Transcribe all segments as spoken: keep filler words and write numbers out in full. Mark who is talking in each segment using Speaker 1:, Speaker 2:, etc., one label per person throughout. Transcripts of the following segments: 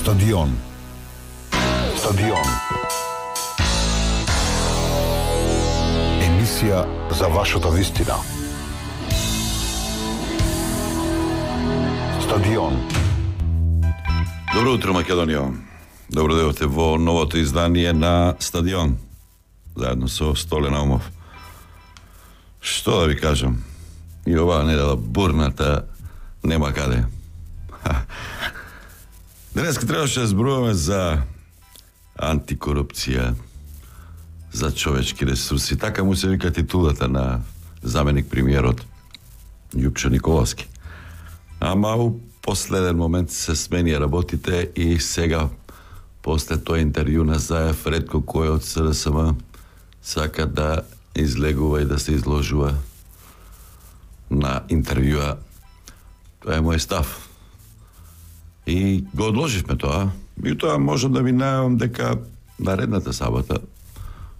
Speaker 1: Стадион. Стадион. Емисија за вашата вистина. Стадион.
Speaker 2: Добро утро, Македонија. Добро дојдовте во новото издание на Стадион. Заедно со Столе Наумов. Што да ви кажам? И оваа недела бурната нема каде. Денеска требаше да зборуваме за антикорупција, за човечки ресурси. Така му се вика титулата на заменик премиерот Љупчо Николовски. Ама у последен момент се сменија работите и сега, после тој интервју на Заев, ретко кој од С Д С М сака да излегува и да се изложува на интервјуа. Тоа е мој став. И го одложивме тоа. И тоа можам да ви најавам дека наредната сабота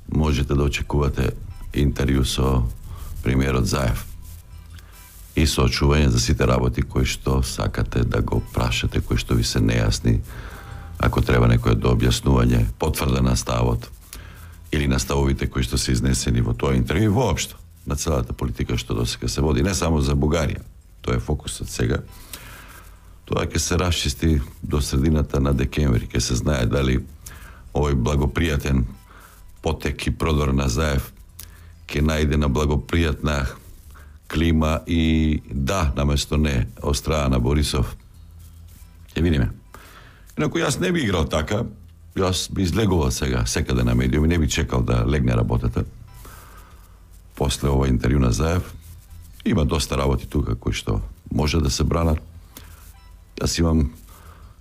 Speaker 2: можете да очекувате интервју со премиерот Заев и соочување за сите работи кои што сакате да го прашате, кои што ви се нејасни, ако треба некој до објаснување, потврда на ставот или на ставовите кои што се изнесени во тоа интервју, воопшто на целата политика што досега се води, не само за Бугарија. Тоа е фокусот сега. Тоа ќе се расчисти до средината на декември, ќе се знае дали овој благопријатен потек и продор на Заев ќе најде на благопријатна клима и да, наместо не, од страна на Борисов. Ќе видиме. Инаку јас не би играл така, јас би излегувал сега секаде на медиуми, не би чекал да легне работата после ова интервју на Заев. Има доста работи тука кои што може да се бранат. Јас имам,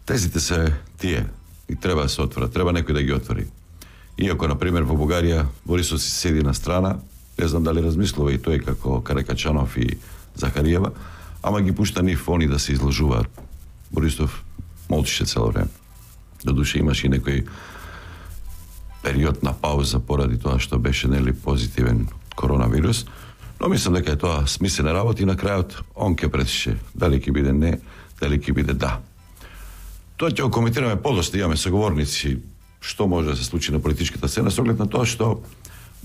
Speaker 2: тезите се тие и треба да се отворат, треба некој да ги отвори. Иако, например, во Бугарија Борисов си седи на страна, не знам дали размислува и тој како Каракачанов и Захариева, ама ги пушта нив они да се изложуваат. Борисов молчише цело време. Додуше имаше и некој период на пауза поради тоа што беше нели позитивен коронавирус, но мислам дека е тоа смислена работа и на крајот он ке претише дали ќе биде не, дали ќе биде да. Тоа ќе го коментираме подоста, имаме соговорници што може да се случи на политичката сцена, со оглед на тоа што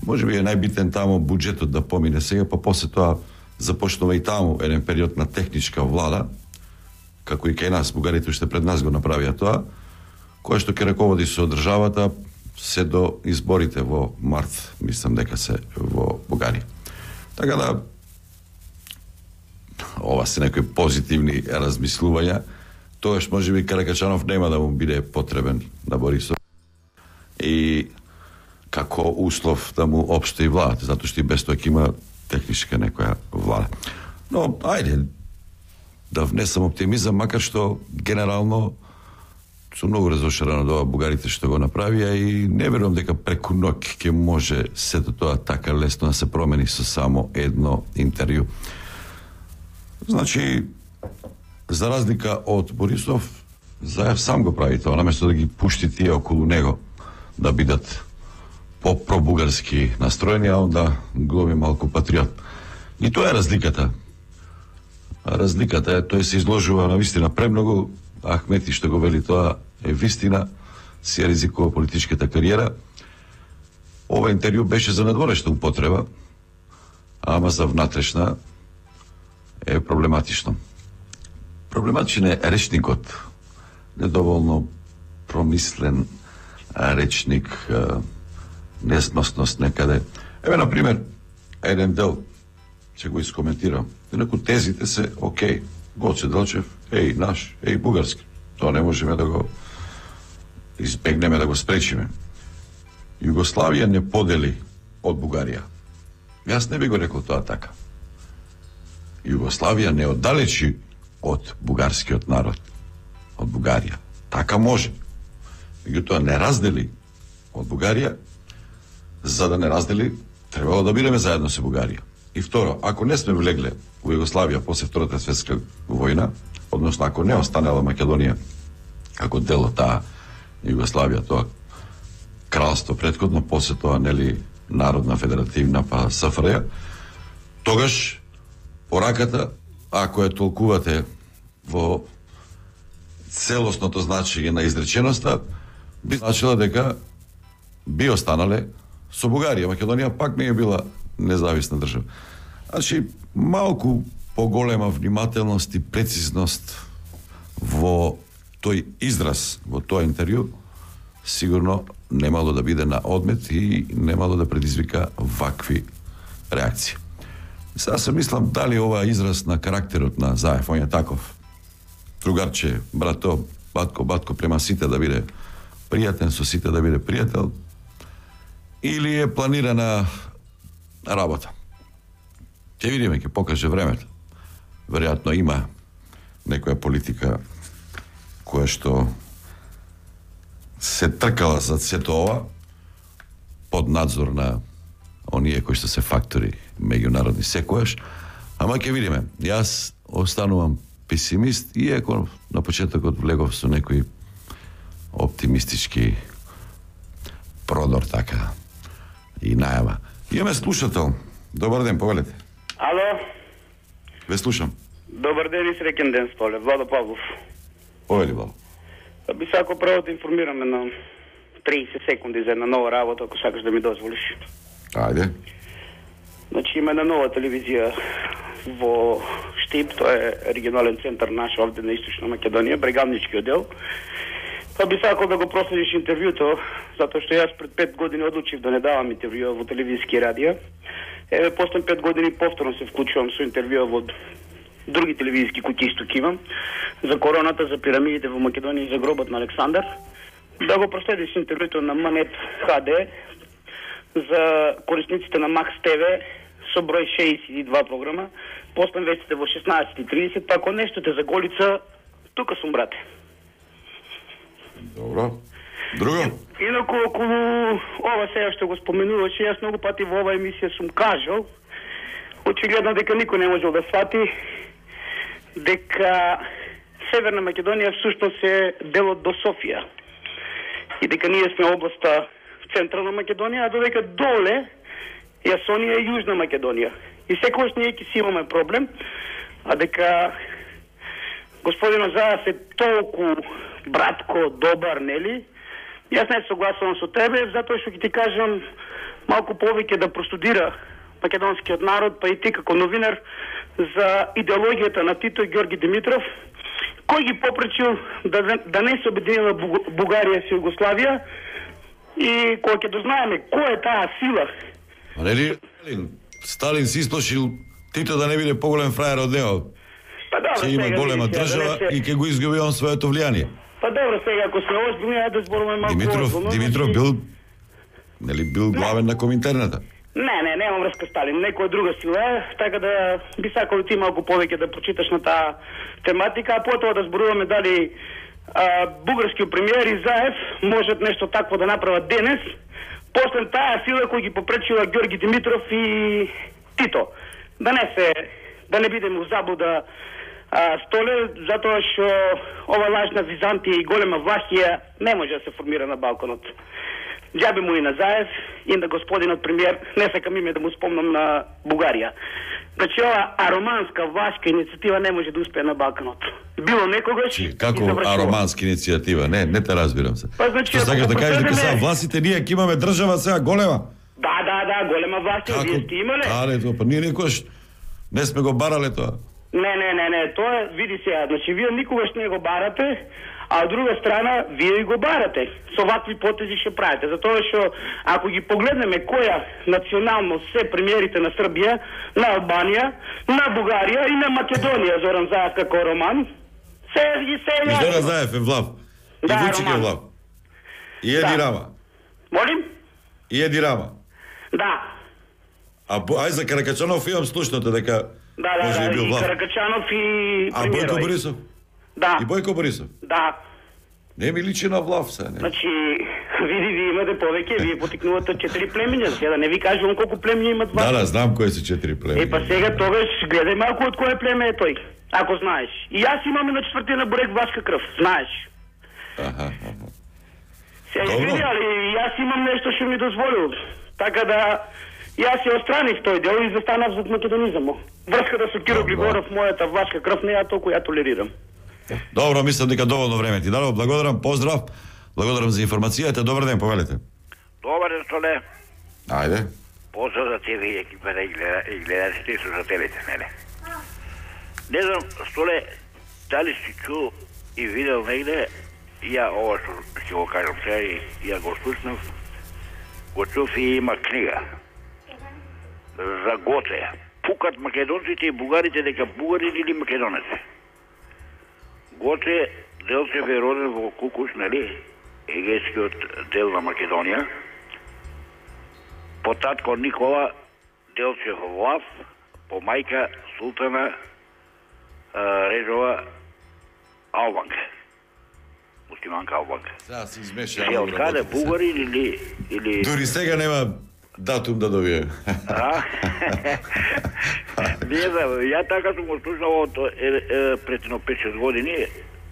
Speaker 2: може би е најбитен таму буџетот да помине сега, па после тоа започнува и таму еден период на техничка влада, како и кај нас, бугарите уште пред нас го направија тоа, која што ќе раководи со државата се до изборите во март, мислам дека се во Бугарија. Така да, ова се некои позитивни размислувања, тоаш може би Каракачанов нема да му биде потребен на Борисов и како услов да му општи владата, затоа што и без тоа ќе има техничка некоја влада. Но, ајде, да внесам оптимизам, макар што генерално сум многу разошаран од ова бугарите што го направија и не верувам дека преку ноќ ќе може сето тоа така лесно да се промени со само едно интервју. Значи, за разлика од Борисов, Заев сам го прави тоа, наместо да ги пушти тие околу него да бидат по-пробугарски настроени, а онда глуми малку патриот. И тоа е разликата. Разликата е, тој се изложува на вистина премногу, Ахмети што го вели тоа е вистина, си ризикува политичката кариера. Ова интервју беше за надворешна употреба, ама за внатрешна е проблематично. Проблематичен е речникот, недоволно промислен речник, несносност некаде. Еве, например, еден дел, ќе го искоментирам. Инаку тезите се окей. Гоце Делчев, еј наш, еј бугарски. Тоа не можеме да го избегнеме, да го спречиме. Југославија не подели од Бугарија. Јас не би го рекол тоа така. Југославија не оддалечи од бугарскиот народ, од Бугарија. Така може. Меѓутоа не раздели од Бугарија, за да не раздели, требало да бидеме заедно со Бугарија. И второ, ако не сме влегле во Југославија после Втората светска војна, односно ако не останала Македонија како дел од таа Југославија, тоа кралство претходно, после тоа нели Народна федеративна па С Ф Р Ј, тогаш пораката, ако ја толкувате во целосното значење на изреченоста, би значила дека би останале со Бугарија. Македонија пак не е била независна држава. Значи, малку поголема внимателност и прецизност во тој израз, во тој интервју, сигурно немало да биде на одмет и немало да предизвика вакви реакции. Сега се мислам дали ова израз на карактерот на Заев, он е таков. Другарче, брато, батко, батко, према сите да биде пријатен, со сите да биде пријател, или е планирана работа. Ќе видиме, ќе покаже времето. Веројатно има некоја политика која што се тркала за сето ова под надзор на оние кои што се фактори меѓународни секојаш, ама ќе видиме. Јас останувам песимист, иако на почетокот влегов со некои оптимистички продор така и најава. Имаме слушател. Добар ден, повелете.
Speaker 3: Ало?
Speaker 2: Ве слушам.
Speaker 3: Добар ден и среќен ден, Столе. Владо Павлов.
Speaker 2: Повели, Владо.
Speaker 3: Би сакал право да информираме на триесет секунди за една нова работа, ако сакаш да ми дозволиш.
Speaker 2: Ајде.
Speaker 3: Значи има една нова телевизија во Штип, тоа е регионален центар наш овде на Источна Македонија, брегамнички оддел. Па би сакал да го проследиш интервјуто, затоа што јас пред пет години одлучив да не давам интервјуа во телевизиски радија. Еве, после пет години повторно се вклучувам со интервјуа во други телевизиски куќи што имам, за короната, за пирамидите во Македонија и за гробот на Александар. Да го проследиш интервјуто на Манет ХД за корисниците на Макс ТВ со број шеесет и два програма, после вестите во шеснаесет и тридесет, па ако нешто те заголица, тука сум, брате.
Speaker 2: Добро. Друго?
Speaker 3: Инаку, околу ова сега што го споменуваше, јас многу пати во ова емисија сум кажал, очигледно дека никој не можел да свати, дека Северна Македонија всушност е делот до Софија. И дека ние сме областа Централна Македонија, а додека доле Јасонија е Јужна Македонија. И секогаш ние ќе си имаме проблем, а дека господин Заев е толку братко, добар, нели? Јас не согласувам со тебе, затоа што ќе ти кажам малку повеќе да простудира македонскиот народ, па и ти како новинар, за идеологијата на Тито и Ѓорги Димитров, кој ги попречил да, да не се обединила Бугарија со Југославија, и кога ќе дознаеме кој е таа сила.
Speaker 2: А нели Сталин си исплашил Тито да не биде поголем фраер од него?
Speaker 3: Па добро,
Speaker 2: ќе има голема држава да се... и ќе го изгуби он своето влијание.
Speaker 3: Па добро, сега ако сме озбилни, ајде да зборуваме малку.
Speaker 2: Димитров, озбилно, Димитров бил нели бил главен не. на Коминтерната?
Speaker 3: Не, не, нема врска Сталин, некоја друга сила, така да би сакал ти малку повеќе да прочиташ на таа тематика, а потоа да зборуваме дали а, бугарскиот премиер и Заев можат нешто такво да направат денес, после таа сила кој ги попречила Ѓорги Димитров и Тито. Да не се, да не бидеме у заблуда, а, Столе, затоа што ова лажна Византија и голема Влахија не може да се формира на балконот. Џабе му и на Заев и на господинот премиер, не сакам име да му спомнам на Бугарија. Значи ова ароманска влашка иницијатива не може да успее на балконот. Било некогаш
Speaker 2: Чи, како ароманска иницијатива? Не, не те разбирам се.
Speaker 3: Па, значи,
Speaker 2: што сакаш да кажеш дека сега власите ние ќе имаме држава сега голема?
Speaker 3: Да, да, да, голема власт, вие сте имале.
Speaker 2: Да, тоа, па ние никогаш не сме го барале тоа.
Speaker 3: Не, не, не, не, тоа види сега, значи вие никогаш не го барате, а од друга страна вие го барате. Со вакви потези ќе правите, затоа што ако ги погледнеме која национално се премиерите на Србија, на Албанија, на Бугарија и на Македонија, Зоран Заев како роман, се ги се
Speaker 2: е. Зоран Заев е влав.
Speaker 3: Да,
Speaker 2: и Вучик е влав. И Еди да. Рама.
Speaker 3: Молим?
Speaker 2: И Еди Рама.
Speaker 3: Да.
Speaker 2: А ај за Каракачанов имам слушното дека
Speaker 3: да, да, може да, и бил влав. Каракачанов и
Speaker 2: А Бојко Борисов?
Speaker 3: Да.
Speaker 2: И Бојко Борисов?
Speaker 3: Да.
Speaker 2: Не ми личи на влав се, не.
Speaker 3: Значи, види, вие имате повеќе, вие потикнувате четири племиња, сега да не ви кажувам колку племиња имат влав.
Speaker 2: Да, да, знам кои се четири племиња.
Speaker 3: Е, па сега тогаш гледај малку од кое племе е тој, ако знаеш. И јас имам и на четвртина бурек влашка крв, знаеш.
Speaker 2: Аха, аха.
Speaker 3: Сега види, али јас имам нешто што ми дозволил. Така да, јас се остраних тој дел и застанав за македонизамот. Врската со Киро Григоров, мојата влашка крв, не ја толку ја толерирам.
Speaker 2: Добро, мислам дека доволно време ти дадов. Благодарам, поздрав. Благодарам за информацијата. Добар ден, повелете.
Speaker 4: Добар ден, Столе.
Speaker 2: Ајде.
Speaker 4: Поздрав за тебе и екипата и, гледа, и гледачите и слушателите, неле. Не знам, Столе, дали си чул и видел негде, ја ова што ќе го кажам сега и ја го слушнав, го чув и има книга за Гоце. Пукат македонците и бугарите дека бугарите или македонеци. Гоце Делчев е роден во Кукуш, нали, егејскиот дел на Македонија. По татко Никола Делчев Влав, по мајка Султана а, Режова Албанка. Муслиманка Албанка.
Speaker 2: Сега се измеша.
Speaker 4: Се откаде бугари или... или...
Speaker 2: Дури сега нема датум да добие.
Speaker 4: А? Не знам, ја така сум го слушал од е, е, пред едно пет-шест години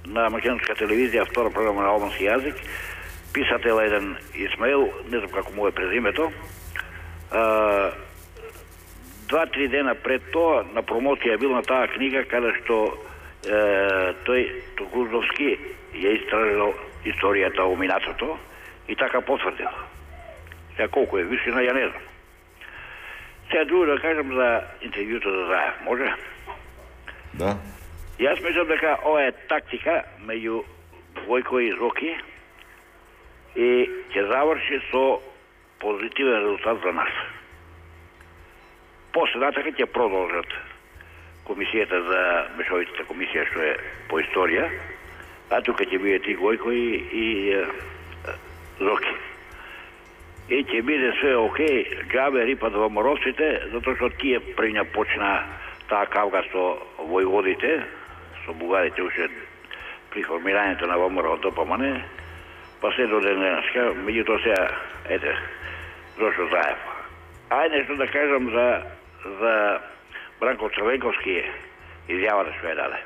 Speaker 4: на македонска телевизија, втора програма на албански јазик. Писател еден Исмаил, не знам како му е презимето. А, два-три дена пред тоа на промоција бил на таа книга каде што е, тој Токузовски ја истражил историјата о минатото и така потврдил. Сега колку е висина, ја не знам. Сега друго да кажам за интервјуто за Заев, може?
Speaker 2: Да.
Speaker 4: Јас мислам дека ова е тактика меѓу Војко и Зоки и ќе заврши со позитивен резултат за нас. После натака ќе продолжат комисијата за мешовитата комисија што е по историја, а тука ќе бидат и Војко и, и е, Зоки. И ќе биде све окей, џабе рипат во моровците, затоа што тие прења почна таа кавга со војводите, со бугарите уште при формирањето на ВМРО од ДПМН, па се до денеска, меѓутоа сега, ете, зошто Заев. Ајде нешто да кажам за, за Бранко Црвенковски изјавата што ја даде.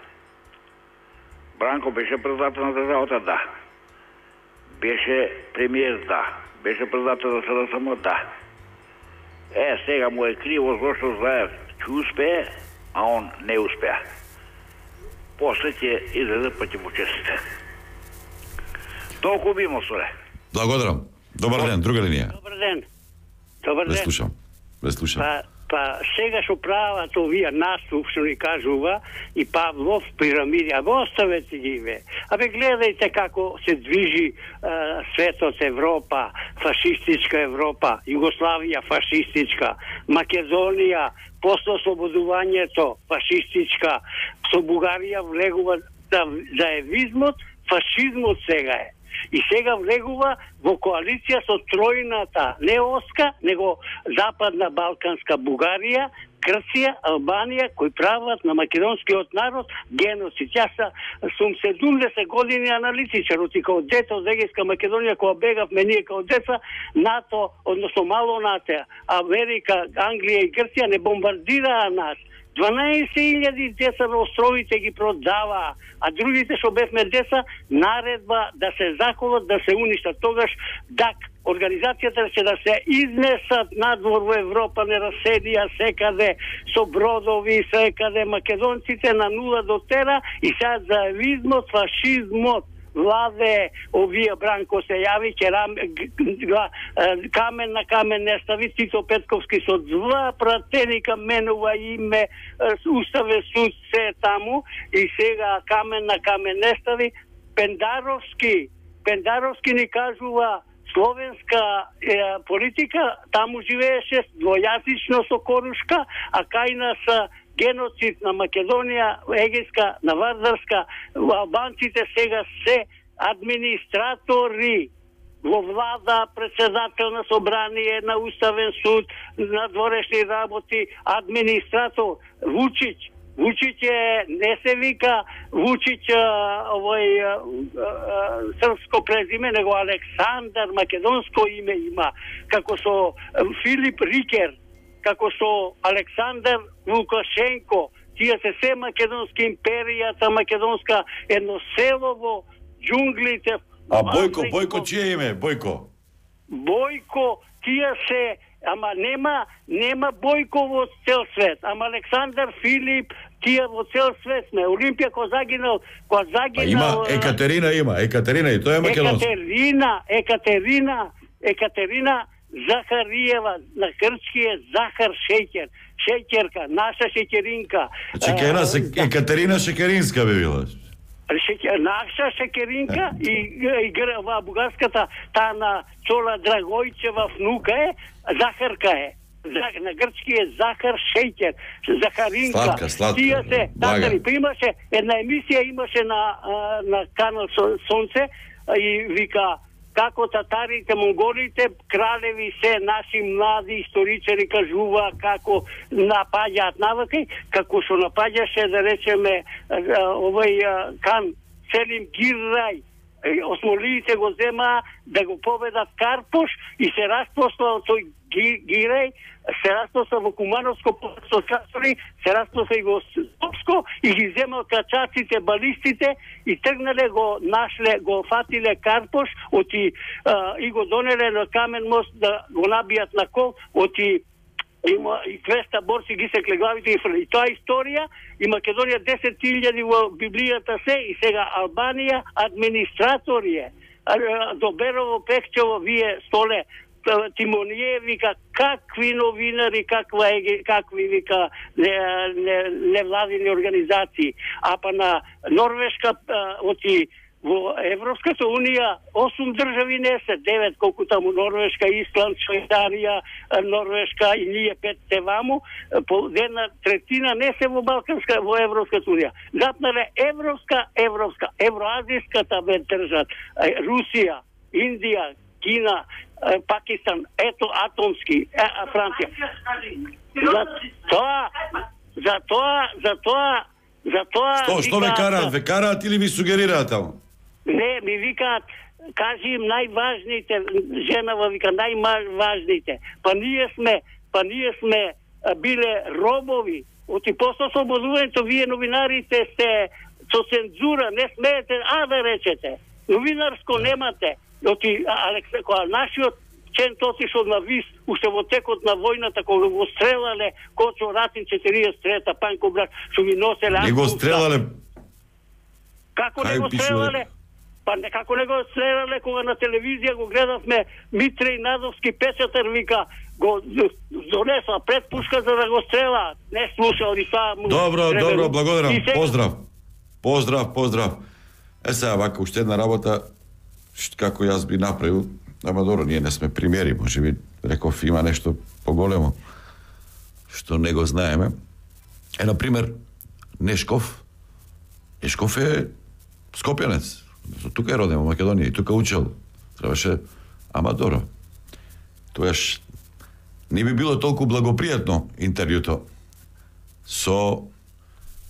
Speaker 4: Бранко беше председател на државата, да. Беше премиер, да. Беше председател на СДСМ, да. Е, сега му е криво зашто Заев ќе успее, а он не успеа. После ќе излезе па ќе му честите. Толку би му соре.
Speaker 2: Благодарам. Добар ден, друга линија.
Speaker 5: Добар ден. Добар
Speaker 2: Ве
Speaker 5: ден.
Speaker 2: слушам. Ве слушам.
Speaker 5: Па, па сега што прават овие наступ што ни кажува и Павлов пирамиди, а го оставете ги ве. Абе гледајте како се движи а, светот, Европа, фашистичка Европа, Југославија фашистичка, Македонија после ослободувањето фашистичка, со Бугарија влегува да, заевизмот, фашизмот сега е. И сега влегува во коалиција со тројната, не Оска, него Западна Балканска Бугарија, Грција, Албанија, кои прават на македонскиот народ геноцид. Јас сум седумдесет години аналитичар, оти као дете од Егејска Македонија, кога бегавме ние као деца, НАТО, односно мало НАТО, Америка, Англија и Грција не бомбардираа нас. дванаесет илјади деца на островите ги продаваа, а другите што бевме деца, наредба да се заколат, да се уништат. Тогаш ДАК, организацијата ќе да се изнесат надвор во Европа, не раседија секаде со бродови, секаде македонците на нула до тера и сега заевизмот, фашизмот владе, овие Бранко се јави, ќе рам, камен на камен не стави, Тито Петковски со два пратеника менува име, Уставен суд се таму и сега камен на камен не стави. Пендаровски, Пендаровски ни кажува словенска е, политика, таму живееше двојазично со Корушка, а кај нас геноцид на Македонија, Егејска, на Вардарска, албанците сега се администратори во влада, председател на собрание, на Уставен суд, на дворешни работи, администратор Вучиќ. Вучиќ е, не се вика Вучиќ овој а, а, српско презиме, него Александар, македонско име има, како со Филип Рикер, како со Александар Лукашенко, тие се се македонски, империјата македонска, едно село во џунглите.
Speaker 2: А Бојко, Бојко чие име? Бојко?
Speaker 5: Бојко, тие се, ама нема, нема Бојко во цел свет, ама Александар, Филип, Тие во цел свет сме. Олимпија кој загинал, кој загинал...
Speaker 2: А има Екатерина има, Екатерина и тоа е македонска.
Speaker 5: Екатерина, Екатерина, Екатерина Захариева, на грчки е захар шеќер, шеќерка, наша шеќеринка.
Speaker 2: Значи ке една Екатерина Шекеринска би била.
Speaker 5: Шеќер, наша шеќеринка и, и, и ва бугарската таа на Цола Драгојчева внука е, захарка е. На грчки е захар шеќер, захаринка.
Speaker 2: Сладка, сладка.
Speaker 5: Тие се,
Speaker 2: Блага.
Speaker 5: па имаше една емисија имаше на на канал Сонце и вика како татарите, монголите, кралеви се наши млади историчари кажува како напаѓаат наваки, како што напаѓаше да речеме овој кан Селим Гиррај. Осмолиите го зема да го победат Карпош и се распросла тој Гирај, се распросла во Кумановско посто Касори, се распросла и во Скопско и ги земал качаците, балистите и тргнале го нашле, го фатиле Карпош, оти а, и го донеле на Камен мост да го набијат на кол, оти има и двеста борци ги секле главите и фрли. Тоа е историја и Македонија десет илјади во Библијата се и сега Албанија администратори е. До Берово, Пехчево, вие столе Тимоние вика какви новинари, каква е, какви вика невладини организации. А па на Норвешка оти во Европската унија осум држави не се, девет колку таму Норвешка, Исланд, Швајцарија, Норвешка и ние пет се ваму, по една третина не се во Балканска, во Европската унија. Запнале Европска, Европска, Евроазиската бе држат, Русија, Индија, Кина, Пакистан, ето атомски, е, Франција. За тоа, за тоа, за тоа, за тоа...
Speaker 2: Што, што ве караат? Ве караат или ви сугерираат таму?
Speaker 5: Не, ми викаат, кажи им најважните, женава вика, најважните. Па ние сме, па ние сме биле робови. Оти после ослободувањето, вие новинарите сте со цензура, не смеете, а да речете. Новинарско немате. Оти, Алекс, која нашиот Чент отишол на Вис, уште во текот на војната, кога го стрелале Кочо Ратин четириесет трета, Панко Брак, што ги носеле...
Speaker 2: Не го стрелале...
Speaker 5: Како не го стрелале? Па не, како не го стрелале, кога на телевизија го гледавме Митре и Надовски печатар, вика, го донесла пред пушка за да го стрела. Не слушал и тоа...
Speaker 2: Добро,
Speaker 5: требе...
Speaker 2: добро, благодарам.
Speaker 5: Сега...
Speaker 2: Поздрав. Поздрав, поздрав. Е сега, вака, уште една работа, како јас би направил, ама добро, ние не сме примери, може би, реков, има нешто поголемо, што не го знаеме. Е, например, Нешков, Нешков е скопјанец, тука е роден во Македонија и тука учел. Требаше, ама добро. Тоаш не би било толку благопријатно интервјуто со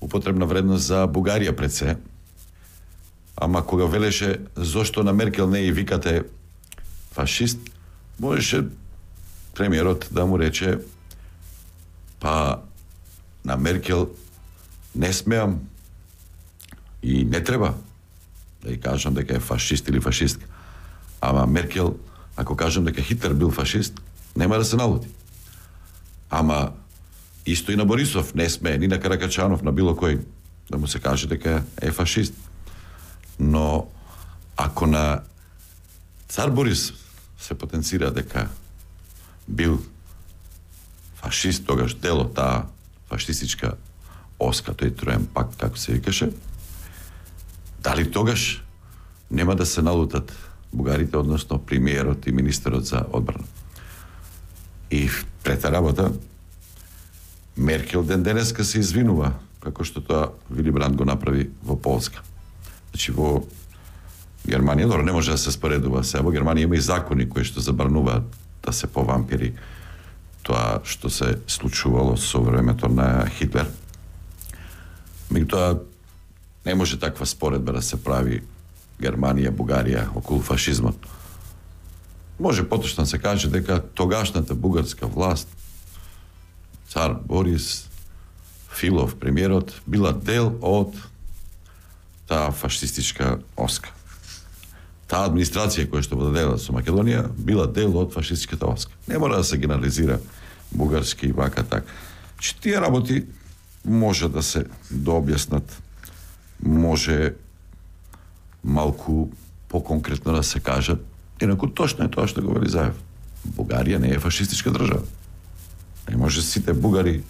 Speaker 2: употребна вредност за Бугарија пред се, ама кога велеше зошто на Меркел не и викате фашист, можеше премиерот да му рече па на Меркел не смеам и не треба да ја кажам дека е фашист или фашистка. Ама Меркел, ако кажам дека Хитлер бил фашист, нема да се налути. Ама исто и на Борисов не смее, ни на Каракачанов, на било кој да му се каже дека е фашист. Но ако на цар Борис се потенцира дека бил фашист, тогаш дело таа фашистичка оска, тој троен пакт, како се викаше, дали тогаш нема да се налутат бугарите, односно премиерот и министерот за одбрана. И трета работа, Меркел ден денеска се извинува, како што тоа Вили Бранд го направи во Полска. Значи во Германија, добро, не може да се споредува. Сега во Германија има и закони кои што забрануваат да се повампири тоа што се случувало со времето на Хитлер. Меѓутоа, не може таква споредба да се прави Германија, Бугарија околу фашизмот. Може поточно се каже дека тогашната бугарска власт, цар Борис, Филов, премиерот, била дел од таа фашистичка оска. Таа администрација која што владеела со Македонија била дел од фашистичката оска. Не мора да се генерализира бугарски и вака так. Че тие работи може да се дообјаснат, може малку поконкретно да се кажат. Инаку точно е тоа што го вели Заев. Бугарија не е фашистичка држава. Не може сите бугари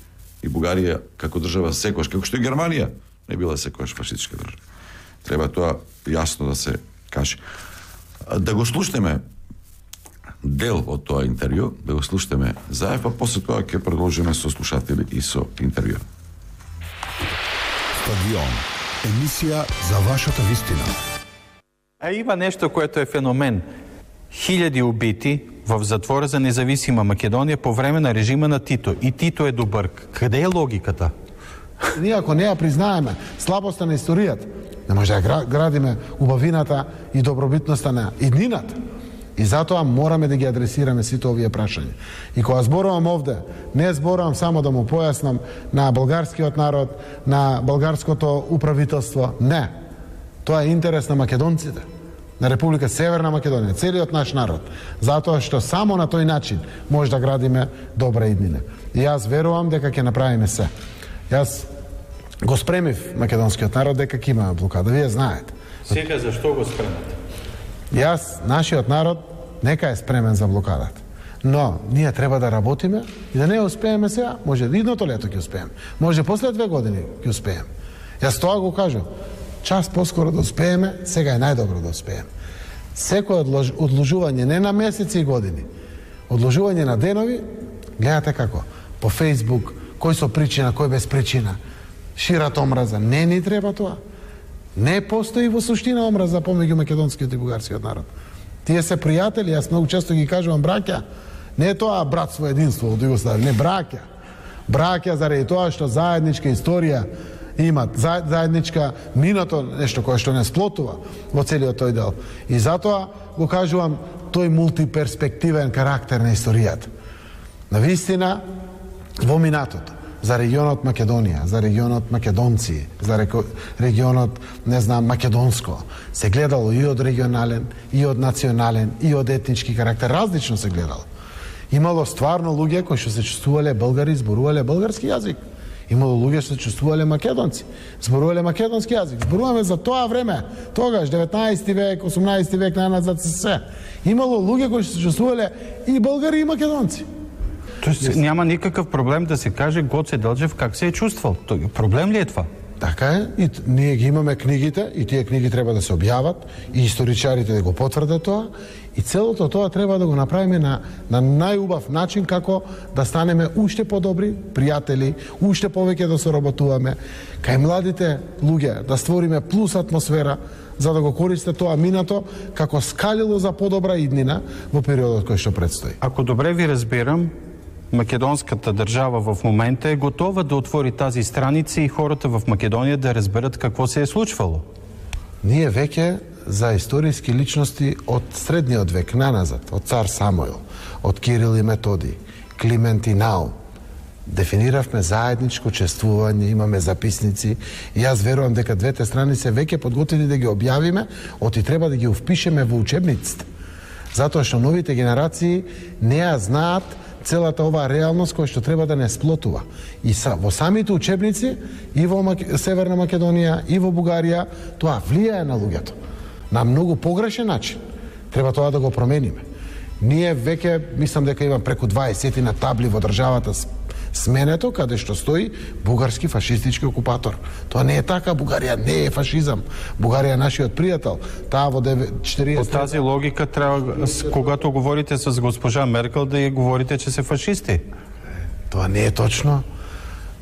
Speaker 2: и Бугарија како држава секојаш, како што и Германија не била секојаш фашистичка држава. Треба тоа јасно да се каже. Да го слушнеме дел од тоа интервју, да го слушнеме Заев, а после тоа ќе продолжиме со слушатели и со интервју.
Speaker 1: Стадион. Емисија за вашата вистина.
Speaker 6: А има нешто което е феномен. Хиляди убити в затвора за независима Македонија по време на режима на Тито. И Тито е добар. Каде е логиката?
Speaker 7: Ние ако не ја признаеме слабоста на историјата, не може да градиме убавината и добробитноста на иднината. И затоа мораме да ги адресираме сите овие прашања. И кога зборувам овде, не зборувам само да му појаснам на болгарскиот народ, на болгарското управителство. Не. Тоа е интерес на македонците, на Република Северна Македонија, целиот наш народ. Затоа што само на тој начин може да градиме добра иднина. И јас верувам дека ќе направиме се. Јас го спремив македонскиот народ дека ќе имаме блокада. Вие знаете.
Speaker 6: Сега зашто го спремате?
Speaker 7: Јас, нашиот народ, нека е спремен за блокадата. Но ние треба да работиме и да не успееме сега, може идното лето ќе успееме. Може после две години ќе успееме. Јас тоа го кажам. Час поскоро да успееме, сега е најдобро да успееме. Секој одлож, одложување не на месеци и години, одложување на денови, гледате како, по Фејсбук, кој со причина, кој без причина, шират омраза. Не ни треба тоа. Не постои во суштина омраза помеѓу македонскиот и бугарскиот народ. Тие се пријатели, јас многу често ги кажувам браќа, не е тоа братство единство од Југославија, не браќа. Браќа заради тоа што заедничка историја имат, заедничка минато, нешто кое што не сплотува во целиот тој дел. И затоа го кажувам тој мултиперспективен карактер на историјата. Навистина, во минатото, за регионот Македонија, за регионот македонци, за регионот, не знам, македонско, се гледало и од регионален, и од национален, и од етнички карактер, различно се гледало. Имало стварно луѓе кои што се чувствувале българи, зборувале български јазик. Имало луѓе што се чувствувале македонци, зборувале македонски јазик. Зборуваме за тоа време, тогаш, деветнаесети век, осумнаесети век, најназад се се. Имало луѓе кои што се чувствувале и българи, и македонци.
Speaker 6: Тоест няма никакъв проблем да се каже Гоце Делчев как се е чувствал. Проблем ли е това?
Speaker 7: Така е, и ние ги имаме книгите, и тие книги треба да се објават, и историчарите да го потврдат тоа, и целото тоа треба да го направиме на, на најубав начин, како да станеме уште подобри пријатели, уште повеќе да соработуваме, кај младите луѓе да створиме плюс атмосфера, за да го користат тоа минато како скалило за подобра иднина во периодот кој што предстои.
Speaker 6: Ако добре ви разбирам, македонската држава в момента е готова да отвори тази страница и хората в Македонија да разберат какво се е случвало.
Speaker 7: Ние веќе за историски личности од средниот век наназад, од цар Самуил, од Кирил и Методий, Климент и Наум, дефиниравме заедничко чествување, имаме записници и јас верувам дека двете страни се веќе подготвени да ги објавиме, оти треба да ги впишеме во учебниците. Затоа што новите генерации не ја знаат целата оваа реалност која што треба да не сплотува. И са, во самите учебници, и во Мак... Северна Македонија, и во Бугарија, тоа влијае на луѓето. На многу погрешен начин. Треба тоа да го промениме. Ние веќе, мислам дека има преку дваесет на табли во државата сменето, каде што стои бугарски фашистички окупатор. Тоа не е така, Бугарија не е фашизам. Бугарија е нашиот пријател. Таа во четириесет...
Speaker 6: По тази логика треба, когато говорите с госпожа Меркел, да ја говорите, че се фашисти.
Speaker 7: Тоа не е точно.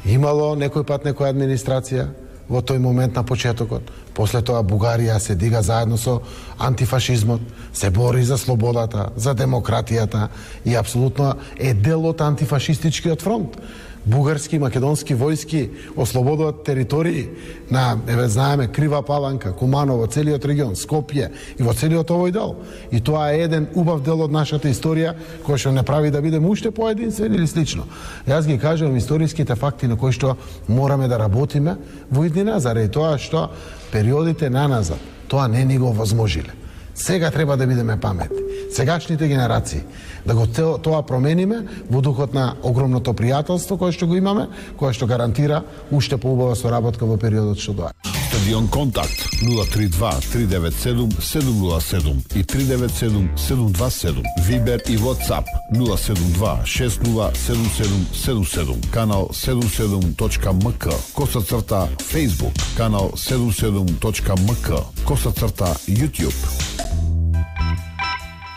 Speaker 7: Имало некој пат некоја администрација во тој момент на почетокот. После тоа Бугарија се дига заедно со антифашизмот, се бори за слободата, за демократијата и апсолутно е дел од антифашистичкиот фронт. Бугарски и македонски војски ослободуват територии на, еве знаеме, Крива Паланка, Куманово, целиот регион, Скопје и во целиот овој дел. И тоа е еден убав дел од нашата историја кој што не прави да бидеме уште поединствени или слично. Јас ги кажувам историските факти на кои што мораме да работиме во иднина, заради тоа што периодите наназад тоа не ни го возможиле. Сега треба да бидеме паметни. сегашните генерации. Да го те- тоа промениме во духот на огромното пријателство кое што го имаме, кое што гарантира уште поубава соработка во периодот што доаѓа.
Speaker 1: Стадион Контакт нула три два три девет седум седум нула седум и три девет седум седум два седум. Вибер и WhatsApp нула седум два шест нула седум седум седум седум. Канал седум седум точка ем ка. Коса црта Facebook. Канал седум седум точка ем ка. Коса црта YouTube.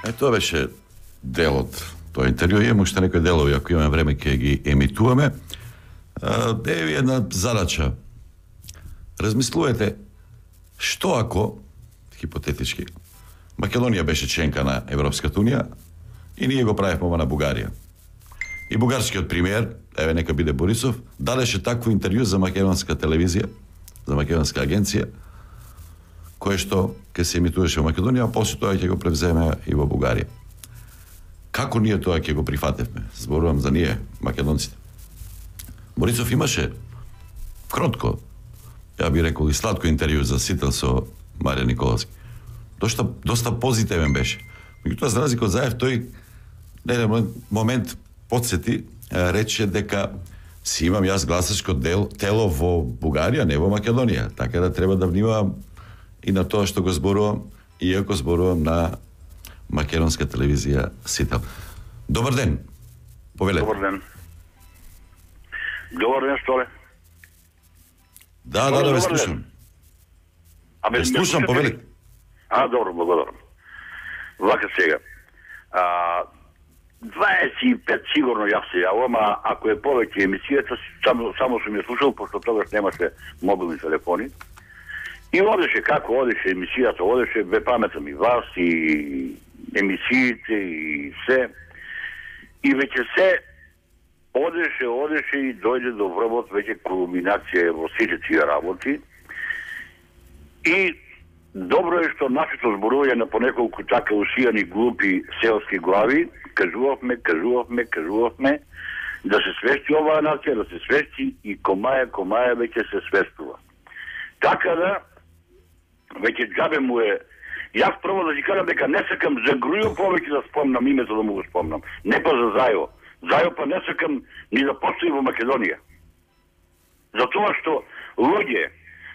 Speaker 2: Е, тоа беше дел од тоа интервју. Имаме уште некои делови, ако имаме време ќе ги емитуваме. Е една задача. Размислувате што ако, хипотетички, Македонија беше членка на Европската унија и ние го правевме ова на Бугарија. И бугарскиот премиер, еве нека биде Борисов, дадеше такво интервју за македонска телевизија, за македонска агенција, кое што ќе се емитуваше во Македонија, а после тоа ќе го превземе и во Бугарија. Како ние тоа ќе го прифатевме? Зборувам за ние, македонците. Борисов имаше кротко, ја би рекол и сладко интервју за Сител со Маријан Николовски. Доста, доста позитивен беше. Меѓутоа, за разлика од Заев, тој на еден момент подсети, рече дека си имам јас гласачко дел, тело во Бугарија, не во Македонија. Така да треба да внимавам и на тоа што го зборувам, иако зборувам на македонска телевизија Сител. Добар ден. Повелете.
Speaker 4: Добар ден. Добар ден, Столе.
Speaker 2: Да, да, да, ве слушам.
Speaker 4: Абе,
Speaker 2: Ве слушам, повелете.
Speaker 4: А, добро, благодарам. Вака сега. А, дваесет и пет сигурно јас се јавам, а ако е повеќе емисијата, само, само сум ја слушал, пошто тогаш немаше мобилни телефони. И одеше како одеше емисијата, одеше, бе паметам и вас, и емисиите, и се. И веќе се одеше, одеше и дојде до врвот, веќе кулминација во сите тие работи. И добро е што нашето зборување на понеколку така усијани глупи селски глави, кажувавме, кажувавме, кажувавме, да се свести оваа нација, да се свести и комаја, комаја веќе се свестува. Така да, веќе џабе му е. Јас прво да си кажам дека не сакам за Грујо повеќе да спомнам името да му го спомнам. Не па за Зајо. Зајо па не сакам ни да постои во Македонија. Затоа што луѓе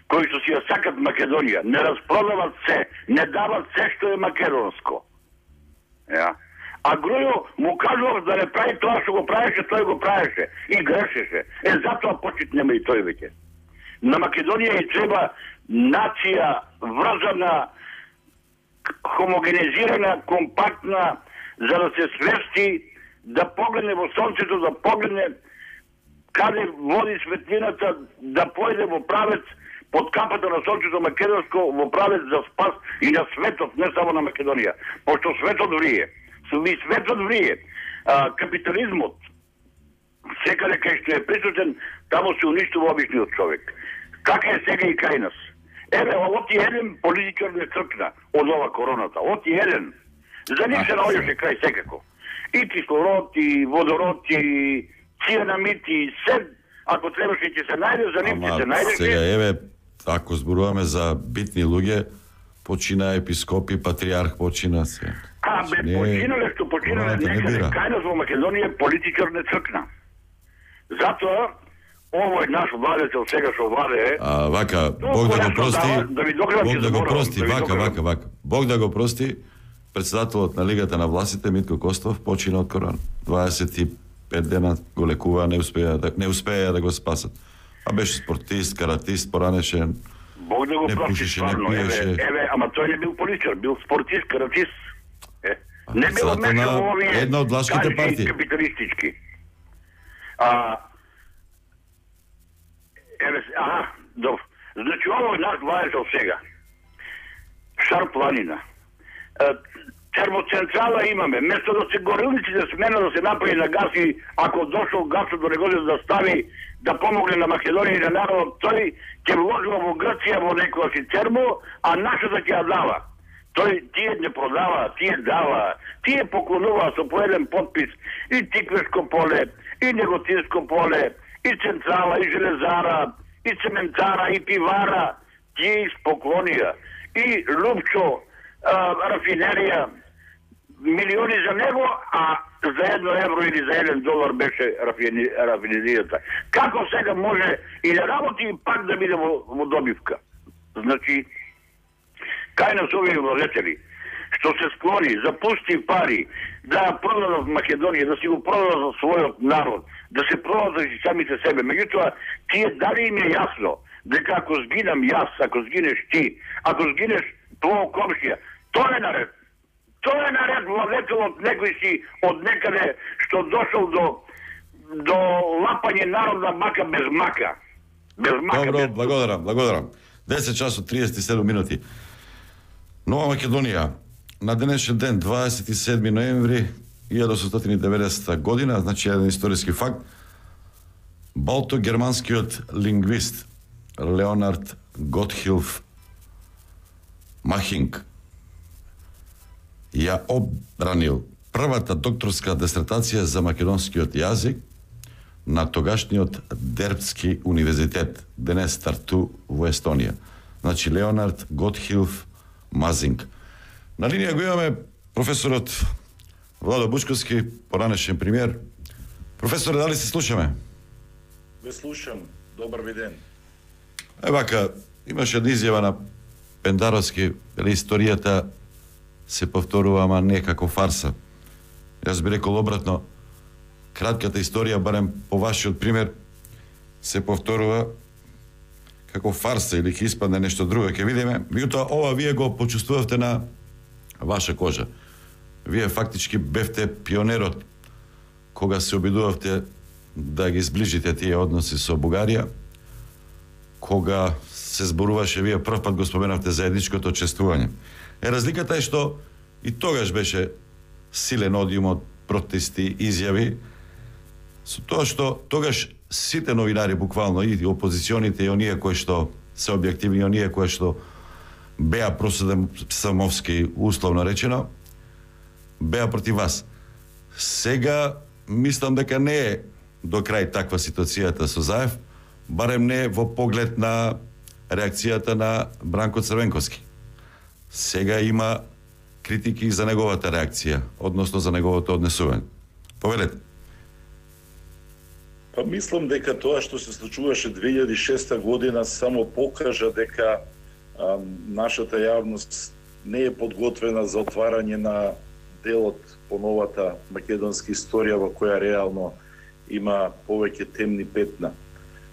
Speaker 4: кои што си ја сакат Македонија не распродават се, не дават се што е македонско. Ja. А Грујо му кажував да не прави тоа што го правеше, тој го правеше и грешеше. Е, затоа почит нема и тој веќе. На Македонија и треба нација врзана, хомогенизирана, компактна, за да се свести, да погледне во сонцето, да погледне каде води светлината, да појде во правец под капата на сонцето македонско, во правец за спас и на светот, не само на Македонија. Пошто светот врие. И светот врие. А, капитализмот, секаде кај што е присутен, таму се уништува обичниот човек. Така е сега и кај нас. Еве, оти еден политичар не тркна од ова короната. Оти еден. За нив се наоѓаше крај секако. И кислород, и водород, и цианамид, и се, ако требаше ќе се најде, за нив ќе се најде.
Speaker 2: Сега, еве, ако зборуваме за битни луѓе, почина епископи, патриарх почина се.
Speaker 4: А, бе, не, починале што починале некаде кај нас во Македонија политичар не цркна. Затоа, овој наш владетел сега што владее...
Speaker 2: А, вака, Бог да го прости, да Бог да го прости, вака, вака, вака. Бог да го прости, председателот на Лигата на властите Митко Костов почина од корона. дваесет и пет дена го лекува, не успеа да не успеа да го спасат. А беше спортист, каратист, поранешен.
Speaker 4: Бог да го
Speaker 2: не
Speaker 4: прости,
Speaker 2: пушеше,
Speaker 4: стварно,
Speaker 2: не пиеше.
Speaker 4: Еве, еве, ама тој не бил политичар, бил спортист, каратист. Е, не бил мешал во овие
Speaker 2: една од влашките партии.
Speaker 4: Капиталистички. А, еве, аха, добро. Значи, овој наш владетел сега. Шар планина. Термоцентрала имаме. Место да се горилниците смена да се направи на газ и ако дошол газот до него да стави да помогне на Македонија и на народот, тој ќе вложува во Грција во некоја си термо, а нашата ќе ја дава. Тој тие не продава, тие дава, тие поклонува со по еден подпис и Тиквешко поле, и Неготинско поле, и централа, и железара, и цементара, и пивара, тие испоклонија. И Лупчо, а, рафинерија, милиони за него, а за едно евро или за еден долар беше рафинизирата. Како сега може и да работи и пак да биде во, во добивка? Значи, кај нас овие владетели, што се склони за пусти пари да продадат Македонија, да си го продадат за својот народ, да се продадат за самите себе. Меѓутоа, тие дали им е јасно дека ако сгинам јас, ако сгинеш ти, ако сгинеш твој комшија, тоа е наред. Тоа е наред владетелот некој си од некаде што дошол до до лапање народна мака без мака. Без мака.
Speaker 2: Добро,
Speaker 4: без...
Speaker 2: благодарам, благодарам. десет часот триесет и седум минути. Нова Македонија, на денешен ден, дваесет и седми ноември илјада осумстотини и деветдесета година, значи еден историски факт, балто-германскиот лингвист Леонард Готхилф Махинг ја обранил првата докторска дисертација за македонскиот јазик на тогашниот Дербцки универзитет, денес Тарту во Естонија. Значи Леонард Готхилф Мазинг. На линија го имаме професорот Владо Бучковски, поранешен премиер. Професоре, дали се слушаме?
Speaker 8: Ве слушам. Добар ви ден.
Speaker 2: Е, вака, имаше една изјава на Пендаровски, дали историјата се повторува, ама не како фарса. Јас би рекол обратно, кратката историја, барем по вашиот пример, се повторува како фарса или ќе испадне нешто друго, ќе видиме. Меѓутоа, ова вие го почувствувавте на ваша кожа. Вие фактички бевте пионерот кога се обидувавте да ги зближите тие односи со Бугарија, кога се зборуваше, вие прв пат го споменавте заедничкото чествување. Е, разликата е што и тогаш беше силен одиум од протести, изјави, со тоа што тогаш сите новинари, буквално, и опозиционите, и оние кои што се објективни, и оние кои што беа проседамовски, условно речено, беа против вас. Сега, мислам дека не е до крај таква ситуацијата со Заев, барем не во поглед на реакцијата на Бранко Црвенковски. Сега има критики за неговата реакција, односно за неговото однесување. Повелете.
Speaker 8: Па мислам дека тоа што се случуваше две илјади и шеста година само покажа дека а, нашата јавност не е подготвена за отварање на делот по новата македонска историја во која реално има повеќе темни петна.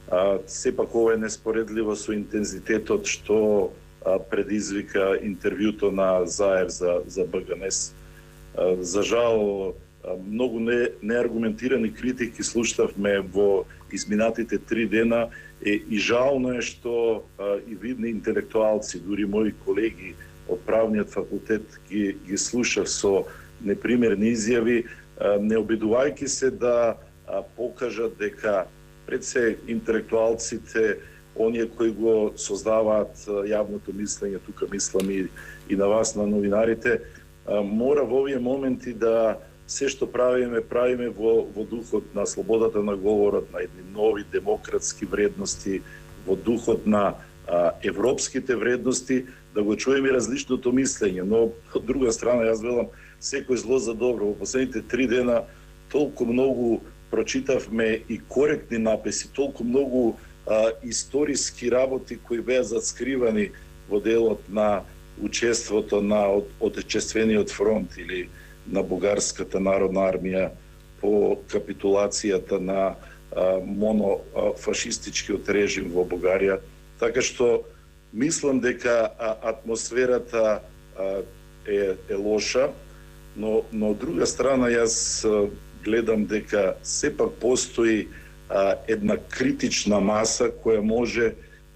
Speaker 8: А, сепак ова е неспоредливо со интензитетот што а, предизвика интервјуто на Заев за, за БГНЕС. А, за жал, а, многу не, неаргументирани критики слушавме во изминатите три дена е, и жално е што а, и видни интелектуалци, дури мои колеги од правниот факултет ги, ги слушав со непримерни изјави, а, не обидувајќи се да а, покажат дека пред се интелектуалците, оние кои го создаваат јавното мислење, тука мислам и, и на вас, на новинарите, мора во овие моменти да се што правиме, правиме во, во духот на слободата на говорот, на едни нови демократски вредности, во духот на а, европските вредности, да го чуеме различното мислење. Но, од друга страна, јас велам, секој зло за добро. Во последните три дена толку многу прочитавме и коректни написи, толку многу а, историски работи кои беа заскривани во делот на учеството на од, Отечествениот фронт или на Бугарската народна армија по капитулацијата на а, монофашистичкиот режим во Бугарија. Така што мислам дека а, атмосферата а, е, е лоша, но, но од друга страна јас а, гледам дека сепак постои а, една критична маса која може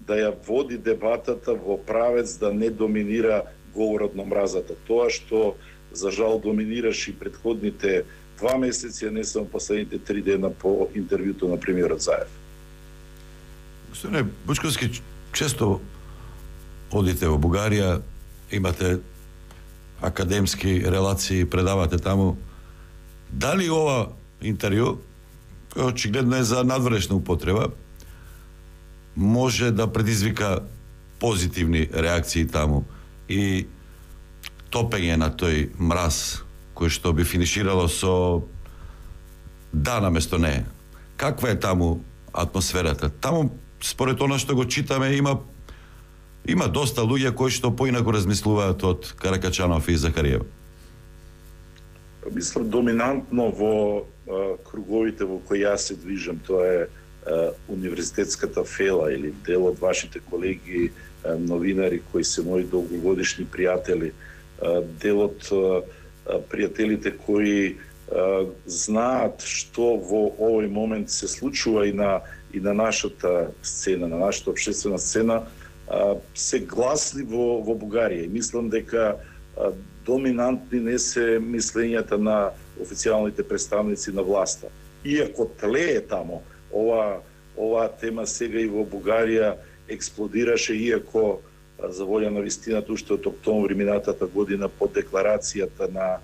Speaker 8: да ја води дебатата во правец да не доминира говорот на мразата. Тоа што за жал доминираше и претходните два месеци, а не само последните три дена по интервјуто на премиерот Заев.
Speaker 2: Господине Бучковски, често одите во Бугарија, имате академски релации, предавате таму. Дали ова интервју, кој очигледно е за надворешна употреба, може да предизвика позитивни реакции таму и топење на тој мраз кој што би финиширало со да наместо не. Каква е таму атмосферата? Таму, според она што го читаме, има има доста луѓе кои што поинаку размислуваат од Каракачанов и Захариева.
Speaker 8: Мислам, доминантно во а, круговите во кои јас се движам, тоа е а, универзитетската фела или дел од вашите колеги а, новинари кои се мои долгогодишни пријатели, а, дел од а, пријателите кои а, знаат што во овој момент се случува и на и на нашата сцена, на нашата општествена сцена, а, се гласни во во Бугарија. И мислам дека а, доминантни не се мислењата на официјалните представници на власта. Иако тлее тамо, ова оваа тема сега и во Бугарија експлодираше, иако за волја на вистината уште од октомври минатата година по декларацијата на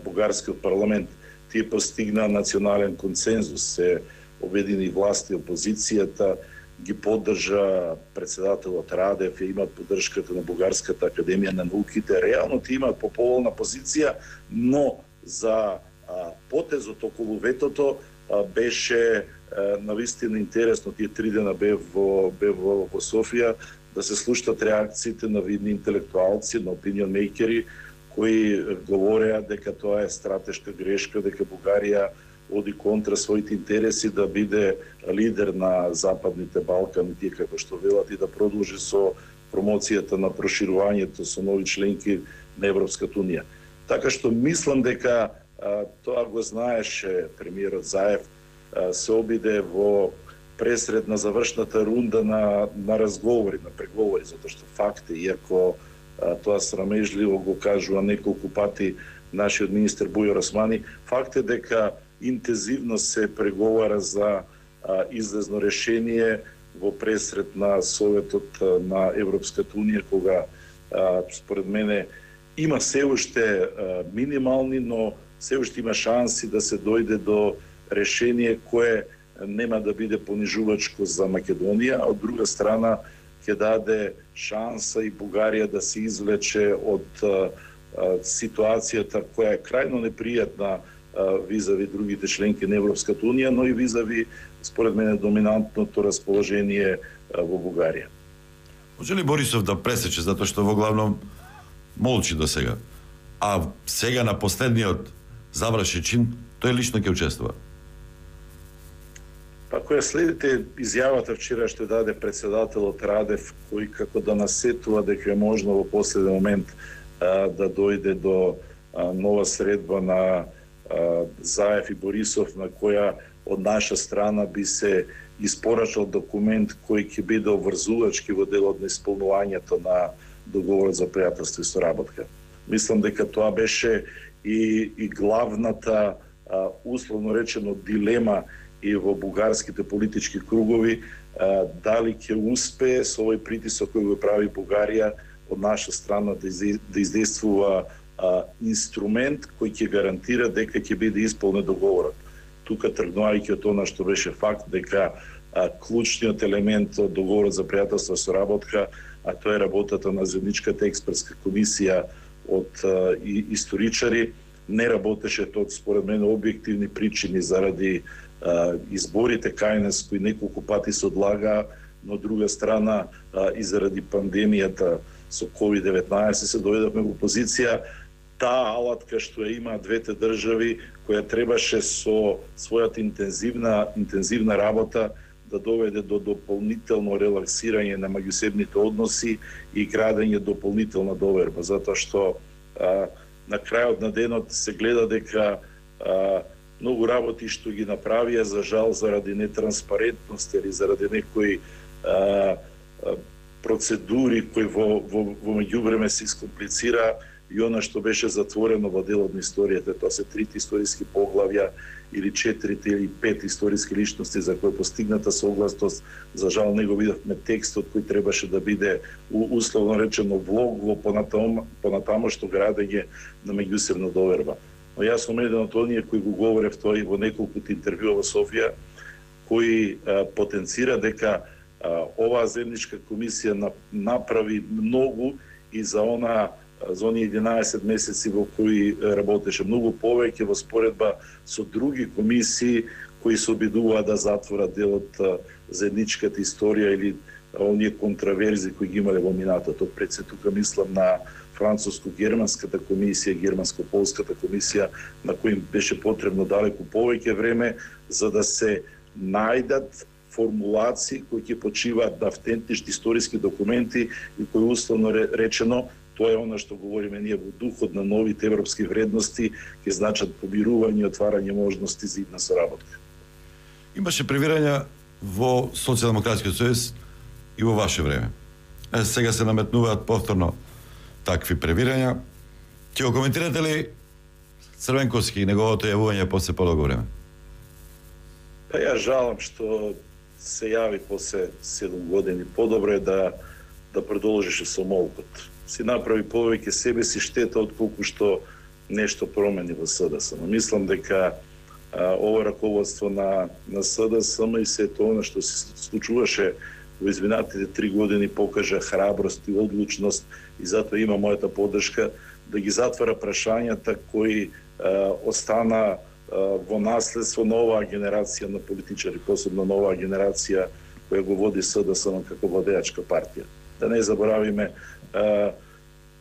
Speaker 8: бугарскиот парламент тие постигна национален консензус, се обедини власт и опозицијата, ги поддржа председателот Радев, и имаат поддршката на Бугарската академија на науките. Реално ти имаат поповолна позиција, но за а, потезот околу ветото а, беше а, навистина интересно. Тие три дена бев во, бев во, во Софија да се слушнат реакциите на видни интелектуалци, на опинион мејкери, кои говореа дека тоа е стратешка грешка, дека Бугарија оди контра своите интереси да биде лидер на Западните Балкани, тие како што велат, и да продолжи со промоцијата на проширувањето со нови членки на Европската унија. Така што мислам дека а, тоа го знаеше премиерот Заев, а, се обиде во пресред на завршната рунда на, на разговори, на преговори, затоа што факти, иако а, тоа срамежливо го кажува неколку пати нашиот министер Бујар Османи, факт е дека интензивно се преговара за а, излезно решение во пресред на Советот а, на Европската унија, кога а, според мене има се уште а, минимални, но се уште има шанси да се дојде до решение кое нема да биде понижувачко за Македонија, а од друга страна ќе даде шанса и Бугарија да се извлече од а, а, ситуацијата која е крајно непријатна визави другите членки на Европската унија, но и визави, според мене, доминантното расположение во Бугарија.
Speaker 2: Може ли Борисов да пресече, затоа што во главном молчи до сега, а сега на последниот завршен чин, тој лично ќе учествува?
Speaker 8: Па која следите изјавата вчера што даде председателот Радев, кој како да насетува дека е можно во последен момент а, да дојде до а, нова средба на Заев и Борисов, на која од наша страна би се испорачал документ кој ќе биде обврзувачки во делот на исполнувањето на договорот за пријателство и соработка. Мислам дека тоа беше и, и главната, а, условно речено, дилема и во бугарските политички кругови, а, дали ќе успее со овој притисок кој го прави Бугарија од наша страна да, из, да издействува А, инструмент кој ќе гарантира дека ќе биде исполнет договорот. Тука тргнувајќи од она што беше факт дека а, клучниот елемент од договорот за пријателство и соработка, а тоа е работата на заедничката експертска комисија од а, и, историчари, не работеше тоа според мене објективни причини заради а, изборите кајнес кои неколку пати се одлага, но од друга страна а, и заради пандемијата со ковид деветнаесет се дојдовме во позиција таа алатка што ја има двете држави, која требаше со својата интензивна интензивна работа да доведе до дополнително релаксирање на меѓусебните односи и градење дополнителна доверба, затоа што а, на крајот на денот се гледа дека а, многу работи што ги направија, за жал заради нетранспарентност или заради некои а, а, процедури кои во, во, во меѓувреме се искомплицира, и она што беше затворено во делот на историјата, тоа се трите историски поглавја или четирите или пет историски личности за кои постигната согласност, за жал не го видовме текстот кој требаше да биде условно речено влог во понатаму, понатамошно градење на меѓусебна доверба. Но јас сум еден од оние кои го говорев тоа и во неколку интервјуа во Софија, кои а, потенцира дека а, оваа земјичка комисија направи многу и за она за оние единаесет месеци во кои работеше многу повеќе во споредба со други комисии кои се обидуваат да затворат делот заедничката историја или оние контраверзи кои ги имале во минатото. Пред се тука мислам на француско-германската комисија, германско-полската комисија, на кои беше потребно далеку повеќе време за да се најдат формулации кои ќе почиваат на автентични историски документи и кои условно речено тоа е она што говориме ние во духот на новите европски вредности, ќе значат помирување и отварање можности за идна соработка.
Speaker 2: Имаше превирања во Социјалдемократскиот сојуз и во ваше време. Е, сега се наметнуваат повторно такви превирања. Ќе го коментирате ли Црвенковски и неговото јавување после подолго време?
Speaker 8: Па ја жалам што се јави после седум години. Подобро е да да продолжише со молкот. Си направи повеќе себе си штета отколку што нешто промени во СДСМ. Мислам дека а, ова раководство на на СДСМ и се тоа што се случуваше во изминатите три години покажа храброст и одлучност и затоа има мојата поддршка да ги затвара прашањата кои а, остана а, во наследство на оваа генерација на политичари, посебно на оваа генерација која го води СДСМ како владеачка партија. Да не заборавиме, а,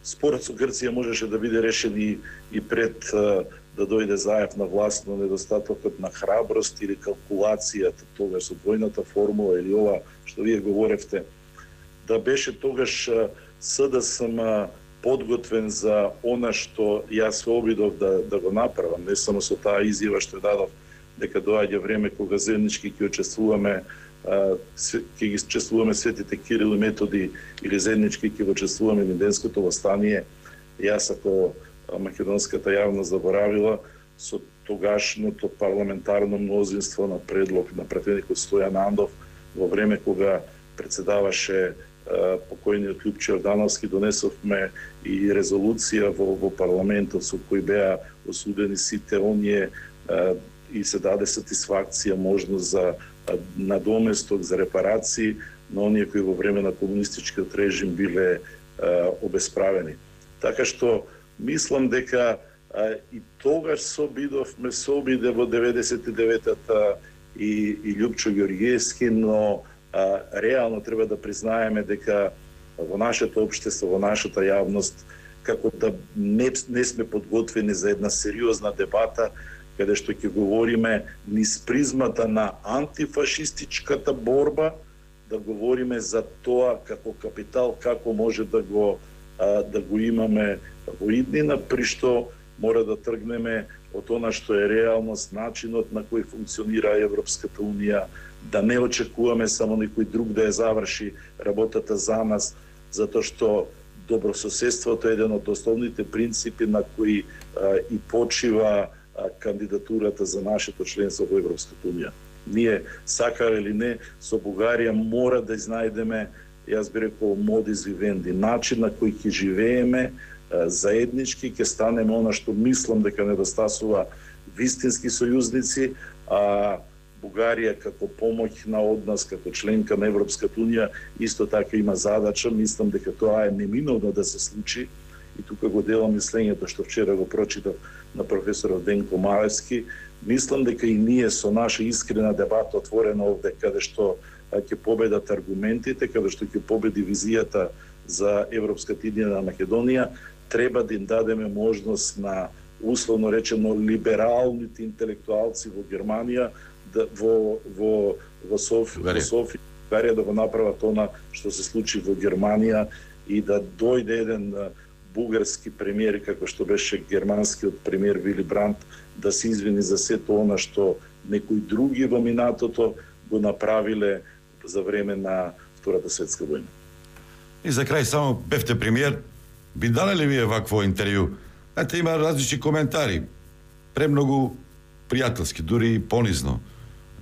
Speaker 8: спорот со Грција можеше да биде решен и, и пред а, да дојде Заев на власт, но недостатокот на храброст или калкулацијата тогаш со двојната формула или ова што вие говоревте, да беше тогаш СДСМ подготвен за она што јас се обидов да, да го направам, не само со таа изјава што ја дадов дека доаѓа време кога заеднички ќе учествуваме ќе ги чествуваме светите Кирил и Методи или заеднички ќе го чествуваме Линденското востание. Јас ако македонската јавност заборавила со тогашното парламентарно мнозинство на предлог на пратеникот Стојан Андов во време кога председаваше покојниот Љупчо Јордановски, донесовме и резолуција во, во парламентот со кој беа осудени сите оние и се даде сатисфакција можност за надоместок, за репарации на оние кои во време на комунистичкиот режим биле обесправени. Така што мислам дека а, и тогаш собидовме собиде во деветдесет и деветата и, и Љупчо Ѓорѓиевски, но а, реално треба да признаеме дека во нашето општество, во нашата јавност, како да не, не сме подготвени за една сериозна дебата, каде што ќе говориме низ призмата на антифашистичката борба, да говориме за тоа како капитал, како може да го да го имаме во иднина, при што мора да тргнеме од она што е реалност, начинот на кој функционира Европската Унија, да не очекуваме само некој друг да ја заврши работата за нас, затоа што добрососедството е еден од основните принципи на кои а, и почива а, кандидатурата за нашето членство во Европската Унија. Ние, сакаме или не, со Бугарија мора да изнајдеме, јас би рекол, модис вивенди, начин на кој ќе живееме заеднички, ќе станеме она што мислам дека недостасува вистински сојузници, а Бугарија како помоќна од нас, како членка на Европската Унија, исто така има задача. Мислам дека тоа е неминовно да се случи и тука го делам мислењето што вчера го прочитав на професорот Денко Малевски. Мислам дека и ние со наша искрена дебата отворена овде, каде што ќе победат аргументите, каде што ќе победи визијата за Европската идеја на Македонија, треба да им дадеме можност на, условно речено, либералните интелектуалци во Германија, да, во, во, во Софија, во Софија, Бугарија да го направат она што се случи во Германија и да дојде еден бугарски премиер, како што беше германскиот премиер Вили Брандт, да се извини за сето она што некои други во минатото го направиле за време на Втората светска војна.
Speaker 2: И за крај само бевте премиер, би дали ли вие вакво интервју? Ете, има различни коментари, премногу пријателски, дури и понизно.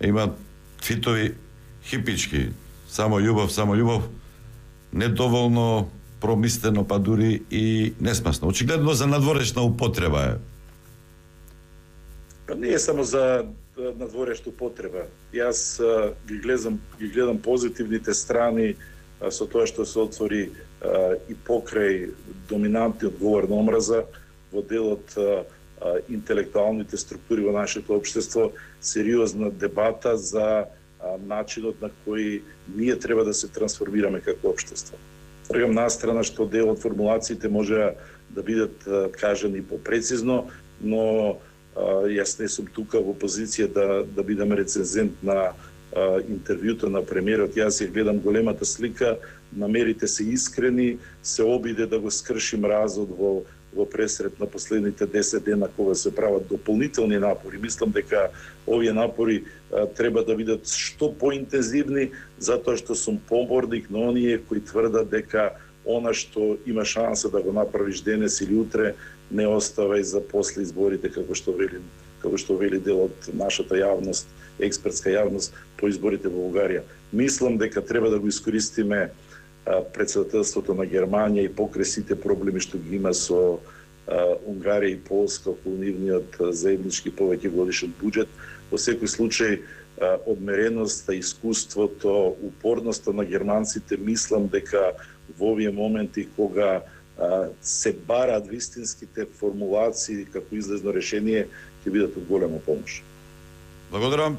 Speaker 2: Има твитови хипички, само љубов, само љубов, недоволно промислено, па дури и несмасно. Очигледно за надворешна употреба е.
Speaker 8: Па не е само за надворешна употреба. Јас а, ги гледам, ги гледам позитивните страни а, со тоа што се отвори и покрај доминантниот говор на омраза во делот интелектуалните структури во нашето општество, сериозна дебата за начинот на кој ние треба да се трансформираме како општество. Тргам настрана што дел од формулациите може да бидат кажани попрецизно, но јас не сум тука во позиција да, да бидам рецензент на а, интервјуто на премиерот. Јас ја гледам големата слика, намерите се искрени, се обиде да го скрши мразот во, во пресрет на последните десет дена кога се прават дополнителни напори. Мислам дека овие напори а, треба да бидат што поинтензивни, затоа што сум поборник на оние кои тврдат дека она што има шанса да го направиш денес или утре не оставај за после изборите, како што вели, како што вели дел од нашата јавност, експертска јавност по изборите во Бугарија. Мислам дека треба да го искористиме а, председателството на Германија и покрај сите проблеми што ги има со а, Унгарија и Полска околу нивниот заеднички повеќе годишен буџет. Во секој случај а, одмереноста, искуството, упорноста на германците, мислам дека во овие моменти кога се бараат вистинските формулации како излезно решение, ќе бидат од голема помош.
Speaker 2: Благодарам.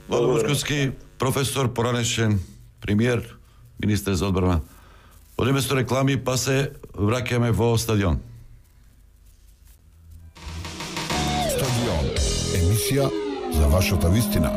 Speaker 2: Владо Бушковски, професор, поранешен премиер, министер за одбрана. Одиме со реклами, па се враќаме во стадион.
Speaker 1: Стадион. Емисија за вашата вистина.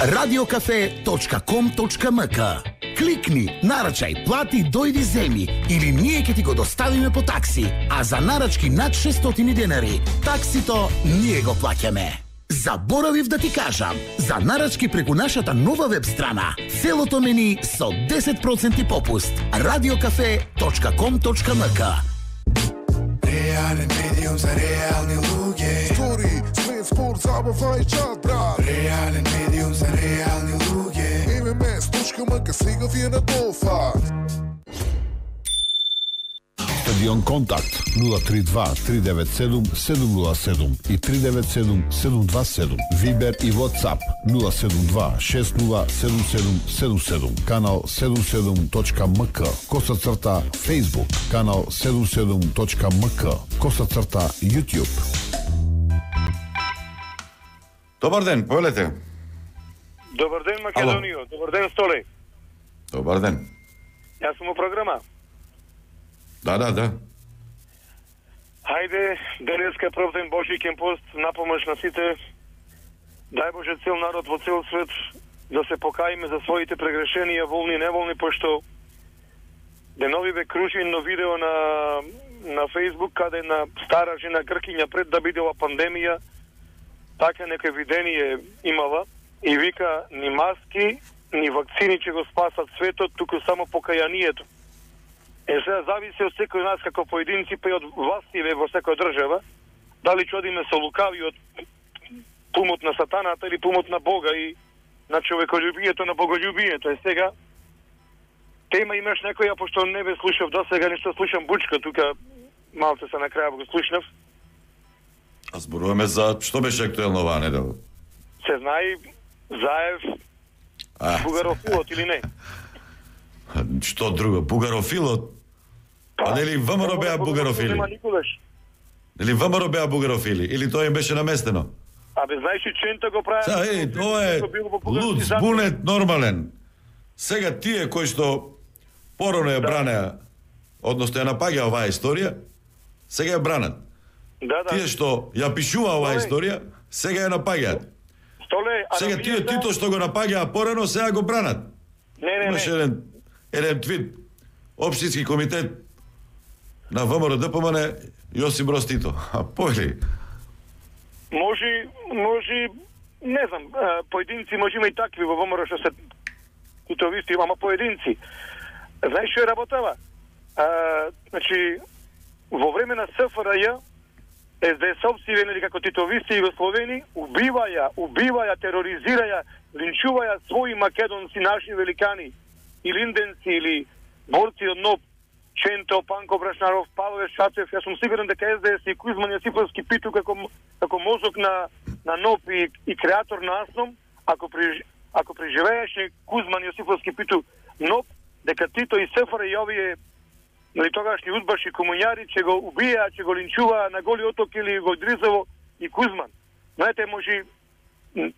Speaker 9: радиокафе точка ком точка ем ка. Кликни, нарачај, плати, дојди земи или ние ќе ти го доставиме по такси, а за нарачки над шестстотини денари, таксито ние го плаќаме. Заборавив да ти кажам, за нарачки преку нашата нова веб страна, целото мени со десет проценти попуст. радиокафе точка ком точка ем ка.
Speaker 10: Реален медиум за реални луѓе. Стори, свет, спорт, забава и чат, брат. Реален медиум за реални луѓе. ем ем ес точка ем ка сега ви е на дофат.
Speaker 1: Стадион Контакт нула три два три девет седум седум нула седум и три девет седум седум два седум. Вибер и WhatsApp нула седум два шест нула седум седум седум седум. Канал седум седум точка ем ка. Коса црта Facebook. Канал седум седум точка ем ка. Коса црта YouTube.
Speaker 2: Добар ден, повелете.
Speaker 11: Добар ден, Македонијо. Добар ден, Столе.
Speaker 2: Добар ден.
Speaker 11: Јас сум у програма.
Speaker 2: Да, да, да.
Speaker 11: Хајде, денеска прв ден Божиќен пост, напомаш на сите. Дај Боже цел народ во цел свет да се покаиме за своите прегрешенија, волни и неволни, пошто деновиве кружи едно видео на на Facebook каде една стара жена гркиња пред да бидела пандемија, така некој видение имала и вика ни маски, ни вакцини ќе го спасат светот, туку само покајанието. Е, сега зависи од секој нас како поединци, па и од властиве во секоја држава, дали ќе одиме со лукавиот пумот на сатаната или пумот на Бога и на човеколюбието, на боголюбието. Е, сега тема имаш некоја, пошто не бе слушав до сега, нешто слушам бучка, тука малце се на крај го слушнав.
Speaker 2: А зборуваме за што беше актуелно оваа недела?
Speaker 11: Се знае Заев бугарофилот или не?
Speaker 2: Што друго? Бугарофилот? А нели ВМРО беа бугарофили? Нели ВМРО беа бугарофили? Или тоа им беше наместено?
Speaker 11: Абе, знаеш и Чента го прави...
Speaker 2: Са, е, тоа е луд, збунет, нормален. Сега тие кои што порано ја бранеа, односно ја напаѓа оваа историја, сега ја бранат.
Speaker 11: Да, да.
Speaker 2: Тие што ја пишува оваа историја, сега ја напаѓаат.
Speaker 11: Столе,
Speaker 2: сега тие Тито што го напаѓаа порано, сега го бранат.
Speaker 11: Не, не,
Speaker 2: Имаше
Speaker 11: не.
Speaker 2: еден, еден твит, Општински комитет на ВМРО Д П М Н, Јосип Броз Тито. А појли?
Speaker 11: Може, може, не знам, поединци може има и такви во ВМРО што се титовисти, ама поединци. Знаеш што е работава? А, значи, во време на С Ф Р Ј, С Д С-овци, нели како титовисти југословени, убиваја, убиваја, тероризираја, линчуваја своји македонци, наши великани, или инденци, или борци од НОП, Ченто, Панко Брашнаров, Павле Шацев. Јас сум сигурен дека С Д С и Кузман Јосиповски Питу како како мозок на на НОП и, и креатор на АСНОМ, ако при ако преживееше Кузман Јосифовски питу, но дека Тито и СФР и овие нали тогашни удбаши комуњари ќе го убија, ќе го линчува на Голи оток или го Дризово и Кузман. Знаете, може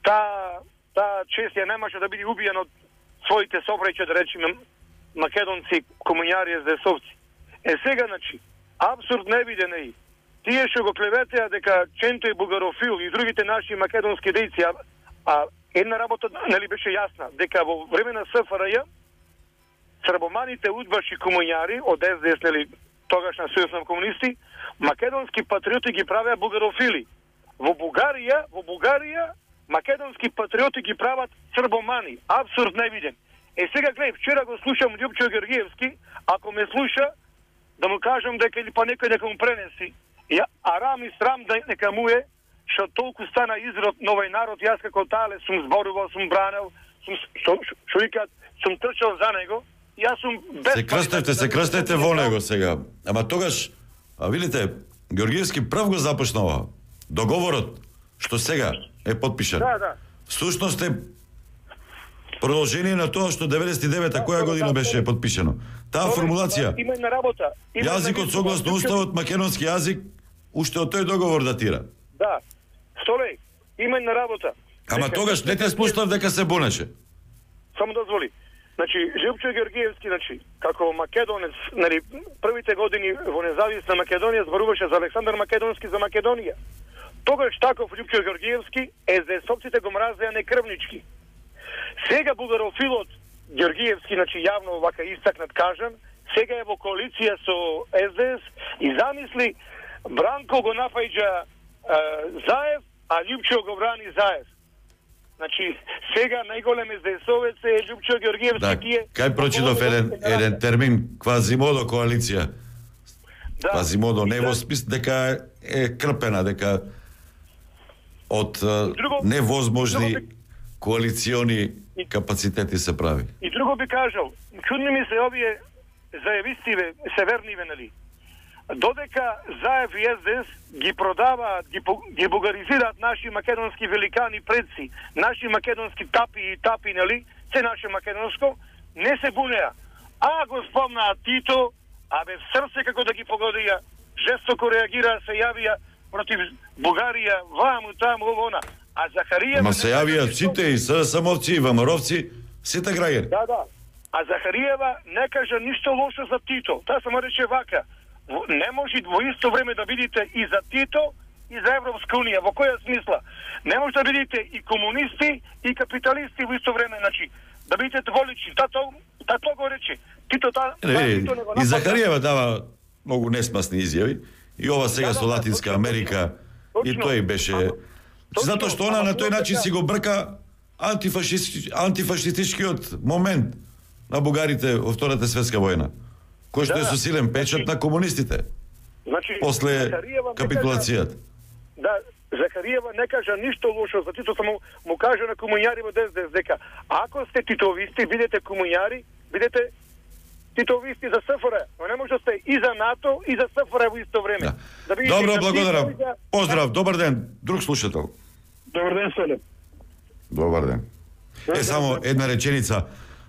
Speaker 11: таа таа чест ја немаше да биде убиен од своите собрајче, да речеме, македонци, комуњари, ездесовци. Е сега, значи, абсурд невиден е и тие што го клеветеа дека Ченто е бугарофил и другите наши македонски дејци, а, а една работа нели беше јасна, дека во време на СФРЈ србоманите удбаши комуњари од ес де ес, нели тогашна сојуз на комунисти, македонски патриоти ги правеа бугарофили. Во Бугарија, во Бугарија македонски патриоти ги прават србомани. Абсурд невиден. Е сега гледај, вчера го слушам Љупчо Георгиевски, ако ме слуша, да му кажам дека или па некој дека му пренеси. Ја, арам и срам да нека му е, што толку стана изрод на овој народ, јас како тале сум зборувал, сум бранел, сум што викаат, сум трчал за него. Јас сум без
Speaker 2: Се крстевте, се крстевте во него сега. Ама тогаш, а видите, Георгиевски прв го започнува. Договорот што сега е подпишан.
Speaker 11: Да, да.
Speaker 2: Всушност е продолжение на тоа што деветдесет и девета која година беше подпишано. Таа формулација.
Speaker 11: Има една работа.
Speaker 2: Јазикот согласно уставот македонски јазик уште од тој договор датира.
Speaker 11: Да. Столеј, има една работа.
Speaker 2: Ама тогаш не те спуштав дека се бунеше.
Speaker 11: Само дозволи. Значи, Љупчо Георгиевски, значи, како македонец, нали, првите години во независна Македонија зборуваше за Александар Македонски за Македонија. Тогаш таков Љупчо Георгиевски, ездесовците го мразеа некрвнички. Сега бугарофилот Георгиевски, значи јавно вака истакнат кажан, сега е во коалиција со ес де ес и замисли Бранко го напаѓа е, Заев, а Љупчо го брани Заев. Значи, сега најголем ездесовец е Љупчо Георгиевски.
Speaker 2: Да,
Speaker 11: тие...
Speaker 2: кај прочитав еден, еден термин, квазимодо коалиција. Да. Квазимодо, не во смис дека е крпена, дека од друго, невозможни друго би... коалициони капацитети се прави.
Speaker 11: И друго би кажал, чудни ми се овие заевистиве, северниве, нали? Додека Заев и ес де ес ги продаваат, ги, ги бугаризираат наши македонски великани предци, наши македонски тапи и тапи, нали, се наше македонско, не се бунеа. А го спомнаат Тито, а бе в срце како да ги погодија, жестоко реагираа, се јавија против Бугарија, ваму, таму, ово, она. А Захариева...
Speaker 2: Ма се јавија сите и СДСМовци, и ВМРО-вци, сите граѓани.
Speaker 11: Да, да. А Захариева не кажа ништо лошо за Тито. Таа само рече вака. Не може во исто време да бидите и за Тито и за Европска унија. Во која смисла? Не може да бидите и комунисти и капиталисти во исто време, значи да бидите дволични. Тато тато го рече. Тито та
Speaker 2: е, Тито не го и Захариева дава многу несмасни изјави. И ова сега да, со Латинска да, Америка точно, и тој беше точно, затоа што она на тој начин си го брка антифашист, антифашистичкиот момент на бугарите во Втората светска војна, кој што да, е со силен печат значи, на комунистите.
Speaker 11: Значи,
Speaker 2: после капитулацијата.
Speaker 11: Да, Захариева не кажа ништо лошо за Тито, само му кажа на комуњари во ес де ес дека ако сте титовисти, бидете комуњари, бидете титовисти за СФР, но не може да сте и за НАТО и за СФР во исто време. Да. Да
Speaker 2: Добро, благодарам. За... Поздрав, добар ден. Друг слушател.
Speaker 11: Добар ден, Соле.
Speaker 2: Добар ден. Добар е, само една реченица,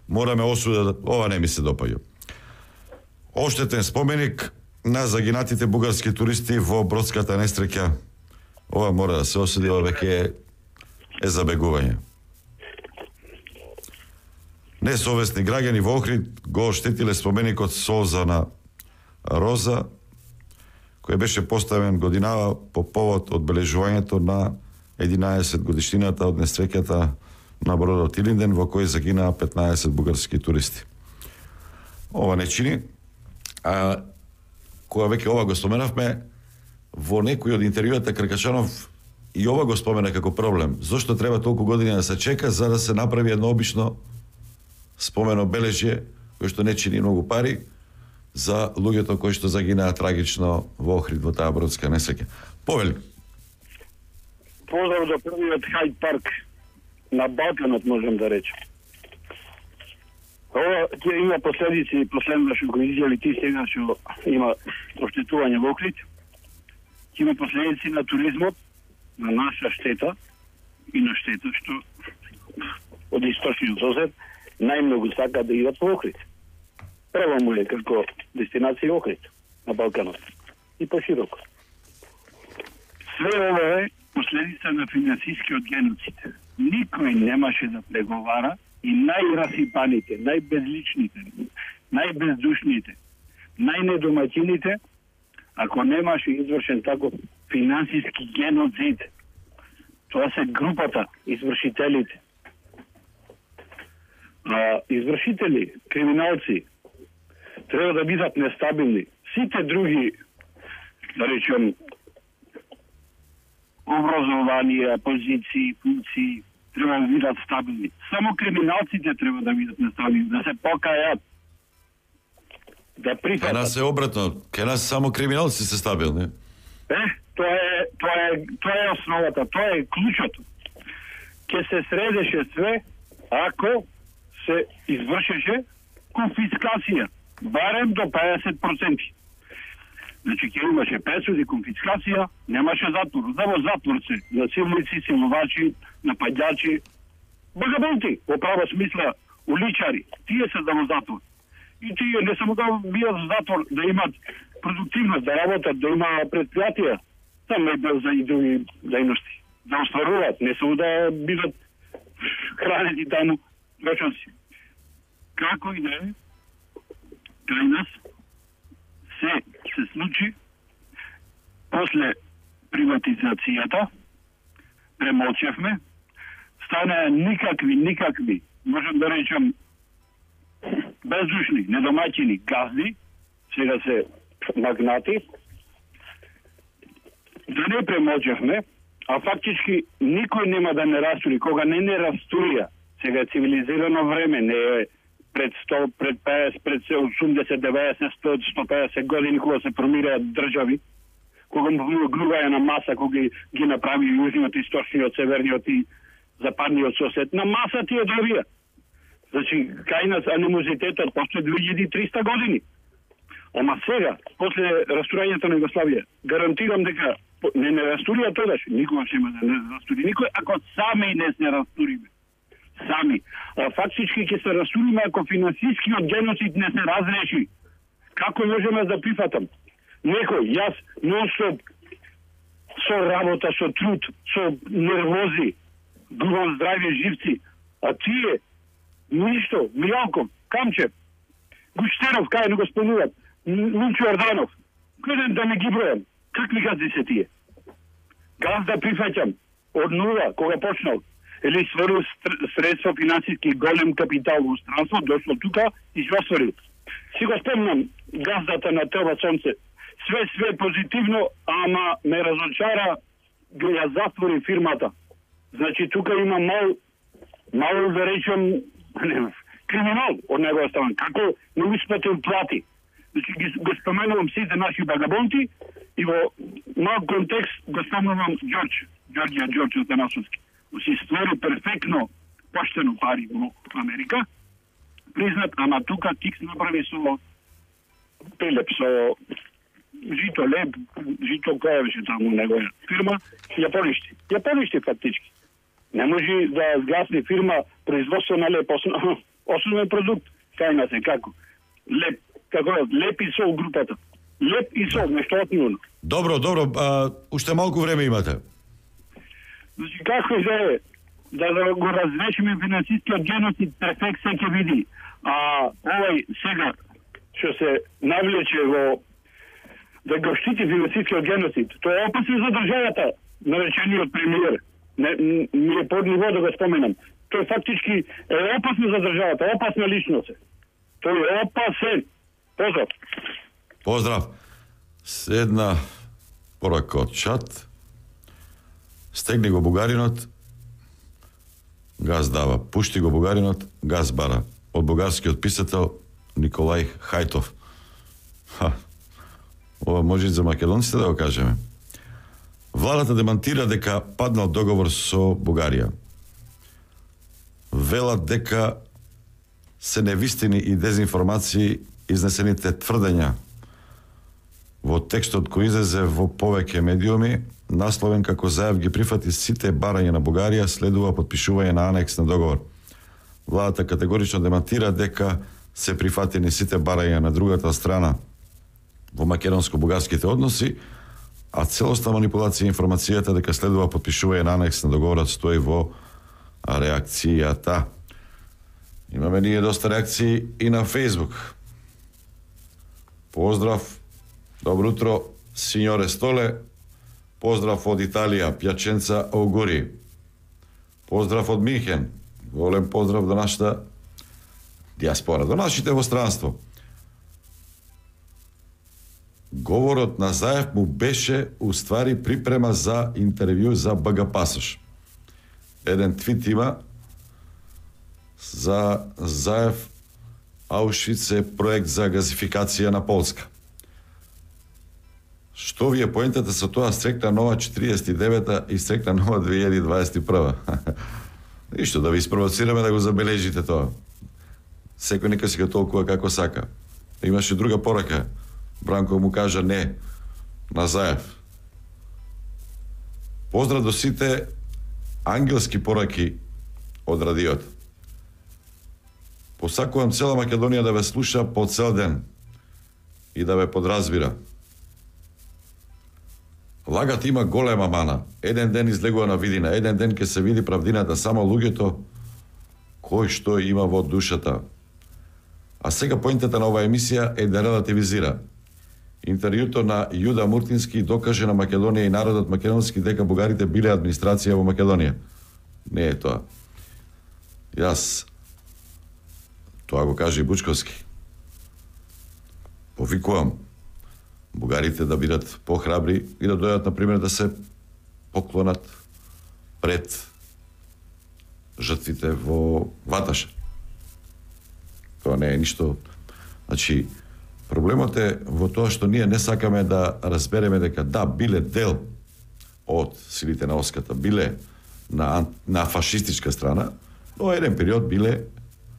Speaker 2: мораме осудат, ова не ми се допаѓа. Оштетен споменик на загинатите бугарски туристи во бродската несреќа. Ова мора да се осуди, ова веќе е, е забегување. Несовесни граѓани во Охрид го оштетиле споменикот Солза на Роза, кој беше поставен годинава по повод одбележувањето на единаесет годишнината од несреќата на бродот Илинден, во кој загинаа петнаесет бугарски туристи. Ова не чини, а кога веќе ова го споменавме, во некој од интервјуата Кркачанов и ова го спомена како проблем. Зошто треба толку години да се чека за да се направи едно обично спомено бележје кој што не чини многу пари за луѓето кои што загинаа трагично во Охрид во таа бродска несреќа. Повели.
Speaker 12: Поздрав до првиот Хајд парк на Балканот, можам да речем. Ова ќе има последици, последно што го изјави ти сега што има оштетување во Охрид. Ќе има последици на туризмот, на наша штета и на штета што од источниот сосед, најмногу сака да идат во Охрид. Прва му е како дестинација Охрид на Балканот и пошироко. Све ова е последица на финансискиот геноцид. Никој немаше да преговара и најрасипаните, најбезличните, најбездушните, најнедомаќините, ако немаше извршен таков финансиски геноцид. Тоа се групата, извршителите. А, извршители, криминалци, треба да бидат нестабилни. Сите други, да речем, образование, позиции, функции, треба да бидат стабилни. Само криминалците треба да бидат нестабилни, да се покајат, да прифатат.
Speaker 2: Кај нас е обратно, кај нас само криминалци се стабилни.
Speaker 12: Е, тоа е, тоа е, тоа е основата, тоа е клучото. Ке се средеше све ако се извршеше конфискација, барем до педесет проценти. Значи, ке имаше пресуди, конфискација, немаше затвор. Да во затвор се насилници, силувачи, нападјачи, багабонти, во права смисла, уличари, тие се да во затвор. И тие не само да бијат во затвор, да имат продуктивност, да работат, да има предпријатија, там е бил за и други дејности, да остваруваат, не само да бидат хранети таму, точно си. Како и да е, кај нас се се случи после приватизацијата, премолчевме, стана никакви, никакви, можем да речем, бездушни, недомаќини газди, сега се магнати, да не премолчевме, а фактички никој нема да не растури, кога не не растурија, сега е цивилизирано време, не е пред сто, пред педесет, пред осумдесет, деветдесет, сто, сто педесет години кога се формираат држави, кога му глуваја на маса, кога ги, ги направи јужниот, источниот, северниот и западниот сосед, на маса тие добија. Значи, кај нас анимозитетот постои две илјади и триста години. Ама сега, после растурањето на Југославија, гарантирам дека не не растурија тогаш, никога ќе има да не растури никој, ако сами не се растуриме. Сами. А фактички ќе се растуриме ако финансискиот геноцид не се разреши. Како можеме да прифатам? Некој, јас, нон-стоп, со работа, со труд, со нервози, губам здравје живци, а тие, ништо, Милјанков, Камчев, Гуштеров, кај не го спомнуват, Лунчо Орданов, гледам да не ги бројам. Какви газди се тие? Газ да прифаќам од нула, кога почнал, или сврл средства финансиски голем капитал во странство, дошло тука и се осварил. Си го спомнам газдата на Тева Сонце. Све, све позитивно, ама ме разочара, го ја затвори фирмата. Значи, тука има мал, мал да речем, не, криминал од негова страна. Како не успетил плати. Значи, ги, го споменувам сите наши багабонти и во мал контекст го споменувам Ѓорџ, Ѓорѓија Ѓорџ Атанасовски. Си створи перфектно поштено пари во Америка, признат, ама тука Тикс направи со Пелеп, со Жито Леп, Жито која беше таму негова фирма, ја поништи. Ја поништи фактички. Не може да згасни фирма производство на леп, основ, основен продукт, кај нас е како? Леп, како леп и сол групата. Леп и сол, нешто отмилно.
Speaker 2: Добро, добро, а, уште малку време имате.
Speaker 12: Значи, како да е, да, да го разрешиме финансискиот геноцид, перфект се ќе види. А овој сега, што се навлече во да го штити финансискиот геноцид, тоа е опасно за државата, наречениот премиер. Не, ми е под ниво да го споменам. Тој фактички е опасно за државата, опасна личност е. Тој е опасен. Поздрав.
Speaker 2: Поздрав. Седна порака од чат. Стегни го бугаринот, газ дава. Пушти го бугаринот, газ бара. Од бугарскиот писател Николај Хајтов. Ха. Ова може и за македонците да го кажеме. Владата демантира дека паднал договор со Бугарија. Велат дека се невистини и дезинформации изнесените тврдења во текстот кој излезе во повеќе медиуми, насловен како зајав ги прифати сите барања на Бугарија, следува подпишување на анекс на договор. Владата категорично демантира дека се прифатени сите барања на другата страна во македонско-бугарските односи, а целосна манипулација информацијата дека следува подпишување на анекс на договорот стои во реакцијата. Имаме ние доста реакции и на Фейсбук. Поздрав, добро утро, синьоре Столе. Поздрав од Италија, Пјаченца Огури. Поздрав од Минхен. Голем поздрав до нашата диаспора, до нашите во странство. Говорот на Заев му беше уствари припрема за интервју за БГ Пасош. Еден твит има за Заев, Аушвиц е проект за газификација на Полска. Што ви е поентата со тоа стрекна нова четириесет и девета и стрекна нова две илјади дваесет и прва? Ништо, да ви спровоцираме да го забележите тоа. Секој нека си го толкува како сака. Имаше друга порака. Бранко му кажа не на Заев. Поздрав до сите ангелски пораки од радиото. Посакувам цела Македонија да ве слуша по цел ден и да ве подразбира. Лагат има голема мана. Еден ден излегува на видина, еден ден ќе се види правдината, само луѓето кој што има во душата. А сега поинтата на оваа емисија е да релативизира. Интервјуто на Јуда Муртински докаже на Македонија и народот македонски дека бугарите биле администрација во Македонија. Не е тоа. Јас тоа го каже и Бучковски. Повикувам бугарите да бидат похрабри и да дојдат, например, да се поклонат пред жртвите во Ваташа. Тоа не е ништо. Значи, проблемот е во тоа што ние не сакаме да разбереме дека да, биле дел од силите на Оската, биле на, на фашистичка страна, но еден период биле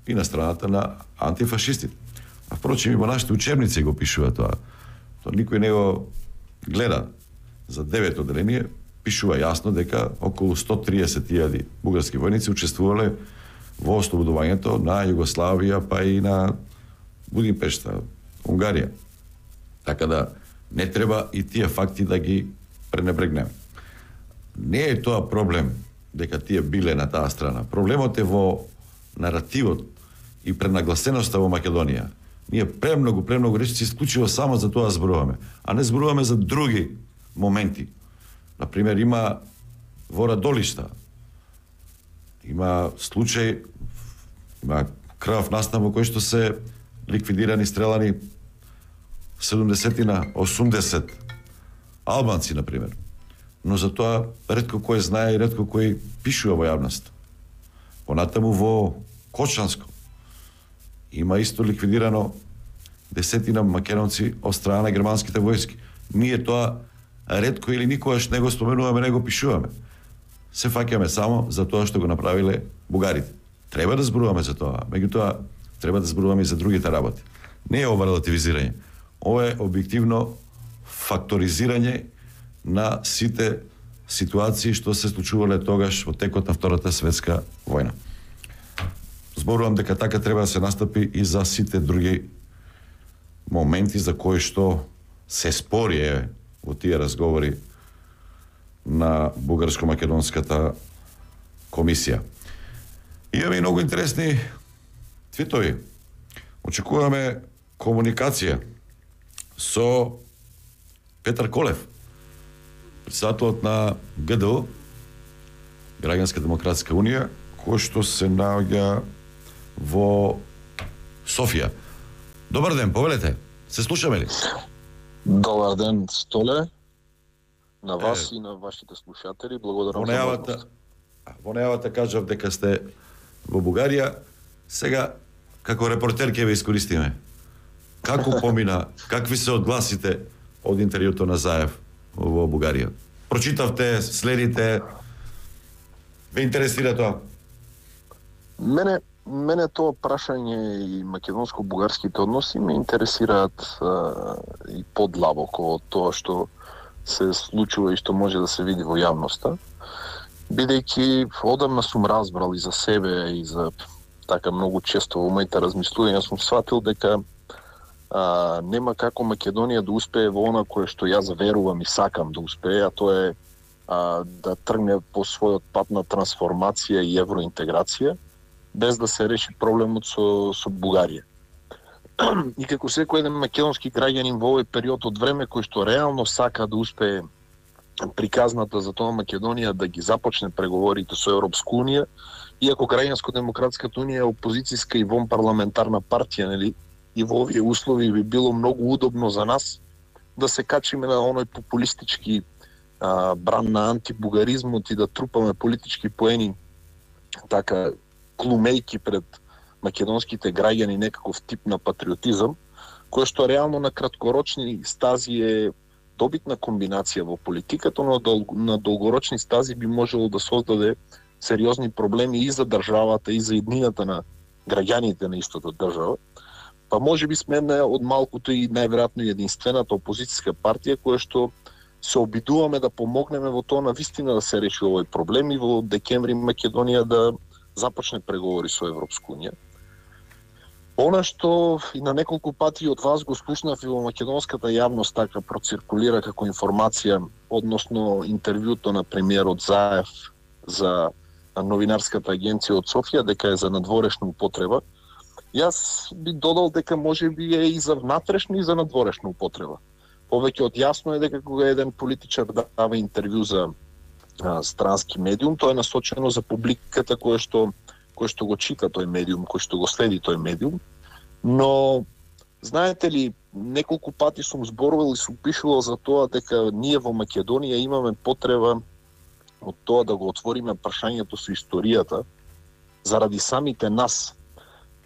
Speaker 2: и на страната на антифашистите. А впрочем и во нашите учебници го пишува тоа. Тоа никој не го гледа. За девето одделение пишува јасно дека околу сто триесет илјади бугарски војници учествувале во ослободувањето на Југославија, па и на Будимпешта, Унгарија. Така да не треба и тие факти да ги пренебрегнеме. Не е тоа проблем дека тие биле на таа страна. Проблемот е во наративот и пренагласеноста во Македонија. Ние премногу, премногу речи исклучиво само за тоа зборуваме, а не зборуваме за други моменти. Например, има во Радолишта, има случај, има крвав настан во кој што се ликвидирани, стрелани седумдесетина, осумдесет албанци, например. Но за тоа ретко кој знае и ретко кој пишува во јавност. Понатаму во Кочанско има исто ликвидирано десетина македонци од страна на германските војски. Ние тоа ретко или никогаш не го споменуваме, не го пишуваме. Се фаќаме само за тоа што го направиле бугарите. Треба да зборуваме за тоа, меѓутоа треба да зборуваме и за другите работи. Не е ова релативизирање. Ова е објективно факторизирање на сите ситуации што се случувале тогаш во текот на Втората светска војна. Зборувам дека така треба да се настапи и за сите други моменти за кои што се спори е во тие разговори на бугарско-македонската комисија. Имаме и многу интересни твитови. Очекуваме комуникација со Петар Колев, председателот на ГДУ, Граѓанска демократска унија, кој што се наоѓа во Софија. Добар ден, повелете. Се слушаме ли?
Speaker 13: Добар ден, Столе. На вас е, и на вашите слушатели. Благодарам
Speaker 2: за најавата. Во најавата кажав дека сте во Бугарија. Сега, како репортер ќе ве искористиме. Како помина, какви се одгласите од интервјуто на Заев во Бугарија? Прочитавте, следите, ве интересира тоа?
Speaker 13: Мене, мене тоа прашање и македонско-бугарските односи ме интересираат а, и подлабоко од тоа што се случува и што може да се види во јавноста, бидејќи одамна сум разбрал и за себе и за така многу често во моите размислувања сум сватил дека а, нема како Македонија да успее во она кое што јас верувам и сакам да успее, а тоа е а, да тргне по својот пат на трансформација и евроинтеграција, без да се реши проблемот со, со Бугарија. И како секој еден македонски граѓанин во овој период од време кој што реално сака да успее приказната за тоа Македонија да ги започне преговорите со Европска унија, иако Граѓанско-демократската унија е опозицијска и вонпарламентарна партија, нели, и во овие услови би било многу удобно за нас да се качиме на оној популистички а, бран на антибугаризмот и да трупаме политички поени, така клумејки пред македонските граѓани некаков тип на патриотизам, кој што реално на краткорочни стази е добитна комбинација во политиката, но на долгорочни стази би можело да создаде сериозни проблеми и за државата, и за иднината на граѓаните на истата држава. Па може би сме една од малкото и најверојатно единствената опозицијска партија која што се обидуваме да помогнеме во тоа на вистина да се реши овој проблем и во декември Македонија да започне преговори со Европска унија. Она што и на неколку пати од вас го слушнав и во македонската јавност така проциркулира како информација односно интервјуто на премиерот Заев за новинарската агенција од Софија дека е за надворешна употреба. Јас би додал дека може би е и за внатрешна и за надворешна употреба. Повеќе од јасно е дека кога еден политичар дава интервју за а, странски медиум, тоа е насочено за публиката која што кој што го чита тој медиум, кој што го следи тој медиум. Но знаете ли, неколку пати сум зборувал и сум пишувал за тоа дека ние во Македонија имаме потреба од тоа да го отвориме прашањето со историјата заради самите нас.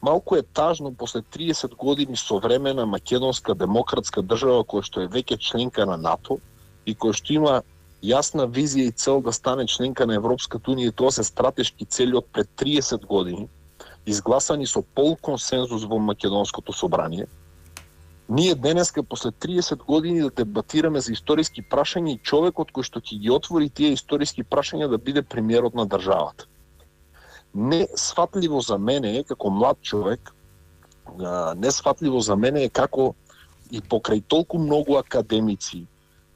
Speaker 13: Малку е тажно после триесет години современа македонска демократска држава која што е веќе членка на НАТО и која што има јасна визија и цел да стане членка на Европската унија, и тоа се стратешки цели од пред триесет години, изгласани со пол консензус во македонското собрание. Ние денеска после триесет години да дебатираме за историски прашања и човекот кој што ќе ги отвори тие историски прашања да биде премиерот на државата. Несфатливо за мене е како млад човек, несфатливо за мене е како и покрај толку многу академици,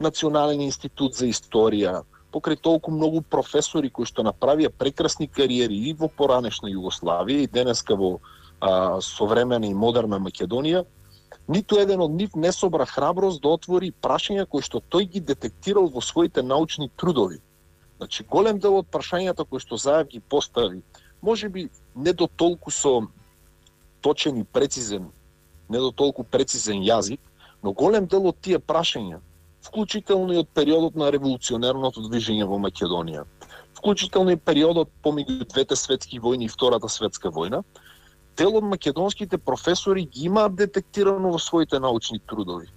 Speaker 13: Национален институт за историја, покрај толку многу професори кои што направија прекрасни кариери и во поранешна Југославија и денеска во а, современа и модерна Македонија, ниту еден од нив не собра храброст да отвори прашања кои што тој ги детектирал во своите научни трудови. Значи, голем дел од прашањата кои што Заев ги постави, може би не до толку со точен и прецизен, не до толку прецизен јазик, но голем дел од тие прашања, вклучително и од периодот на револуционерното движење во Македонија, вклучително и периодот помеѓу двете светски војни и Втората светска војна, дел од македонските професори ги имаат детектирано во своите научни трудови.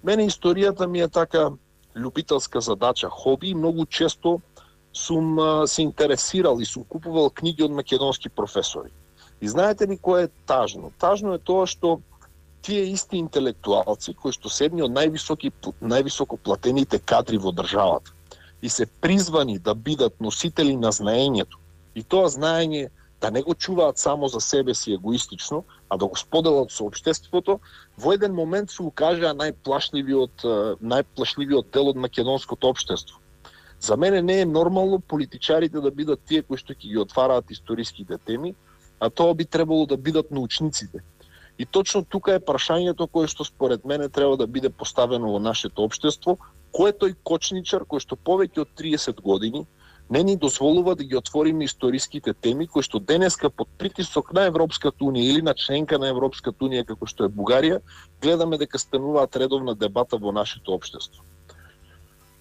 Speaker 13: Мене историјата ми е така љубителска задача, хоби, и многу често сум а, се интересирал и сум купувал книги од македонски професори. И знаете ли кое е тажно? Тажно е тоа што тие исти интелектуалци кои што се едни од највисоки највисоко платените кадри во државата и се призвани да бидат носители на знаењето, и тоа знаење да не го чуваат само за себе си егоистично, а да го споделат со општеството, во еден момент се укажаа најплашливиот најплашливиот дел од македонското општество. За мене не е нормално политичарите да бидат тие кои што ќе ги отвараат историските теми, а тоа би требало да бидат научниците. И точно тука е прашањето кое што според мене треба да биде поставено во нашето општество, кој е тој кочничар кој што повеќе од триесет години не ни дозволува да ги отвориме историските теми кои што денеска под притисок на Европската унија или на членка на Европската унија како што е Бугарија, гледаме дека стануваат редовна дебата во нашето општество.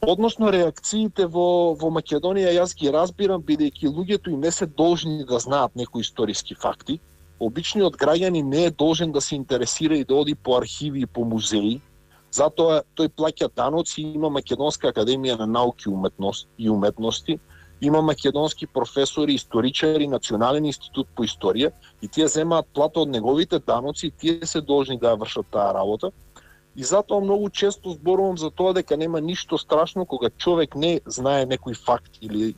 Speaker 13: Односно реакциите во во Македонија јас ги разбирам, бидејќи луѓето и не се должни да знаат некои историски факти. Обичниот граѓанин не е должен да се интересира и да оди по архиви и по музеи. Затоа тој плаќа даноци, има Македонска академија на науки и уметности, има македонски професори, историчари, Национален институт по историја, и тие земаат плата од неговите даноци и тие се должни да ја вршат таа работа. И затоа многу често зборувам за тоа дека нема ништо страшно кога човек не знае некој факт или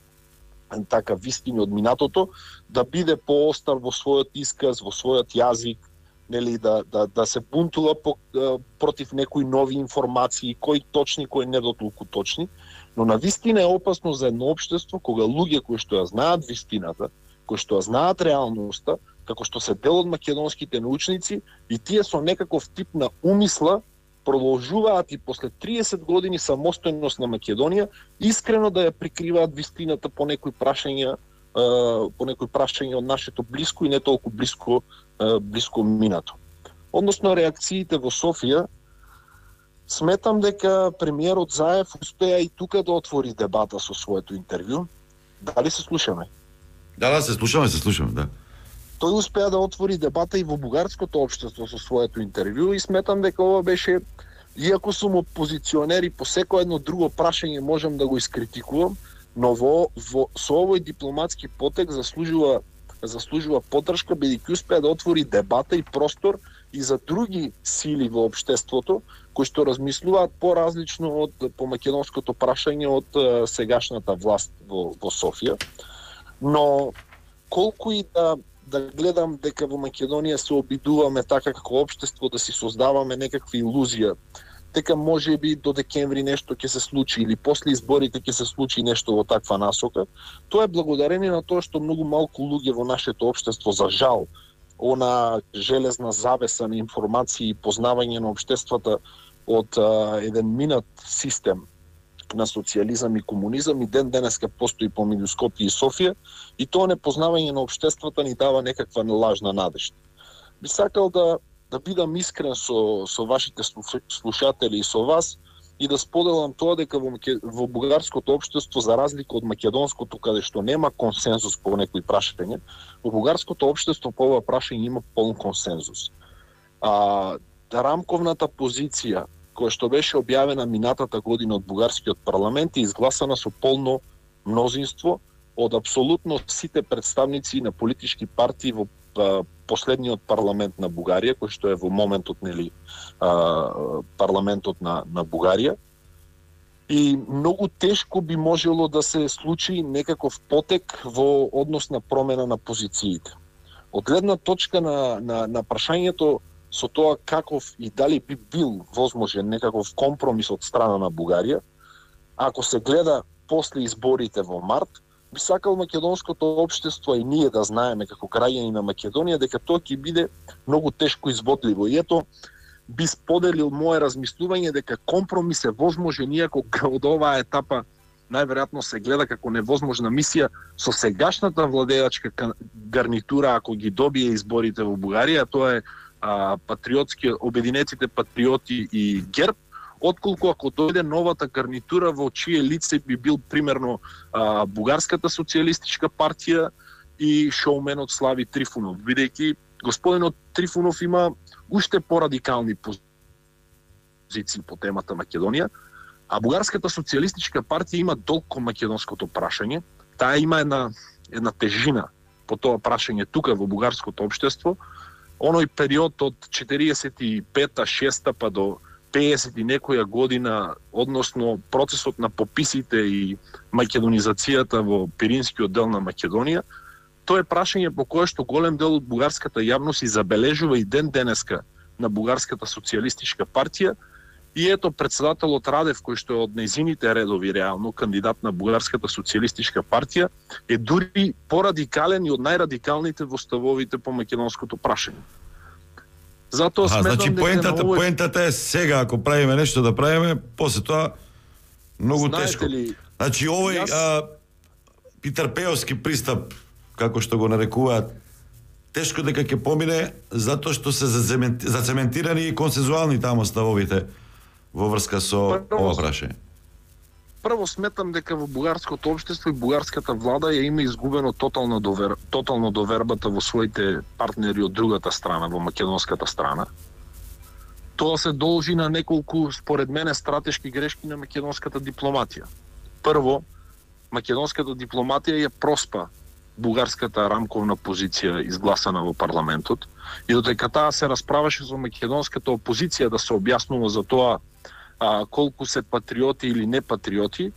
Speaker 13: така вистини од минатото, да биде поостар во својот исказ, во својот јазик, нели, да, да, да се бунтува по, против некои нови информации, кои точни, кои не дотолку точни, но на вистина е опасно за едно општество кога луѓе кои што ја знаат вистината, кои што ја знаат реалноста, како што се дел од македонските научници, и тие со некаков тип на умисла продолжуваат и после триесет години самостојност на Македонија искрено да ја прикриваат вистината по некои прашања, по некои прашања од нашето блиско и не толку блиско блиско минато. Односно реакциите во Софија, сметам дека премиерот Заев успеа и тука да отвори дебата со своето интервју. Дали се слушаме?
Speaker 2: Да, да, се слушаме, се слушаме, да.
Speaker 13: Тој успеа да отвори дебата и во бугарското општество со своето интервју и сметам дека ова беше, иако сум опозиционер и по секој едно друго прашање можам да го искритикувам, но во, во со овој дипломатски потек заслужува заслужува поддршка, бидејќи успеа да отвори дебата и простор и за други сили во општеството кои што размислуваат поразлично од по македонското прашање од е, сегашната власт во, во Софија. Но колку и да да гледам дека во Македонија се обидуваме така како општество да си создаваме некакви илузија, дека може би до декември нешто ќе се случи или после изборите ќе се случи нешто во таква насока, тоа е благодарение на тоа што многу малку луѓе во нашето општество, за жал, она железна завеса на информации и познавање на општествата од а, еден минат систем на социјализам и комунизам и ден денеска постои помеѓу Скопје и Софија, и тоа непознавање на општествата ни дава некаква лажна надежда. Би сакал да да бидам искрен со со вашите слушатели и со вас и да споделам тоа дека во, во бугарското општество, за разлика од македонското каде што нема консензус по некои прашања, во бугарското општество по ова прашање има полн консензус. А рамковната позиција која што беше објавена минатата година од бугарскиот парламент и изгласана со полно мнозинство од апсолутно сите представници на политички партии во последниот парламент на Бугарија, кој што е во моментот, нели, парламентот на на Бугарија. И многу тешко би можело да се случи некаков потек во однос на промена на позициите. Од гледна точка на на на прашањето со тоа каков и дали би бил возможен некаков компромис од страна на Бугарија, ако се гледа после изборите во март, би сакал македонското општество и ние да знаеме како граѓани на Македонија дека тоа ќе биде многу тешко изводливо. И ето би споделил мое размислување дека компромис е возможен, иако од оваа етапа најверојатно се гледа како невозможна мисија со сегашната владеачка гарнитура, ако ги добие изборите во Бугарија, тоа е а, патриотски обединетите патриоти и ГЕРБ, отколку ако дојде новата гарнитура во чие лице би бил примерно а, Бугарската социјалистичка партија и шоуменот Слави Трифунов, бидејќи господинот Трифунов има уште порадикални позиции по темата Македонија, а Бугарската социјалистичка партија има долг кон македонското прашање. Таа има една една тежина по тоа прашање тука во бугарското општество. Оној период од четириесет и пета шеста па до пеесет и некоја година, односно процесот на пописите и македонизацијата во Пиринскиот дел на Македонија, тоа е прашање по кое што голем дел од бугарската јавност и забележува и ден денеска на Бугарската социјалистичка партија. И ето председателот Радев, кој што е од нејзините редови реално кандидат на Бугарската социјалистичка партија, е дури порадикален и од најрадикалните во ставовите по македонското прашање. Затоа
Speaker 2: а,
Speaker 13: сметам
Speaker 2: значи
Speaker 13: дека
Speaker 2: поентата,
Speaker 13: овој...
Speaker 2: поентата е сега ако правиме нешто да правиме, после тоа многу
Speaker 13: Знаете
Speaker 2: тешко.
Speaker 13: ли,
Speaker 2: Значи овој
Speaker 13: јас...
Speaker 2: а, Питер Пеовски пристап, како што го нарекуваат, тешко дека ќе помине затоа што се зацементирани и консензуални таму ставовите во врска со
Speaker 13: Прво,
Speaker 2: ова прашање.
Speaker 13: Прво сметам дека во бугарското општество и бугарската влада ја има изгубено тотално довер, тотално довербата во своите партнери од другата страна, во македонската страна. Тоа се должи на неколку, според мене, стратешки грешки на македонската дипломатија. Прво, македонската дипломатија ја проспа бугарската рамковна позиција изгласана во парламентот и додека таа се расправаше со македонската опозиција да се објаснува за тоа а, колку се патриоти или не патриоти,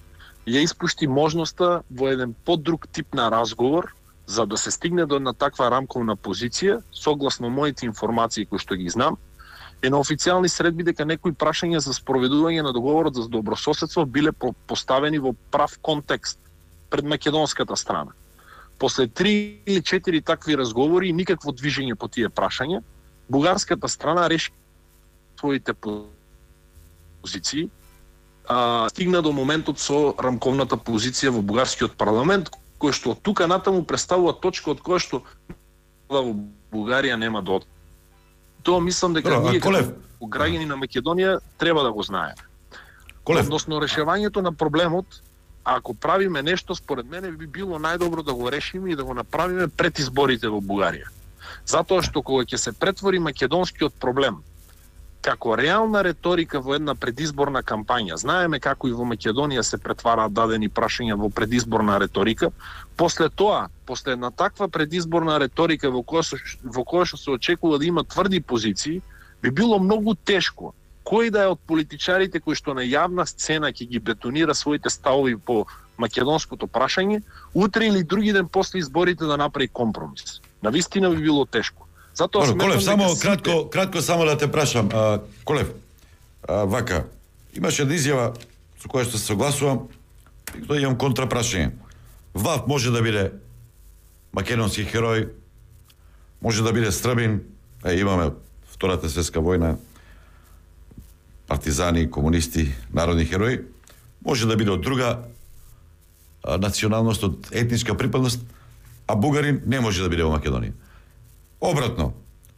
Speaker 13: ја испушти можноста во еден подруг тип на разговор за да се стигне до една таква рамковна позиција, согласно моите информации кои што ги знам, е на официјални средби дека некои прашања за спроведување на договорот за добрососедство биле поставени во прав контекст пред македонската страна. После три или четири такви разговори и никакво движење по тие прашања, бугарската страна реши своите позиции, а, стигна до моментот со рамковната позиција во бугарскиот парламент, кој што од тука натаму представува точка од која што во Бугарија нема до. Тоа мислам дека
Speaker 2: Бро,
Speaker 13: ние
Speaker 2: Колев...
Speaker 13: како граѓани на Македонија треба да го знаеме.
Speaker 2: Колев...
Speaker 13: Односно решавањето на проблемот, ако правиме нешто, според мене би било најдобро да го решиме и да го направиме пред изборите во Бугарија. Затоа што кога ќе се претвори македонскиот проблем како реална реторика во една предизборна кампања, знаеме како и во Македонија се претвараат дадени прашања во предизборна реторика, после тоа, после една таква предизборна реторика во која, во која што се очекува да има тврди позиции, би било многу тешко кој да е од политичарите кои што на јавна сцена ќе ги бетонира своите ставови по македонското прашање, утре или други ден после изборите да направи компромис. Навистина би било тешко. Затоа
Speaker 2: Добро, Колев, само
Speaker 13: сите...
Speaker 2: кратко, кратко само да те прашам, а, Колев, а, вака, имаше една изјава со која што се согласувам, и тоа имам контрапрашање. ВАФ може да биде македонски херој, може да биде Србин, е, имаме Втората светска војна, партизани, комунисти, народни херои, може да биде од друга а, националност, од етничка припадност, а бугарин не може да биде во Македонија. Обратно,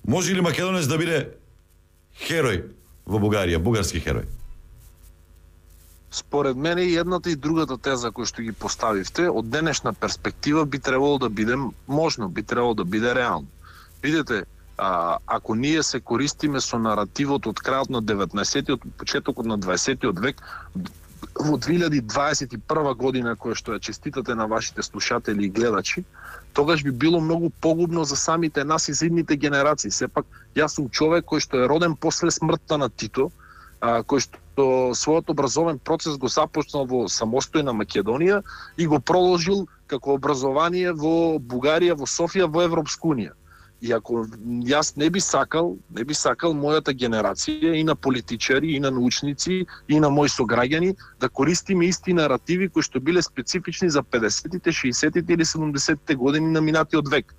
Speaker 2: може ли македонец да биде херој во Бугарија, бугарски херој?
Speaker 13: Според мене и едната и другата теза која што ги поставивте, од денешна перспектива би требало да биде можно, би требало да биде реално. Видете, а, ако ние се користиме со наративот од крајот на деветнаесеттиот, почетокот на дваесеттиот век, во две илјади дваесет и прва година, која што ја честитате на вашите слушатели и гледачи, тогаш би било многу погубно за самите нас и за идните генерации. Сепак, јас сум човек кој што е роден после смртта на Тито, а, кој што својот образовен процес го започнал во самостојна Македонија и го продолжил како образование во Бугарија, во Софија, во Европска унија. И ако јас не би сакал, не би сакал мојата генерација и на политичари, и на научници, и на мои сограѓани да користиме исти наративи кои што биле специфични за педесетите, шеесеттите или седумдесеттите години на минатиот век.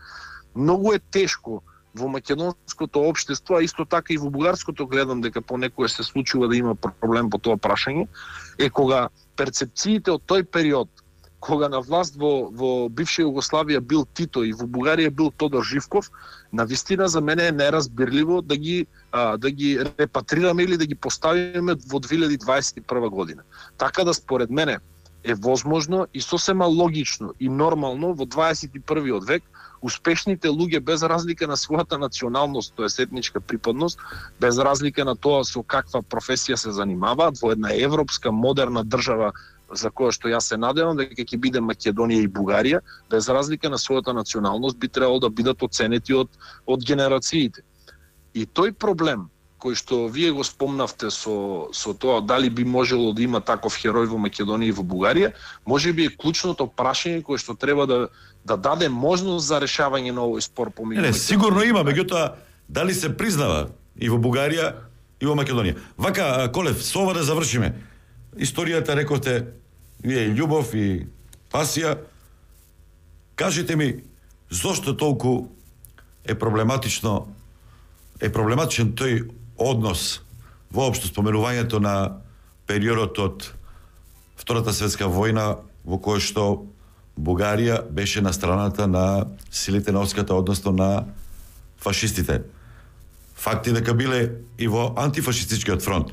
Speaker 13: Многу е тешко во македонското општество, а исто така и во бугарското, гледам дека понекогаш се случува да има проблем по тоа прашање, е кога перцепциите од тој период, кога на власт во, во бивша Југославија бил Тито и во Бугарија бил Тодор Живков, навистина за мене е неразбирливо да ги а, да ги репатрираме или да ги поставиме во две илјади дваесет и прва година. Така да според мене е возможно и сосема логично и нормално во дваесет и првиот век успешните луѓе без разлика на својата националност, тоест етничка припадност, без разлика на тоа со каква професија се занимаваат во една европска модерна држава за која што јас се надевам дека ќе биде Македонија и Бугарија, без разлика на својата националност би требало да бидат оценети од од генерациите. И тој проблем кој што вие го спомнавте со со тоа дали би можело да има таков херој во Македонија и во Бугарија, можеби е клучното прашање кое што треба да да даде можност за решавање на овој спор помеѓу.
Speaker 2: Не, не, сигурно има, меѓутоа дали се признава и во Бугарија и во Македонија. Вака, Колев, со ова да завршиме. Историјата рековте вие и љубов и пасија. Кажете ми зошто толку е проблематично е проблематичен тој однос воопшто споменувањето на периодот од Втората светска војна во кој што Бугарија беше на страната на силите на Овската, односно на фашистите. Факти дека биле и во антифашистичкиот фронт.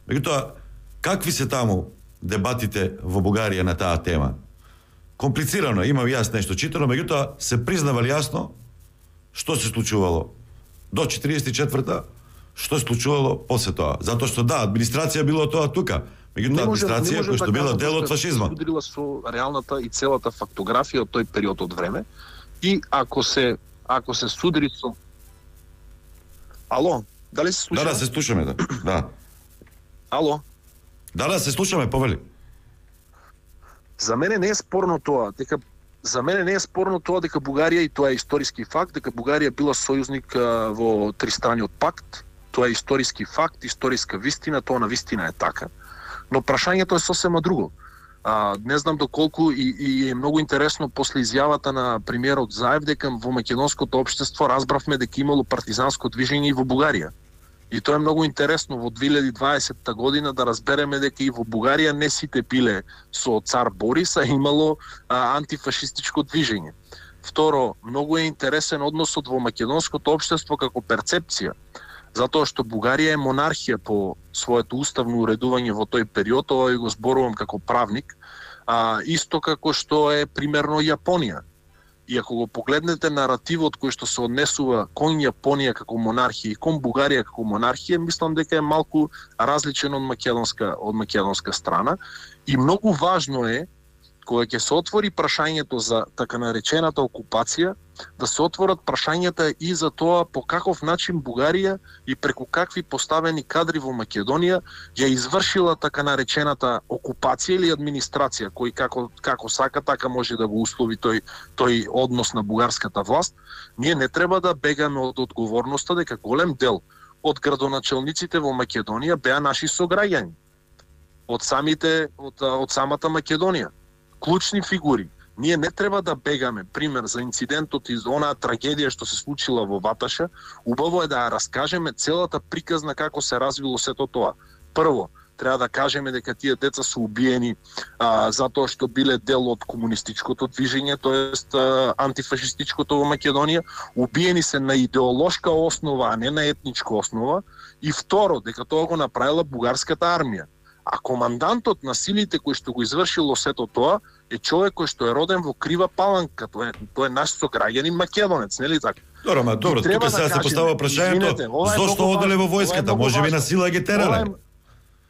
Speaker 2: Меѓутоа, какви се таму дебатите во Бугарија на таа тема? Комплицирано, имам јас нешто читано, меѓутоа се признава јасно што се случувало до четириесет и четврта, што се случувало после тоа. Затоа што да, администрација било тоа тука, меѓутоа администрација која што била дел од фашизмот.
Speaker 13: Судрила со реалната и целата фактографија од тој период од време и ако се ако се судри со Ало, дали се слушаме?
Speaker 2: Да, да, се слушаме, да. Да.
Speaker 13: Ало.
Speaker 2: Да, да, се слушаме, повели.
Speaker 13: За мене не е спорно тоа, дека за мене не е спорно тоа дека Бугарија, и тоа е историски факт, дека Бугарија била сојузник а, во Тристраниот пакт. Тоа е историски факт, историска вистина, тоа на вистина е така. Но прашањето е сосема друго. А, не знам доколку и, и е многу интересно после изјавата на премиерот Заев дека во македонското општество разбравме дека имало партизанско движење и во Бугарија. И тоа е многу интересно во две илјади и дваесетта година да разбереме дека и во Бугарија не сите биле со цар Борис, а имало а, антифашистичко движење. Второ, многу е интересен односот во македонското општество како перцепција, затоа што Бугарија е монархија по своето уставно уредување во тој период, ова го зборувам како правник, а, исто како што е примерно Јапонија. И ако го погледнете наративот кој што се однесува кон Јапонија како монархија и кон Бугарија како монархија, мислам дека е малку различен од македонска од македонска страна. И многу важно е кога ќе се отвори прашањето за така наречената окупација, да се отворат прашањата и за тоа по каков начин Бугарија и преку какви поставени кадри во Македонија ја извршила така наречената окупација или администрација, кој како како сака така може да го услови тој тој однос на бугарската власт. Ние не треба да бегаме од одговорноста дека голем дел од градоначелниците во Македонија беа наши сограѓани. Од самите од, од самата Македонија. Клучни фигури. Ние не треба да бегаме, пример, за инцидентот из онаа трагедија што се случила во Ваташа. Убаво е да ја раскажеме целата приказна како се развило сето тоа. Прво, треба да кажеме дека тие деца се убиени а, затоа што биле дел од комунистичкото движење, тоест а, антифашистичкото во Македонија. Убиени се на идеолошка основа, а не на етничка основа. И второ, дека тоа го направила бугарската армија. А командантот на силите кој што го извршило сето тоа е човек кој што е роден во Крива Паланка. Тоа е, тоа е наш сограѓанин македонец, нели така?
Speaker 2: Добро, ма добро, тука сега се поставува прашањето зошто оделе во војската? Може би на сила ги терале?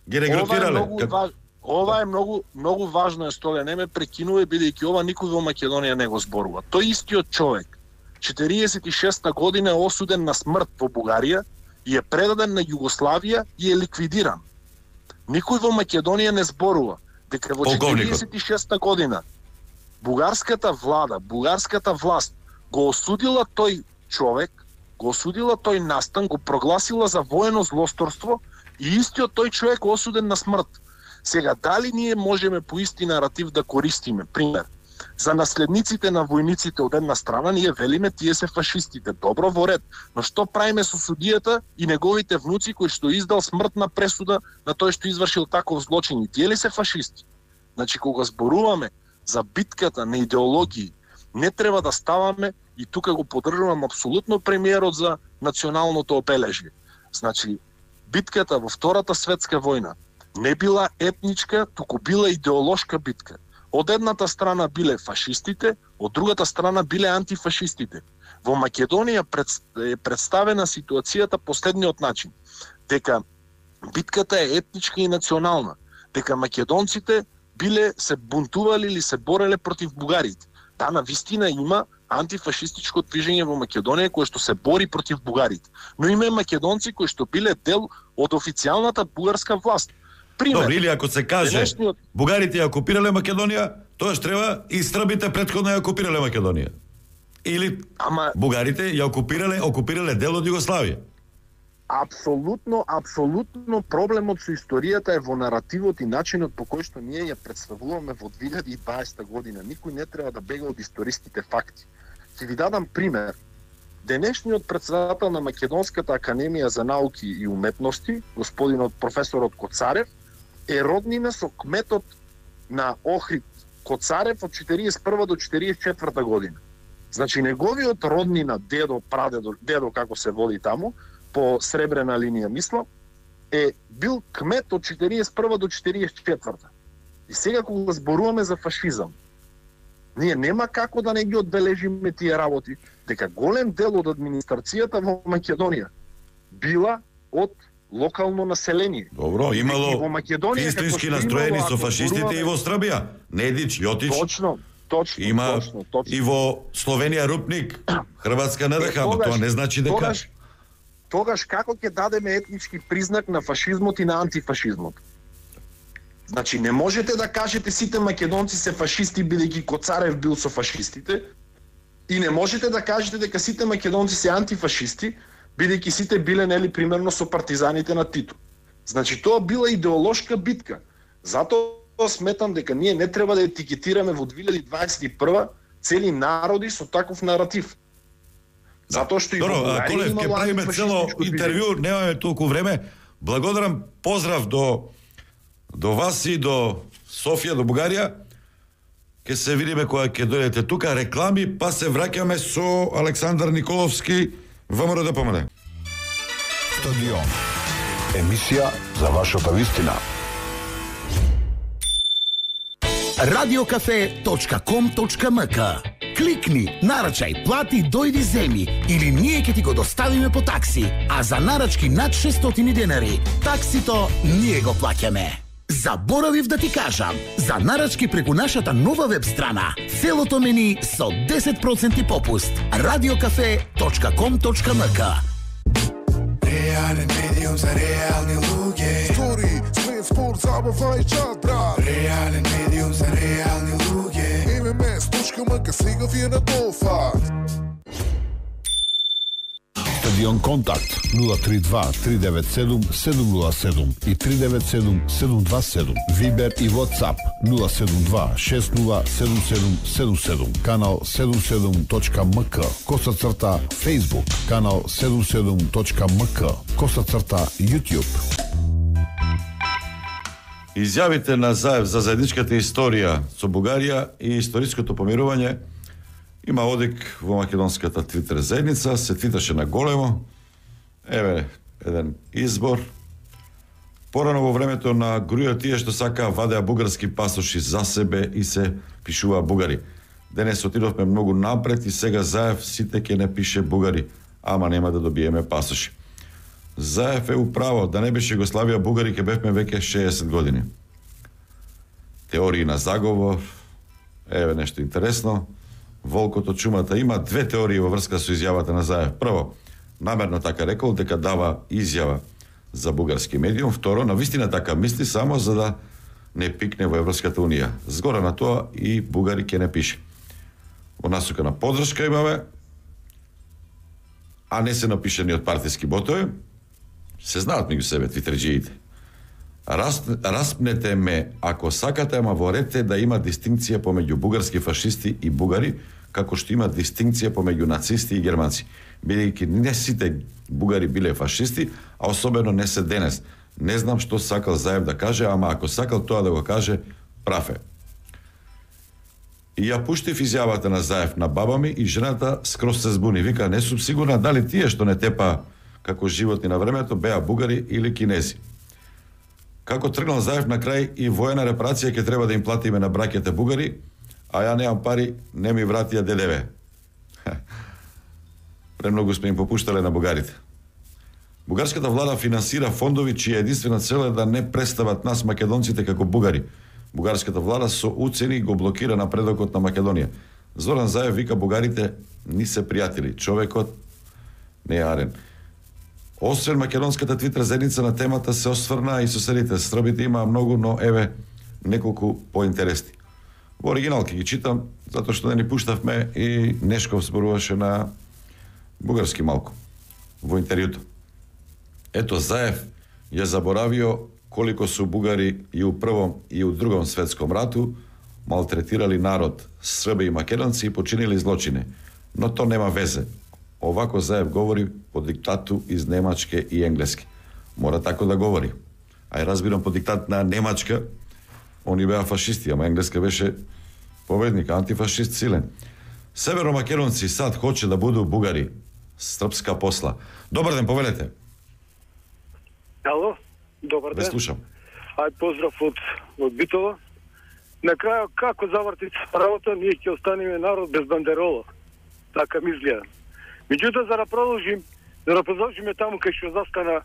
Speaker 2: Ги регрутирале?
Speaker 13: Ова, ова е многу многу важно е стоја, не ме прекинува бидејќи ова никој во Македонија не го зборува. Тој истиот човек четириесет и шеста година е осуден на смрт во Бугарија и е предаден на Југославија и е ликвидиран. Никој во Македонија не зборува дека во четириесет и шеста година бугарската влада, бугарската власт го осудила тој човек, го осудила тој настан, го прогласила за воено злосторство и истиот тој човек осуден на смрт. Сега, дали ние можеме по исти наратив да користиме, пример, за наследниците на војниците од една страна, ние велиме тие се фашистите, добро во ред, но што правиме со судијата и неговите внуци кој што издал смртна пресуда на тој што извршил таков злочин, и тие ли се фашисти? Значи, кога зборуваме за битката на идеологии, не треба да ставаме, и тука го поддржувам апсолутно премиерот за националното обележје. Значи, битката во Втората светска војна не била етничка, туку била идеолошка битка. Од едната страна биле фашистите, од другата страна биле антифашистите. Во Македонија е представена ситуацијата последниот начин, дека битката е етничка и национална, дека македонците биле се бунтували или се бореле против бугарите. Да, на вистина има антифашистичко движење во Македонија кое што се бори против бугарите. Но има и македонци кои што биле дел од официјалната бугарска власт. Пример,
Speaker 2: добро, или ако се каже
Speaker 13: денешниот...
Speaker 2: бугарите ја окупирале Македонија, тоаш треба и србите претходно ја окупирале Македонија. Или Ама... бугарите ја окупирале, окупирале дел од Југославија.
Speaker 13: Апсолутно, апсолутно проблемот со историјата е во наративот и начинот по кој што ние ја представуваме во две илјади и дваесета година. Никој не треба да бега од историските факти. Ќе ви дадам пример. Денешниот председател на Македонската академија за науки и уметности, господинот професорот Коцарев, е роднина со кметот на Охрид Коцарев од четириесет и прва до четириесет и четврта година. Значи неговиот роднина, дедо, прадедо, дедо како се води таму, по сребрена линија мислам, е бил кмет од четириесет и прва до четириесет и четврта. И сега кога зборуваме за фашизам, ние нема како да не ги одбележиме тие работи, дека голем дел од администрацијата во Македонија била од локално население.
Speaker 2: Добро, имало истински настроени со фашистите и во Србија. Недич, Јотич.
Speaker 13: Точно, точно,
Speaker 2: има
Speaker 13: точно, точно.
Speaker 2: И во Словенија Рупник, Хрватска НДХ, но тоа не значи дека
Speaker 13: тогаш, тогаш како ќе дадеме етнички признак на фашизмот и на антифашизмот?
Speaker 14: Значи не можете да кажете сите македонци се фашисти бидејќи Коцарев бил со фашистите и не можете да кажете дека сите македонци се антифашисти бидејќи сите биле нели примерно со партизаните на Тито. Значи тоа била идеолошка битка. Затоа сметам дека ние не треба да етикетираме во две илјади дваесет и прва цели народи со таков наратив. Затоа што и
Speaker 15: Добро,
Speaker 14: во Бугарија
Speaker 15: Колев,
Speaker 14: има
Speaker 15: ќе правиме цело интервју, немаме толку време. Благодарам, поздрав до до вас и до Софија, до Бугарија. Ке се видиме кога ќе дојдете тука, реклами, па се враќаме со Александар Николовски, ВМРО да помине.
Speaker 1: Стадион. Емисија за вашата вистина.
Speaker 9: радиокафе точка ком точка ем ка. Кликни, нарачај, плати, дојди земи или ние ќе ти го доставиме по такси, а за нарачки над шестстотини денари, таксито ние го плаќаме. Заборавив да ти кажам, за нарачки преку нашата нова веб страна, целото мени со десет проценти попуст. радиокафе точка ком точка ем ка.
Speaker 10: Реален медиум за реални луѓе. Стори, смет, спорт, забава и чат, брат. Реален медиум за реални луѓе. ем ем ес точка ем ка сега ви е на дофат.
Speaker 1: Стадион Контакт нула три два три девет седум седум нула седум и три девет седум седум два седум. Вибер и WhatsApp нула седум два шест нула седум седум седум седум. Канал седум седум точка ем ка. Коса црта Facebook. Канал седум седум точка ем ка. Коса црта YouTube.
Speaker 15: Изјавите на Заев за заедничката историја со Бугарија и историското помирување има одик во македонската твитер заедница, се твиташе на големо. Еве еден избор. Порано во времето на грујот тие што сака вадеа бугарски пасоши за себе и се пишува бугари. Денес отидовме многу напред и сега Заев сите ќе не пише бугари, ама нема да добиеме пасоши. Заев е управо, да не беше Југославија бугари ќе бевме веќе шеесет години. Теории на заговор, еве нешто интересно. Волкото чумата има две теории во врска со изјавата на Заев. Прво, намерно така рекол дека дава изјава за бугарски медиум. Второ, навистина така мисли само за да не пикне во Европската унија. Згора на тоа и бугари ќе не пише. Во насока на поддршка имаме, а не се напишани од партиски ботови. Се знаат меѓу себе твитерџиите. Раз, распнете ме ако сакате, ама во ред е да има дистинкција помеѓу бугарски фашисти и бугари, како што има дистинкција помеѓу нацисти и германци. Бидејќи не сите бугари биле фашисти, а особено не се денес. Не знам што сакал Заев да каже, ама ако сакал тоа да го каже, прав е. И ја пуштив изјавата на Заев на баба ми и жената скроз се збуни. Вика, не сум сигурна дали тие што не тепа како животни на времето беа бугари или кинези. Како тргнал Заев на крај и воена репарација ќе треба да им платиме на браќите бугари, а ја немам пари, не ми вратија ДДВ. Премногу сме им попуштале на бугарите. Бугарската влада финансира фондови чија единствена цел е да не представат нас македонците како бугари. Бугарската влада со уцени го блокира напредокот на Македонија. Зоран Заев вика бугарите ни се пријатели, човекот не е арен. Освен македонската твитер заедница на темата се осврна и соседите. Србите има многу, но еве неколку поинтересни. Во оригинал ќе ги читам, затоа што не ни пуштавме и Нешков зборуваше на бугарски малку во интервјуто. Ето Заев ја заборавио колико су бугари и у првом и у другом светском рату малтретирали народ, срби и македонци и починили злочини. Но то нема везе. Овако Заев говори по диктату из Немачке и Енглески. Мора тако да говори. Ај разбирам по диктат на Немачка, они беа фашисти, ама Енглеска беше победник, антифашист силен. Северомакедонци сад хоче да буду бугари. Српска посла. Добар ден, повелете.
Speaker 11: Ало, добар ден.
Speaker 15: Ве слушам.
Speaker 11: Ај поздрав од, од Битола. На крај, како заврти работа, ние ќе останеме народ без бандерола. Така ми изгледа. Меѓутоа, за да продолжим, за да продолжиме таму кај што застана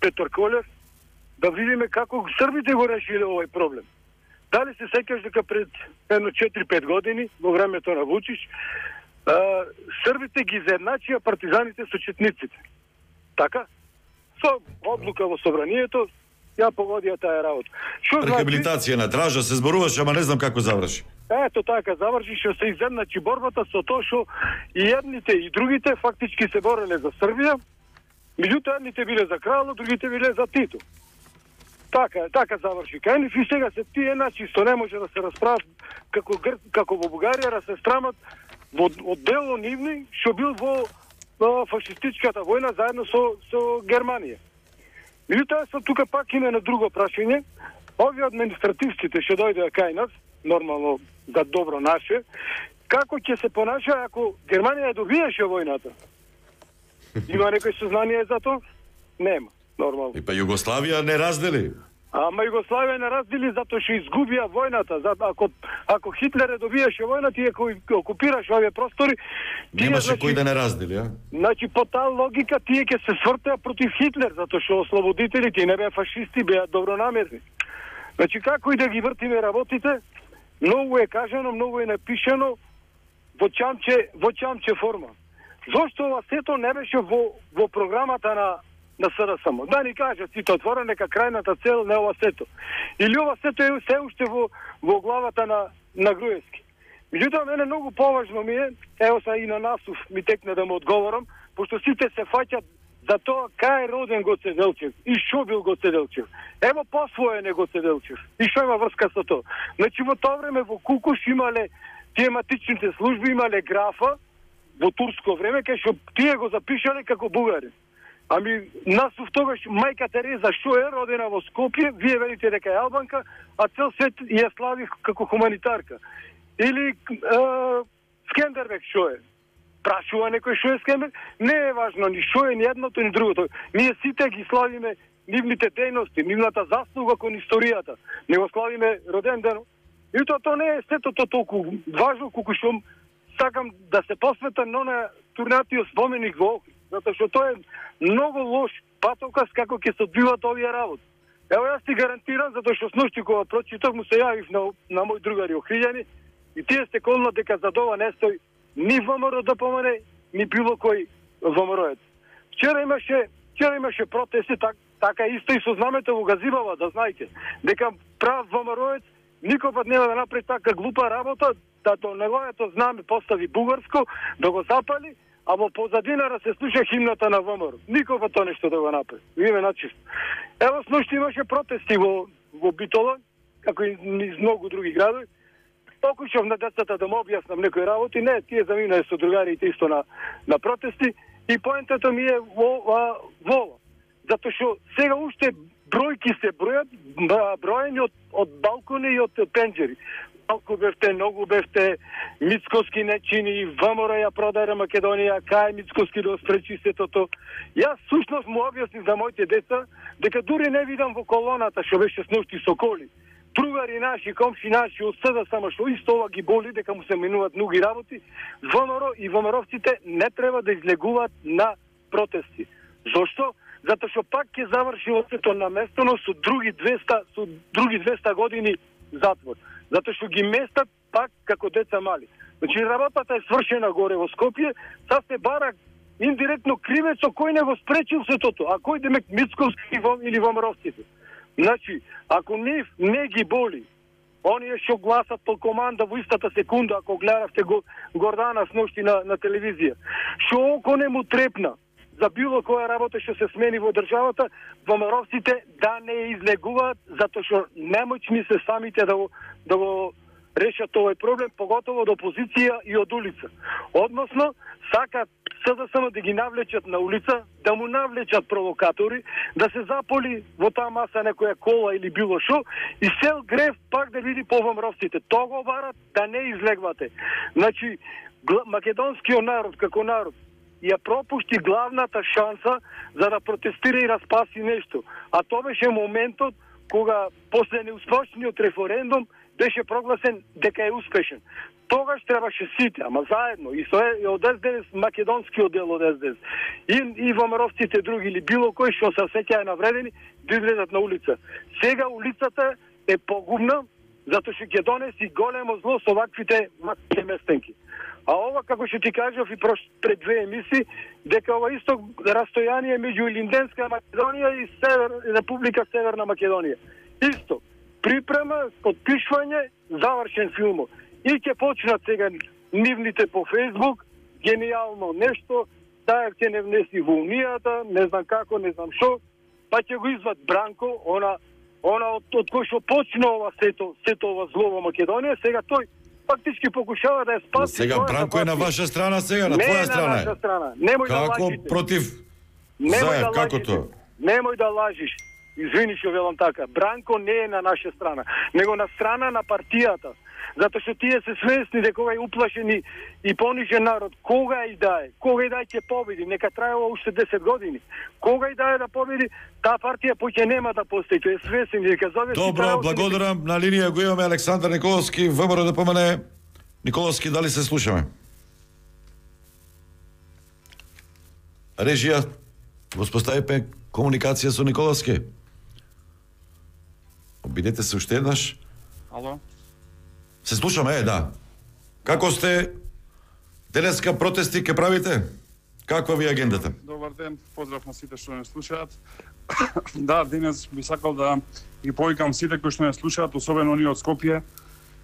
Speaker 11: Петар Колев, да видиме како србите го решиле овој проблем. Дали се сеќаш дека пред едно четири-пет години, во времето на Вучич, а, србите ги заедначија партизаните со четниците. Така? Со одлука во собранието,
Speaker 16: ја погодија таа работа. Што
Speaker 15: Рехабилитација на тража се зборуваше, ама не знам како заврши.
Speaker 16: Ето така заврши, што се изедначи борбата со тоа што и едните и другите фактички се бореле за Србија, меѓутоа едните биле за кралот, другите биле за Тито. Така, така заврши. Кај нив и сега се тие начи што не може да се расправат како гр... како во Бугарија да се страмат во од дело нивни што бил во, во фашистичката војна заедно со со Германија. Меѓутоа со тука пак има на друго прашање. Овие административците што дојдеа кај нас, нормално за добро наше, како ќе се понаша ако Германија добиеше војната? Има некој сознание за тоа? Нема, нормално.
Speaker 15: И па Југославија не раздели.
Speaker 16: Ама Југославија не раздели затоа што изгубија војната. За, ако, ако Хитлер добиеше војната и ако окупираше овие простори...
Speaker 15: Немаше
Speaker 16: значи,
Speaker 15: кој да не раздели, а?
Speaker 16: Значи, по таа логика, тие ќе се свртеа против Хитлер, затоа што ослободителите не беа фашисти, беа добронамерни. Значи, како и да ги вртиме работите, многу е кажано, многу е напишано во чамче, во чамче форма. Зошто ова сето не беше во, во програмата на на СДСМ? Да ни кажат сите отворено нека крајната цел не ова сето. Или ова сето е се уште во, во главата на, на Груевски. Меѓутоа, мене многу поважно ми е, ево са и на Насов ми текне да му одговорам, пошто сите се фаќат за тоа кај е роден Гоце Делчев и што бил Гоце Делчев. Ево посвоен е Гоце Делчев. И што има врска со тоа? Значи во тоа време во Кукуш имале тематичните служби, имале графа во турско време, кај што тие го запишале како бугари. Ами, Насов тогаш мајка Тереза што е родена во Скопје, вие велите дека е албанка, а цел свет ја слави како хуманитарка. Или е, Скендербек што е? Прашува некој што е Скендербек? Не е важно ни што е, ни едното, ни другото. Ние сите ги славиме нивните дејности, нивната заслуга кон историјата. Не го славиме роден ден. И тоа то не е сето то толку важно, колку што сакам да се посветам на на турнатиот споменик во Охрид. Затоа што тоа е многу лош патоказ како ќе се одвиваат овие работи. Ево јас ти гарантирам, затоа што сношти кога прочитав му се јавив на, на мој другари Охриѓани и тие се колна дека за ова не стои ни ВМРО да помане, ни било кој ВМРО-ец. Вчера имаше, вчера имаше протести, так, така исто и со знамето во Газибава, да знаете, дека прав ВМРО-ец никој пат нема да направи така глупа работа, да до неговото знаме постави бугарско, да го запали, а во позадинара се слуша химната на ВМРО. Никој па тоа нешто да го направи. Име начисто. Ево сношти имаше протести во, во Битола, како и низ многу други градови. Покушав на децата да му објаснам некои работи, не, тие заминале со другарите исто на, на протести, и поентата ми е во, во, во. Затоа што сега уште бројки се бројат, бројани од, од балкони и од пенџери. Малку бевте, многу бевте, Мицкоски не чини, ВМРО ја продаде Македонија, кај Мицкоски да спречи сето тоа. Јас сушност му објаснив за моите деца, дека дури не видам во колоната што беше сношти со коли. Другари наши, комши наши, од СДСМ, што исто ова ги боли, дека му се менуваат многу работи, ВМРО и ВМРО-вците не треба да излегуваат на протести. Зошто? Затоа што пак ќе заврши сето наместено со други двеста, со други двеста години затвор. Затоа што ги местат пак како деца мали. Значи работата е свршена горе во Скопје, са се бара индиректно кривецо кој не го спречил сето тоа, а кој демек Мицковски или ВМРО-вците. Значи, ако нив не ги боли, оние што гласат по команда во истата секунда, ако гледавте го Гордана сношти на, на телевизија, што око не му трепна за било која работа што се смени во државата, ВМРО-вците да не излегуваат, затоа што немоćни се самите да го, да го решат овој проблем, поготово од опозиција и од улица. Односно, сакат СДСМ да ги навлечат на улица, да му навлечат провокатори, да се заполи во таа маса некоја кола или било шо, и сел грев пак да види по ВМРО-вците. Тоа го барат да не излегвате. Значи, македонскиот народ како народ ја пропушти главната шанса за да протестира и да спаси нешто. А тоа беше моментот кога после неуспешниот референдум беше прогласен дека е успешен. Тогаш требаше сите, ама заедно, и со и од ес де ес, македонскиот дел од ес де ес, и, и ВМРО-вците други или било кој што се сеќаја навредени, да излезат на улица. Сега улицата е погубна, затоа што ќе донеси големо зло со ваквите, ваквите местенки. А ова, како што ти кажав и прош, пред две емисии, дека ова исто растојание меѓу Илинденска Македонија и Север, Република Северна Македонија. Исто. Припрема, подпишвање, завршен филмот. И ќе почнат сега нивните по Фейсбук, гениално нешто, таа ќе не внеси во Унијата, не знам како, не знам шо, па ќе го извад Бранко, она, она од, од кој што почна ова сето, сето ова зло во Македонија, сега тој фактички покушава да ја спаси.
Speaker 15: Сега Бранко е на ваша страна сега, на
Speaker 16: не
Speaker 15: твоја страна
Speaker 16: е. Не на наша страна. Немој
Speaker 15: како
Speaker 16: да лажите.
Speaker 15: Против
Speaker 16: Немој
Speaker 15: Заев,
Speaker 16: да
Speaker 15: како
Speaker 16: лажите.
Speaker 15: тоа?
Speaker 16: Немој да лажиш. Извини што велам така. Бранко не е на наша страна, него на страна на партијата. Затоа што тие се свесни дека овај уплашен и, и понижен народ, кога и да е, кога и да е ќе победи, нека трае ова уште десет години. Кога и да е да победи, таа партија поќе нема да постои, тој е свесен дека зове.
Speaker 15: Добро, благодарам. На линија го имаме Александар Николовски, ВМРО да помане. Николовски, дали се слушаме? Режија, воспоставипе комуникација со Николовски. Обидете се уште еднаш.
Speaker 17: Ало?
Speaker 15: Се слушаме, е, да. Како сте? Денеска протести ке правите? Каква ви е агендата?
Speaker 17: Добар ден, поздрав на сите што не слушаат. Да, денес би сакал да ги повикам сите кои што не слушаат, особено оние од Скопје,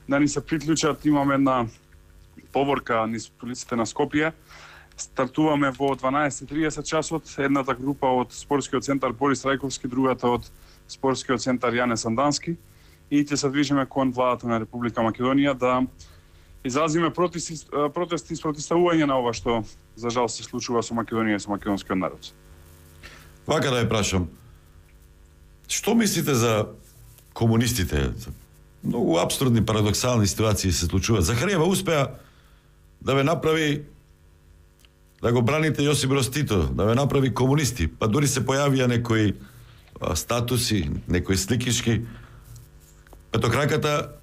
Speaker 17: да ни се приклучат. Имаме една поворка низ улиците на Скопје. Стартуваме во дванаесет и триесет часот, едната група од спортскиот центар Борис Рајковски, другата од спортскиот центар Јане Сандански, и ќе се движиме кон владата на Република Македонија да изразиме протести, протести и спротивставување на ова што за жал се случува со Македонија и со македонскиот народ.
Speaker 15: Вака да ја прашам. Што мислите за комунистите? Многу апсурдни, парадоксални ситуации се случуваат. Захариева успеа да ве направи да го браните Јосип Броз Тито, да ве направи комунисти, па дури се појавија некои а, статуси, некои сликишки. Петокраката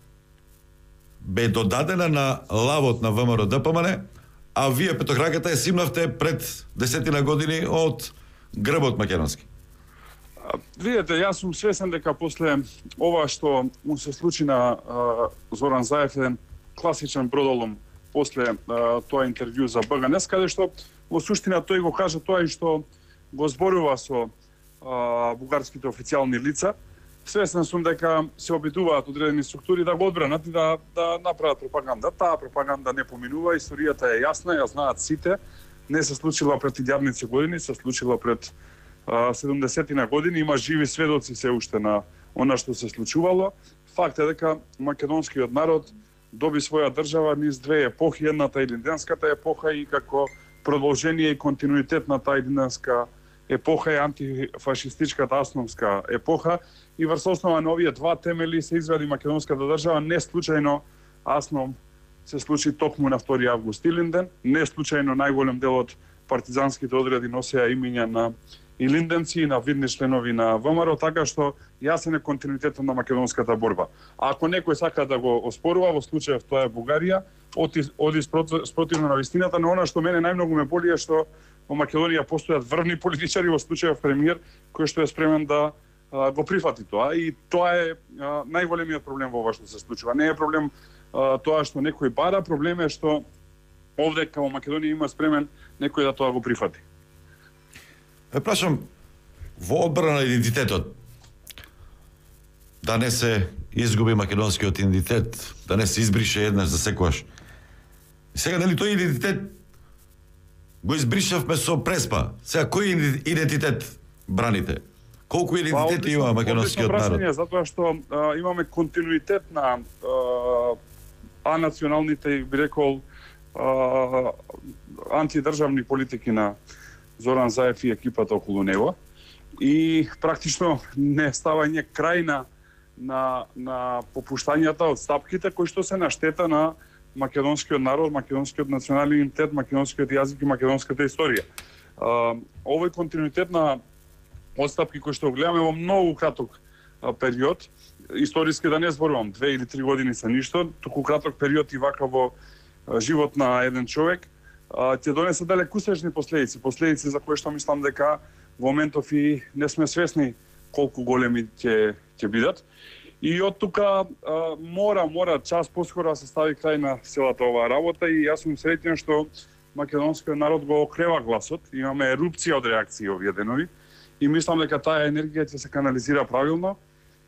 Speaker 15: бе додадена на лавот на ВМРО Д П М Н, а вие петокраката ја симнавте пред десетина години од грбот македонски.
Speaker 17: Видете, јас сум свесен дека после ова што му се случи на а, Зоран Заев, еден класичен бродолом после а, тоа интервју за Б Г Н Е С, каде што во суштина тој го кажа тоа и што го зборува со а, бугарските официјални лица. Свесен сум дека се обидуваат одредени структури да го одбранат и да, да направат пропаганда. Таа пропаганда не поминува, историјата е јасна, ја знаат сите. Не се случила пред илјадници години, се случила пред седумдесетина години. Има живи сведоци се уште на она што се случувало. Факт е дека македонскиот народ доби своја држава низ две епохи, едната илинденската епоха и како продолжение и континуитет на таа илинденска епоха е антифашистичката Асновска епоха, и врз основа на овие два темели се извади македонската држава. Не случајно Аснов се случи токму на втори август Илинден, не случајно најголем дел од партизанските одреди носеа имиња на илинденци и на видни членови на ВМРО, така што јасен е континуитетот на македонската борба. А ако некој сака да го оспорува, во случајов тоа е Бугарија, оди, оди спротивно на вистината, но она што мене најмногу ме боли е што во Македонија постојат врвни политичари, во случајов премиер, кој што е спремен да а, го прифати тоа, и тоа е а, најголемиот проблем во ова што се случува. Не е проблем а, тоа што некој бара, проблем е што овде како Македонија има спремен некој да тоа го прифати.
Speaker 15: Е, прашам, во одбрана на идентитетот, да не се изгуби македонскиот идентитет, да не се избрише еднаш за секогаш. И сега, нели, тој идентитет го избришавме со Преспа. Сега, кој идентитет браните? Колку идентитети има македонскиот народ?
Speaker 17: Затоа што а, имаме континуитет на а, анационалните, би рекол, а, антидржавни политики на Зоран Заев и екипата околу него, и практично не ставање крај на, на, на попуштањата од стапките кои што се на штета на македонскиот народ, македонскиот национален идентитет, македонскиот јазик и македонската историја. А, овој континуитет на одстапки кои што гледаме во многу краток а, период, историски да не зборувам, две или три години се ништо, туку краток период и вака во а, живот на еден човек, ќе донесе далекусечни последици, последици за кои што мислам дека во моментов и не сме свесни колку големи ќе ќе бидат. И од тука а, мора, мора час поскоро да се стави крај на целата оваа работа и јас сум среќен што македонскиот народ го окрева гласот. Имаме ерупција од реакции овие денови и мислам дека таа енергија ќе се канализира правилно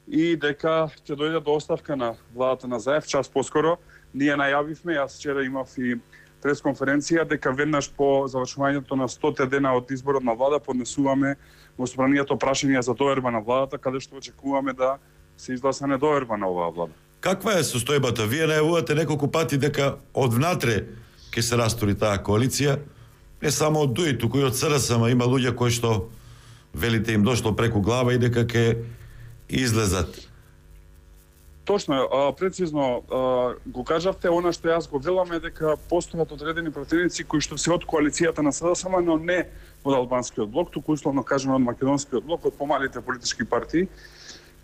Speaker 17: и дека ќе дојде до оставка на владата на Заев час поскоро. Ние најавивме, јас вчера имав и пресконференција дека веднаш по завршувањето на стоте дена од изборот на влада поднесуваме во собранието прашање за доверба на владата, каде што очекуваме да се изгласа недоверба на оваа влада.
Speaker 15: Каква е состојбата? Вие најавувате неколку пати дека од внатре ќе се растури таа коалиција, не само од ДУИ, туку и од СРСМ, има луѓе кои што велите им дошло преку глава и дека ќе излезат.
Speaker 17: Точно, а, прецизно а, го кажавте, она што јас го велам е дека постојат одредени противници кои што се од коалицијата на СДСМ, но не од албанскиот блок, туку условно кажано од македонскиот блок, од помалите политички партии,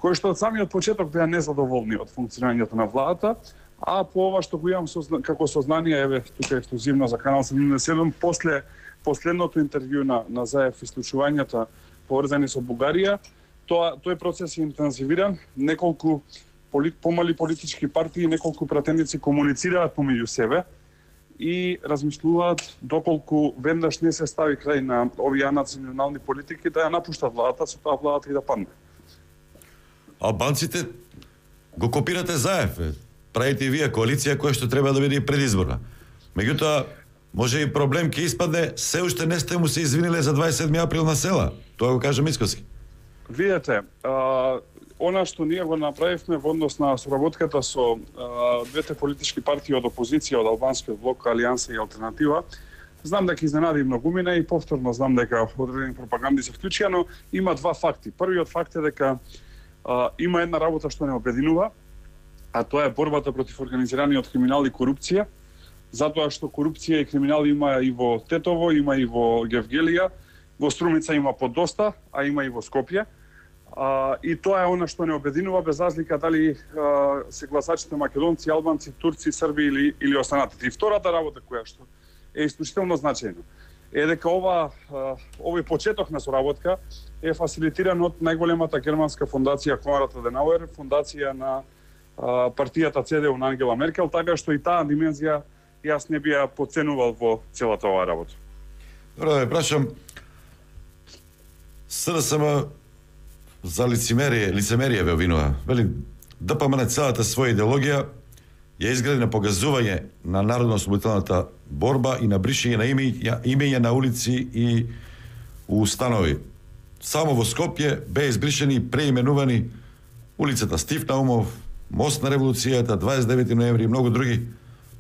Speaker 17: кои што од самиот почеток беа незадоволни од функционирањето на владата, а по ова што го имам созна, како сознание, еве тука ексклузивно за канал седумдесет и седум, после последното интервју на на Заев и случувањата поврзани со Бугарија, тоа тој процес е интензивиран, неколку полит, помали политички партии, неколку пратеници комуницираат помеѓу себе и размислуваат доколку веднаш не се стави крај на овие национални политики да ја напуштат владата, со тоа владата и да падне.
Speaker 15: Албанците го копирате Заев, правите и вие коалиција која што треба да биде и предизборна. Меѓутоа, може и проблем ќе испадне, се уште не сте му се извиниле за дваесет и седми април на села. Тоа го кажа Мицкоски.
Speaker 17: Видете, а, она што ние го направивме во однос на соработката со а, двете политички партии од опозиција, од албанскиот блок, Алијанса и Алтернатива, знам дека изненади многумина и повторно знам дека одредени пропаганди се вклучија, но има два факти. Првиот факт е дека а, има една работа што не обединува, а тоа е борбата против организираниот криминал и корупција, затоа што корупција и криминал има и во Тетово, има и во Гевгелија, во Струмица има подоста, а има и во Скопје. А, и тоа е она што не обединува, без разлика дали а, се гласачите македонци, албанци, турци, срби или, или останатите. И втората работа која што е исклучително значајна е дека ова, а, овој почеток на соработка е фасилитиран од најголемата германска фондација Конрад Аденауер, фондација на а, партијата ЦДУ на Ангела Меркел, така што и таа димензија јас не би ја подценувал во целата оваа работа.
Speaker 15: Добро, да прашам, СДСМ за лицемерие, лицемерие ве обвинува. Вели, ДПМН целата своја идеологија ја изгради на погазување на народно-ослободителната борба и на бришење на имења, имења на улици и установи. Само во Скопје беа избришени и преименувани улицата Стив Наумов, Мост на револуцијата, дваесет и девети ноември и многу други,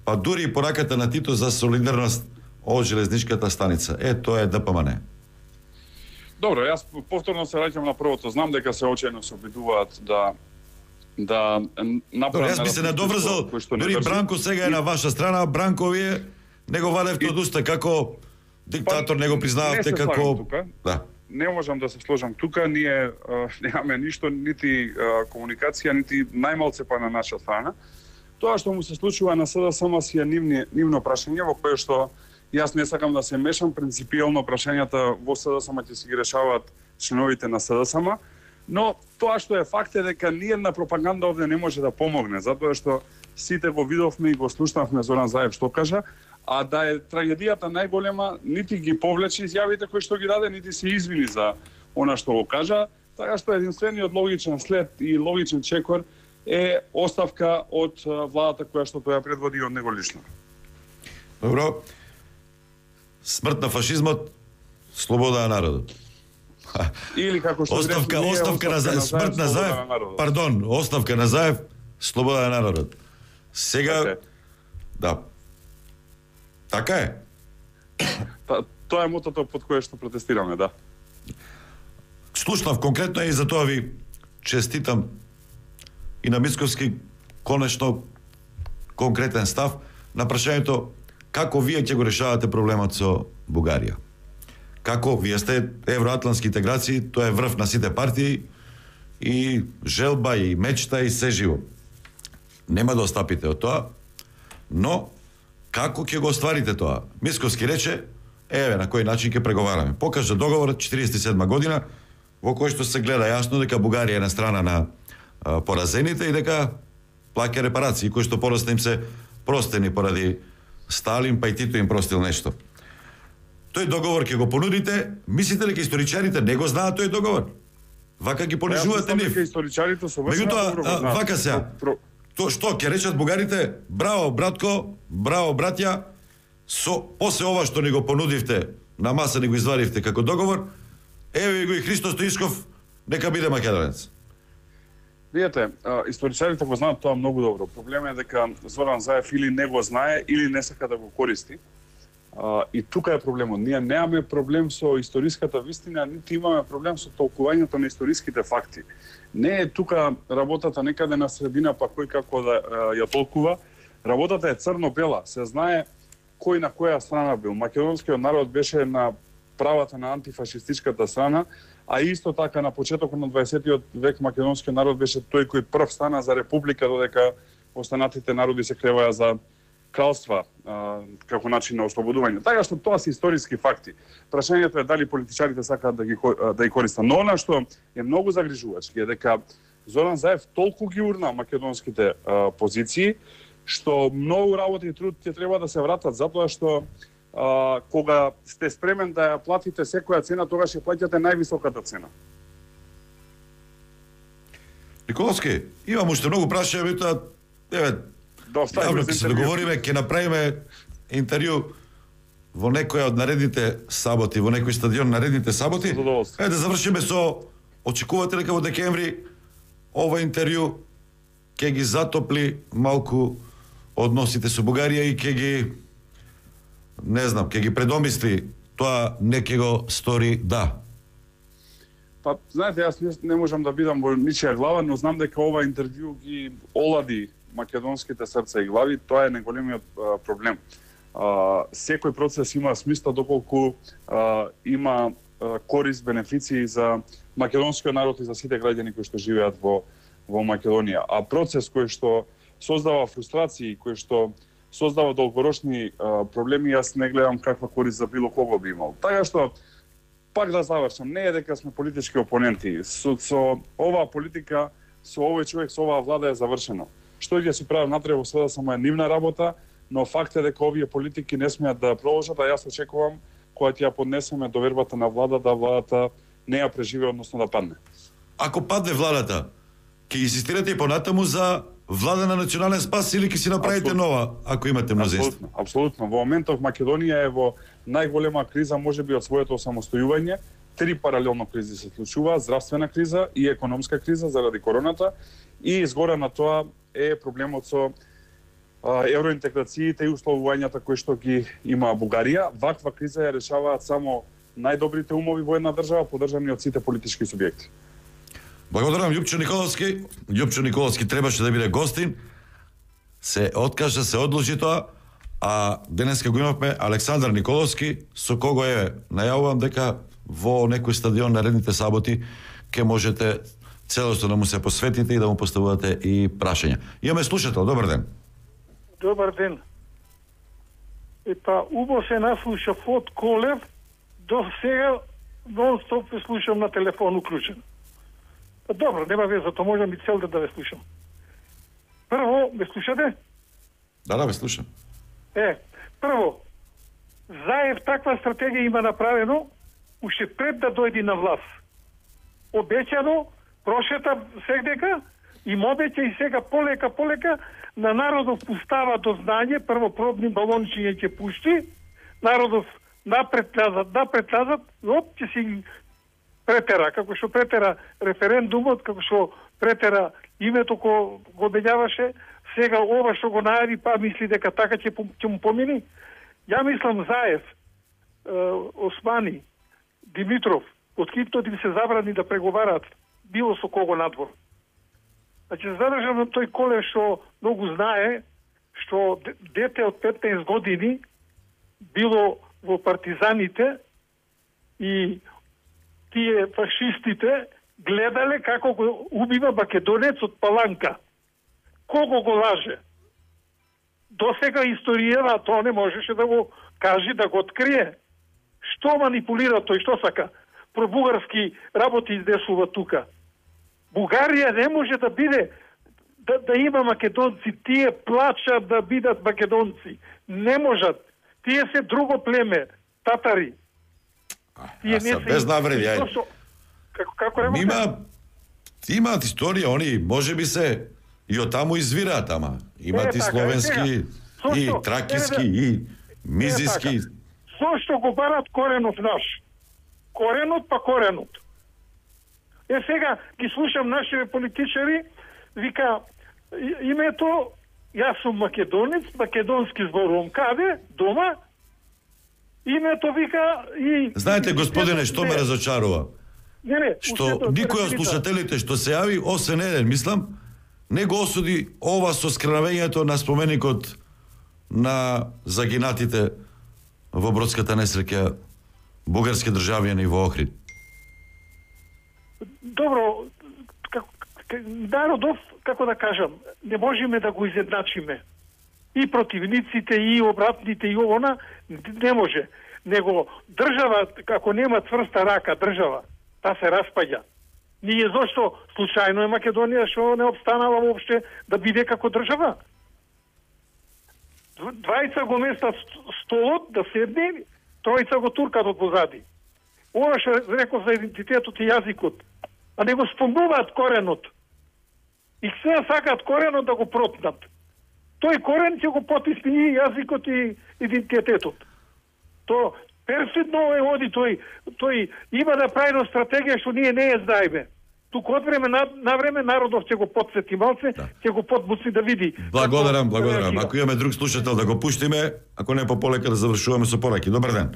Speaker 15: па дури и пораката на Тито за солидарност од железничката станица. Е, тоа е ДПМН.
Speaker 17: Добро, јас повторно се враќам на првото. Знам дека се очајно се обидуваат да да направат.
Speaker 15: Јас би се надоврзал, дури Бранко сега е на ваша страна, Бранко вие не го вадевте од уста како диктатор, не го признававте како
Speaker 17: да. Не можам да се сложам тука, ние а, немаме ништо, нити а, комуникација, нити најмалце па на наша страна. Тоа што му се случува на СДСМ си е нивни, нивно прашање во кое што јас не сакам да се мешам, принципијално прашањата во СДСМ ќе си ги решаваат членовите на СДСМ, но тоа што е факт е дека ниедна пропаганда овде не може да помогне, затоа што сите го видовме и го слушнавме Зоран Заев што кажа, а да е трагедијата најголема, нити ги повлече изјавите кои што ги даде, нити се извини за она што го кажа, така што единствениот логичен след и логичен чекор е оставка од владата која што тој ја предводи од него лично.
Speaker 15: Добро. Смрт на фашизмот, слобода на народот.
Speaker 17: Или како што
Speaker 15: оставка,
Speaker 17: ние,
Speaker 15: оставка, оставка на Заев, смрт на Заев, на пардон, оставка на Заев, слобода на народот. Сега, okay. Да. Така е.
Speaker 17: Та, тоа е мотото под кое што протестираме, да.
Speaker 15: Слушнав конкретно и за тоа ви честитам и на Мицковски конечно конкретен став на прашањето како вие ќе го решавате проблемот со Бугарија. Како вие сте евроатлантски интеграции, тоа е врв на сите партии и желба и мечта и се живо. Нема да остапите од тоа, но како ќе го остварите тоа? Мицковски рече, еве на кој начин ќе преговараме. Покажа договорот четириесет и седма година во кој што се гледа јасно дека Бугарија е на страна на а, поразените и дека плаќа репарации кои што порасна им се простени поради Сталин, па и Тито им простил нешто. Тој договор ќе го понудите, мислите ли дека историчарите не го знаат тој договор? Вака ги понижувате нив.
Speaker 17: Историчарите со
Speaker 15: Меѓутоа, вака сега, то што ќе речат бугарите, браво братко, браво браќа, со после ова што ни го понудивте, на маса ни го извадивте како договор, еве го и Христо Стоичков, нека биде македонец.
Speaker 17: Видете, историчарите го знаат тоа многу добро. Проблемот е дека Зоран Заев или не го знае, или не сака да го користи. Uh, и тука е проблемот. Ние немаме проблем со историската вистина, нити имаме проблем со толкувањето на историските факти. Не е тука работата некаде на средина, па кој како да uh, ја толкува. Работата е црно-бела. Се знае кој на која страна бил. Македонскиот народ беше на правата на антифашистичката страна, а исто така на почетокот на дваесеттиот век македонскиот народ беше тој кој прв стана за република, додека останатите народи се креваја за кралства а, како начин на ослободување. Така што тоа се историски факти. Прашањето е дали политичарите сакаат да ги да ги користат. Но она што е многу загрижувачки е дека Зоран Заев толку ги урна македонските а, позиции што многу работа и труд ќе треба да се вратат, затоа што а, кога сте спремен да ја платите секоја цена, тогаш ќе плаќате највисоката цена.
Speaker 15: Николовски, имам уште многу прашања, меѓутоа, еве, Јавно ќе се договориме, ќе направиме интервју во некоја од наредните саботи, во некој стадион наредните саботи. Е, да завршиме со, очекувате дека во декември ова интервју ќе ги затопли малку односите со Бугарија и ќе ги, не знам, ќе ги предомисли тоа, не ќе го стори да.
Speaker 17: Па, знаете, јас не, не можам да бидам во ничија глава, но знам дека ова интервју ги олади македонските срца и глави, тоа е најголемиот проблем. А, секој процес има смисла доколку а, има а, корист, бенефиции за македонскиот народ и за сите граѓани кои што живеат во во Македонија. А процес кој што создава фрустрации, кој што создава долгорочни а, проблеми, јас не гледам каква корист за било кого би имал. Така што пак да завршам, не е дека сме политички опоненти. Со, со оваа политика, со овој човек, со оваа влада е завршено. Што ќе се прави натре во света само е нивна работа, но факт е дека овие политики не смеат да продолжат, а јас очекувам кога ќе ја поднесеме довербата на влада, да владата не ја преживе, односно да падне.
Speaker 15: Ако падне владата, ќе инсистирате и понатаму за влада на национален спас или ќе си направите Абсолютно. Нова, ако имате мнозинство?
Speaker 17: Апсолутно, апсолутно. Во моментов Македонија е во најголема криза можеби од своето самостојување. Три паралелно кризи се случуваат: здравствена криза и економска криза заради короната, и изгоре на тоа е проблемот со а, евроинтеграциите и условувањата кои што ги има Бугарија. Ваква криза ја решаваат само најдобрите умови во една држава, поддржани од сите политички субјекти.
Speaker 15: Благодарам, Љупчо Николовски. Љупчо Николовски требаше да биде гостин. Се откажа, се одложи тоа, а денеска го имавме Александар Николовски, со кого е најавувам дека во некој стадион наредните саботи ќе можете целосно да му се посветите и да му поставувате и прашања. Имаме слушател, добар ден.
Speaker 18: Добар ден. Епа, убо се наслушав од Колев, до сега нон-стоп ве слушам на телефон уклучен. Па добро, нема веза, то можам и цел да ве слушам. Прво, ме слушате?
Speaker 15: Да, да, ве слушам.
Speaker 18: Е, прво, Заев таква стратегија има направено уште пред да дојде на власт. Обеќано, прошета сегдека, им обеќа и сега полека, полека, на народов пустава до знање, прво пробни балончиња ќе пушти, народов напред назад, напред назад, оп, ќе си претера, како што претера референдумот, како што претера името ко го обењаваше, сега ова што го најави, па мисли дека така ќе, ќе му помини. Ја мислам Заев, Османи, Димитров, открито да се забрани да преговараат било со кого надвор. Значи, задржам на тој Колев што многу знае, што дете од петнаесет години било во партизаните и тие фашистите гледале како го убива македонец од Паланка. Кого го лаже? До сега историјава тоа не можеше да го каже, да го открие. Што манипулира тој, што сака? Пробугарски работи издесува тука. Бугарија не може да биде да, да има македонци, тие плачат да бидат македонци. Не можат. Тие се друго племе, татари.
Speaker 15: Тие не се без навреди, ајде.
Speaker 18: Како како рекоте?
Speaker 15: Има имаат историја, они можеби се и од таму извираат, ама имаат и словенски, и тракиски, и мизиски.
Speaker 18: Зошто го барат коренот наш? Коренот па коренот. Е сега ги слушам нашите политичари, вика името, јас сум македонец, македонски зборувам. Каде? Дома? Името вика и...
Speaker 15: Знаете, господине, што ме разочарува?
Speaker 18: Не, не,
Speaker 15: што никој од слушателите што се јави, освен еден, мислам, не го осуди ова со скравењето на споменикот на загинатите во бродската несреќа бугарски државјани во Охрид.
Speaker 18: Добро, како, народов, како да кажам, не можеме да го изедначиме. И противниците, и обратните, и овона, не може. Него држава, како нема цврста рака, држава, та се распаѓа. Ние зошто случајно е Македонија што не обстанала воопште да биде како држава? Двајца го местат столот да седне, тројца го туркат од позади. Ова што реков за идентитетот и јазикот, а не го спомнуваат коренот. И сега сакаат коренот да го протнат. Тој корен ќе го потисни јазикот и идентитетот. То перфидно е оди тој, тој има да прави на стратегија што ние не ја знаеме. Туку од време на, на време народов ќе го потсети малце, ќе го подбуци да види.
Speaker 15: Благодарам, благодарам. Ако имаме друг слушател да го пуштиме, ако не пополека да завршуваме со пораки. Добар ден.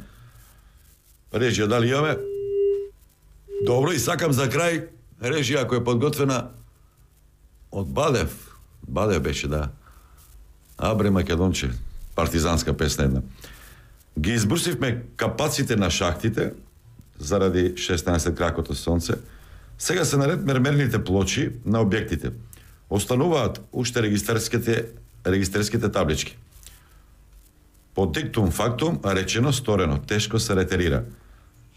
Speaker 15: Режија, дали имаме? Добро, и сакам за крај, режија ако е подготвена од Бадев. Бадев беше, да. Абре Македонче, партизанска песна една. Ги избрусивме капаците на шахтите заради шеснаесет кракото сонце. Сега се наред мермерните плочи на објектите. Остануваат уште регистерските, регистерските таблички. По диктум фактум, речено сторено, тешко се ретерира.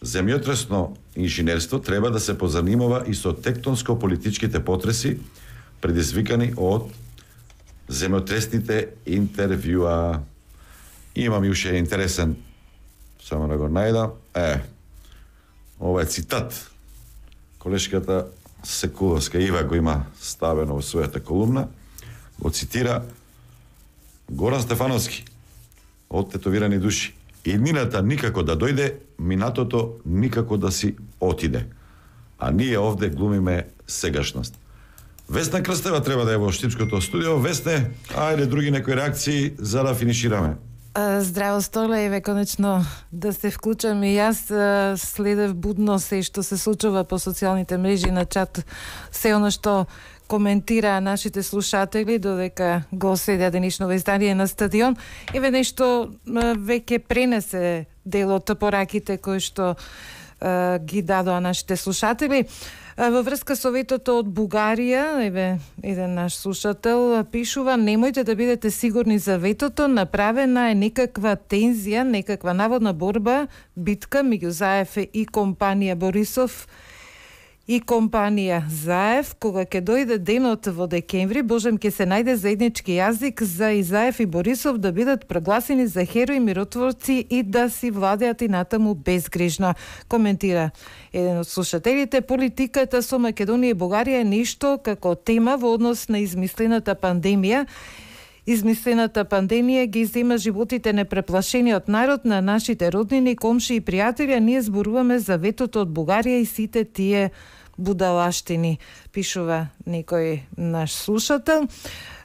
Speaker 15: Земјотресно инженерство треба да се позанимава и со тектонско-политичките потреси предизвикани од земјотресните интервјуа. Имам и уште интересен, само да го најдам. Е, ова е цитат. Колешката Секуловска Ива го има ставено во својата колумна. Го цитира Горан Стефановски од Тетовирани души. Иднината никако да дојде, минатото никако да си отиде. А ние овде глумиме сегашност. Весна Крстева треба да е во Штипското студио. Весне, ајде други некои реакции за да финишираме.
Speaker 19: Здраво, Столе, еве конечно да се вклучам и јас следев будно се што се случува по социјалните мрежи на чат, се оно што коментира нашите слушатели додека го следа денешно издание на Стадион. Еве нешто веќе пренесе дел од пораките кои што е, ги дадоа нашите слушатели. Во врска со ветото од Бугарија, еве еден наш слушател пишува: немојте да бидете сигурни за ветото, направена е некаква тензија, некаква наводна борба, битка меѓу Заев и компанија Борисов и компанија Заев. Кога ќе дојде денот во декември, божем ќе се најде заеднички јазик за и Заев и Борисов да бидат прогласени за херои, миротворци и да си владеат и натаму безгрижно. Коментира еден од слушателите: политиката со Македонија и Бугарија е нешто како тема во однос на измислената пандемија. Измислената пандемија ги зема животите непреплашениот народ на нашите роднини, комши и пријатели, а ние зборуваме за ветото од Бугарија и сите тие будалаштини, пишува некој наш слушател.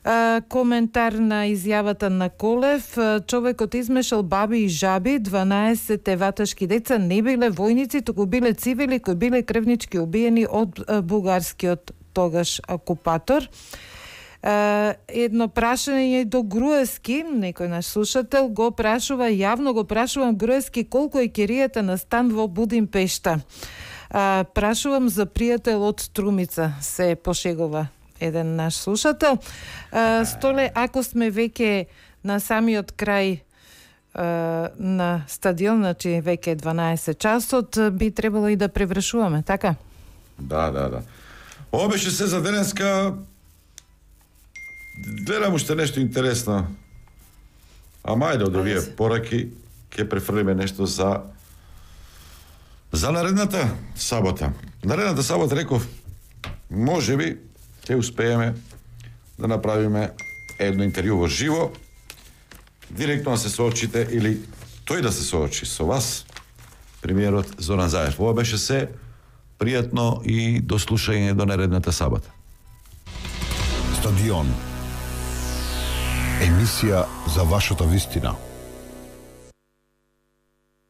Speaker 19: А, коментар на изјавата на Колев: човекот измешал баби и жаби, дванаесет ваташки деца не биле војници, туку биле цивили кои биле крвнички убиени од бугарскиот тогаш окупатор. Uh, едно прашање до Груевски, некој наш слушател го прашува, јавно го прашувам Груевски, колку е киријата на стан во Будимпешта. Uh, прашувам за пријател од Струмица, се пошегува еден наш слушател. Uh, Столе, ако сме веќе на самиот крај uh, на Стадион, значи веќе дванаесет часот, би требало и да превршуваме, така?
Speaker 15: Да, да, да. Ова беше се за денеска. Гледам уште нешто интересно. Ама ајде од овие пораки ќе префрлиме нешто за за наредната сабота. Наредната сабота реков, можеби ќе успееме да направиме едно интервју во живо, директно да се соочите или тој да се соочи со вас, премиерот Зоран Заев. Ова беше се. Пријатно и до слушање до наредната сабота.
Speaker 1: Стадион. Емисија за вашата вистина.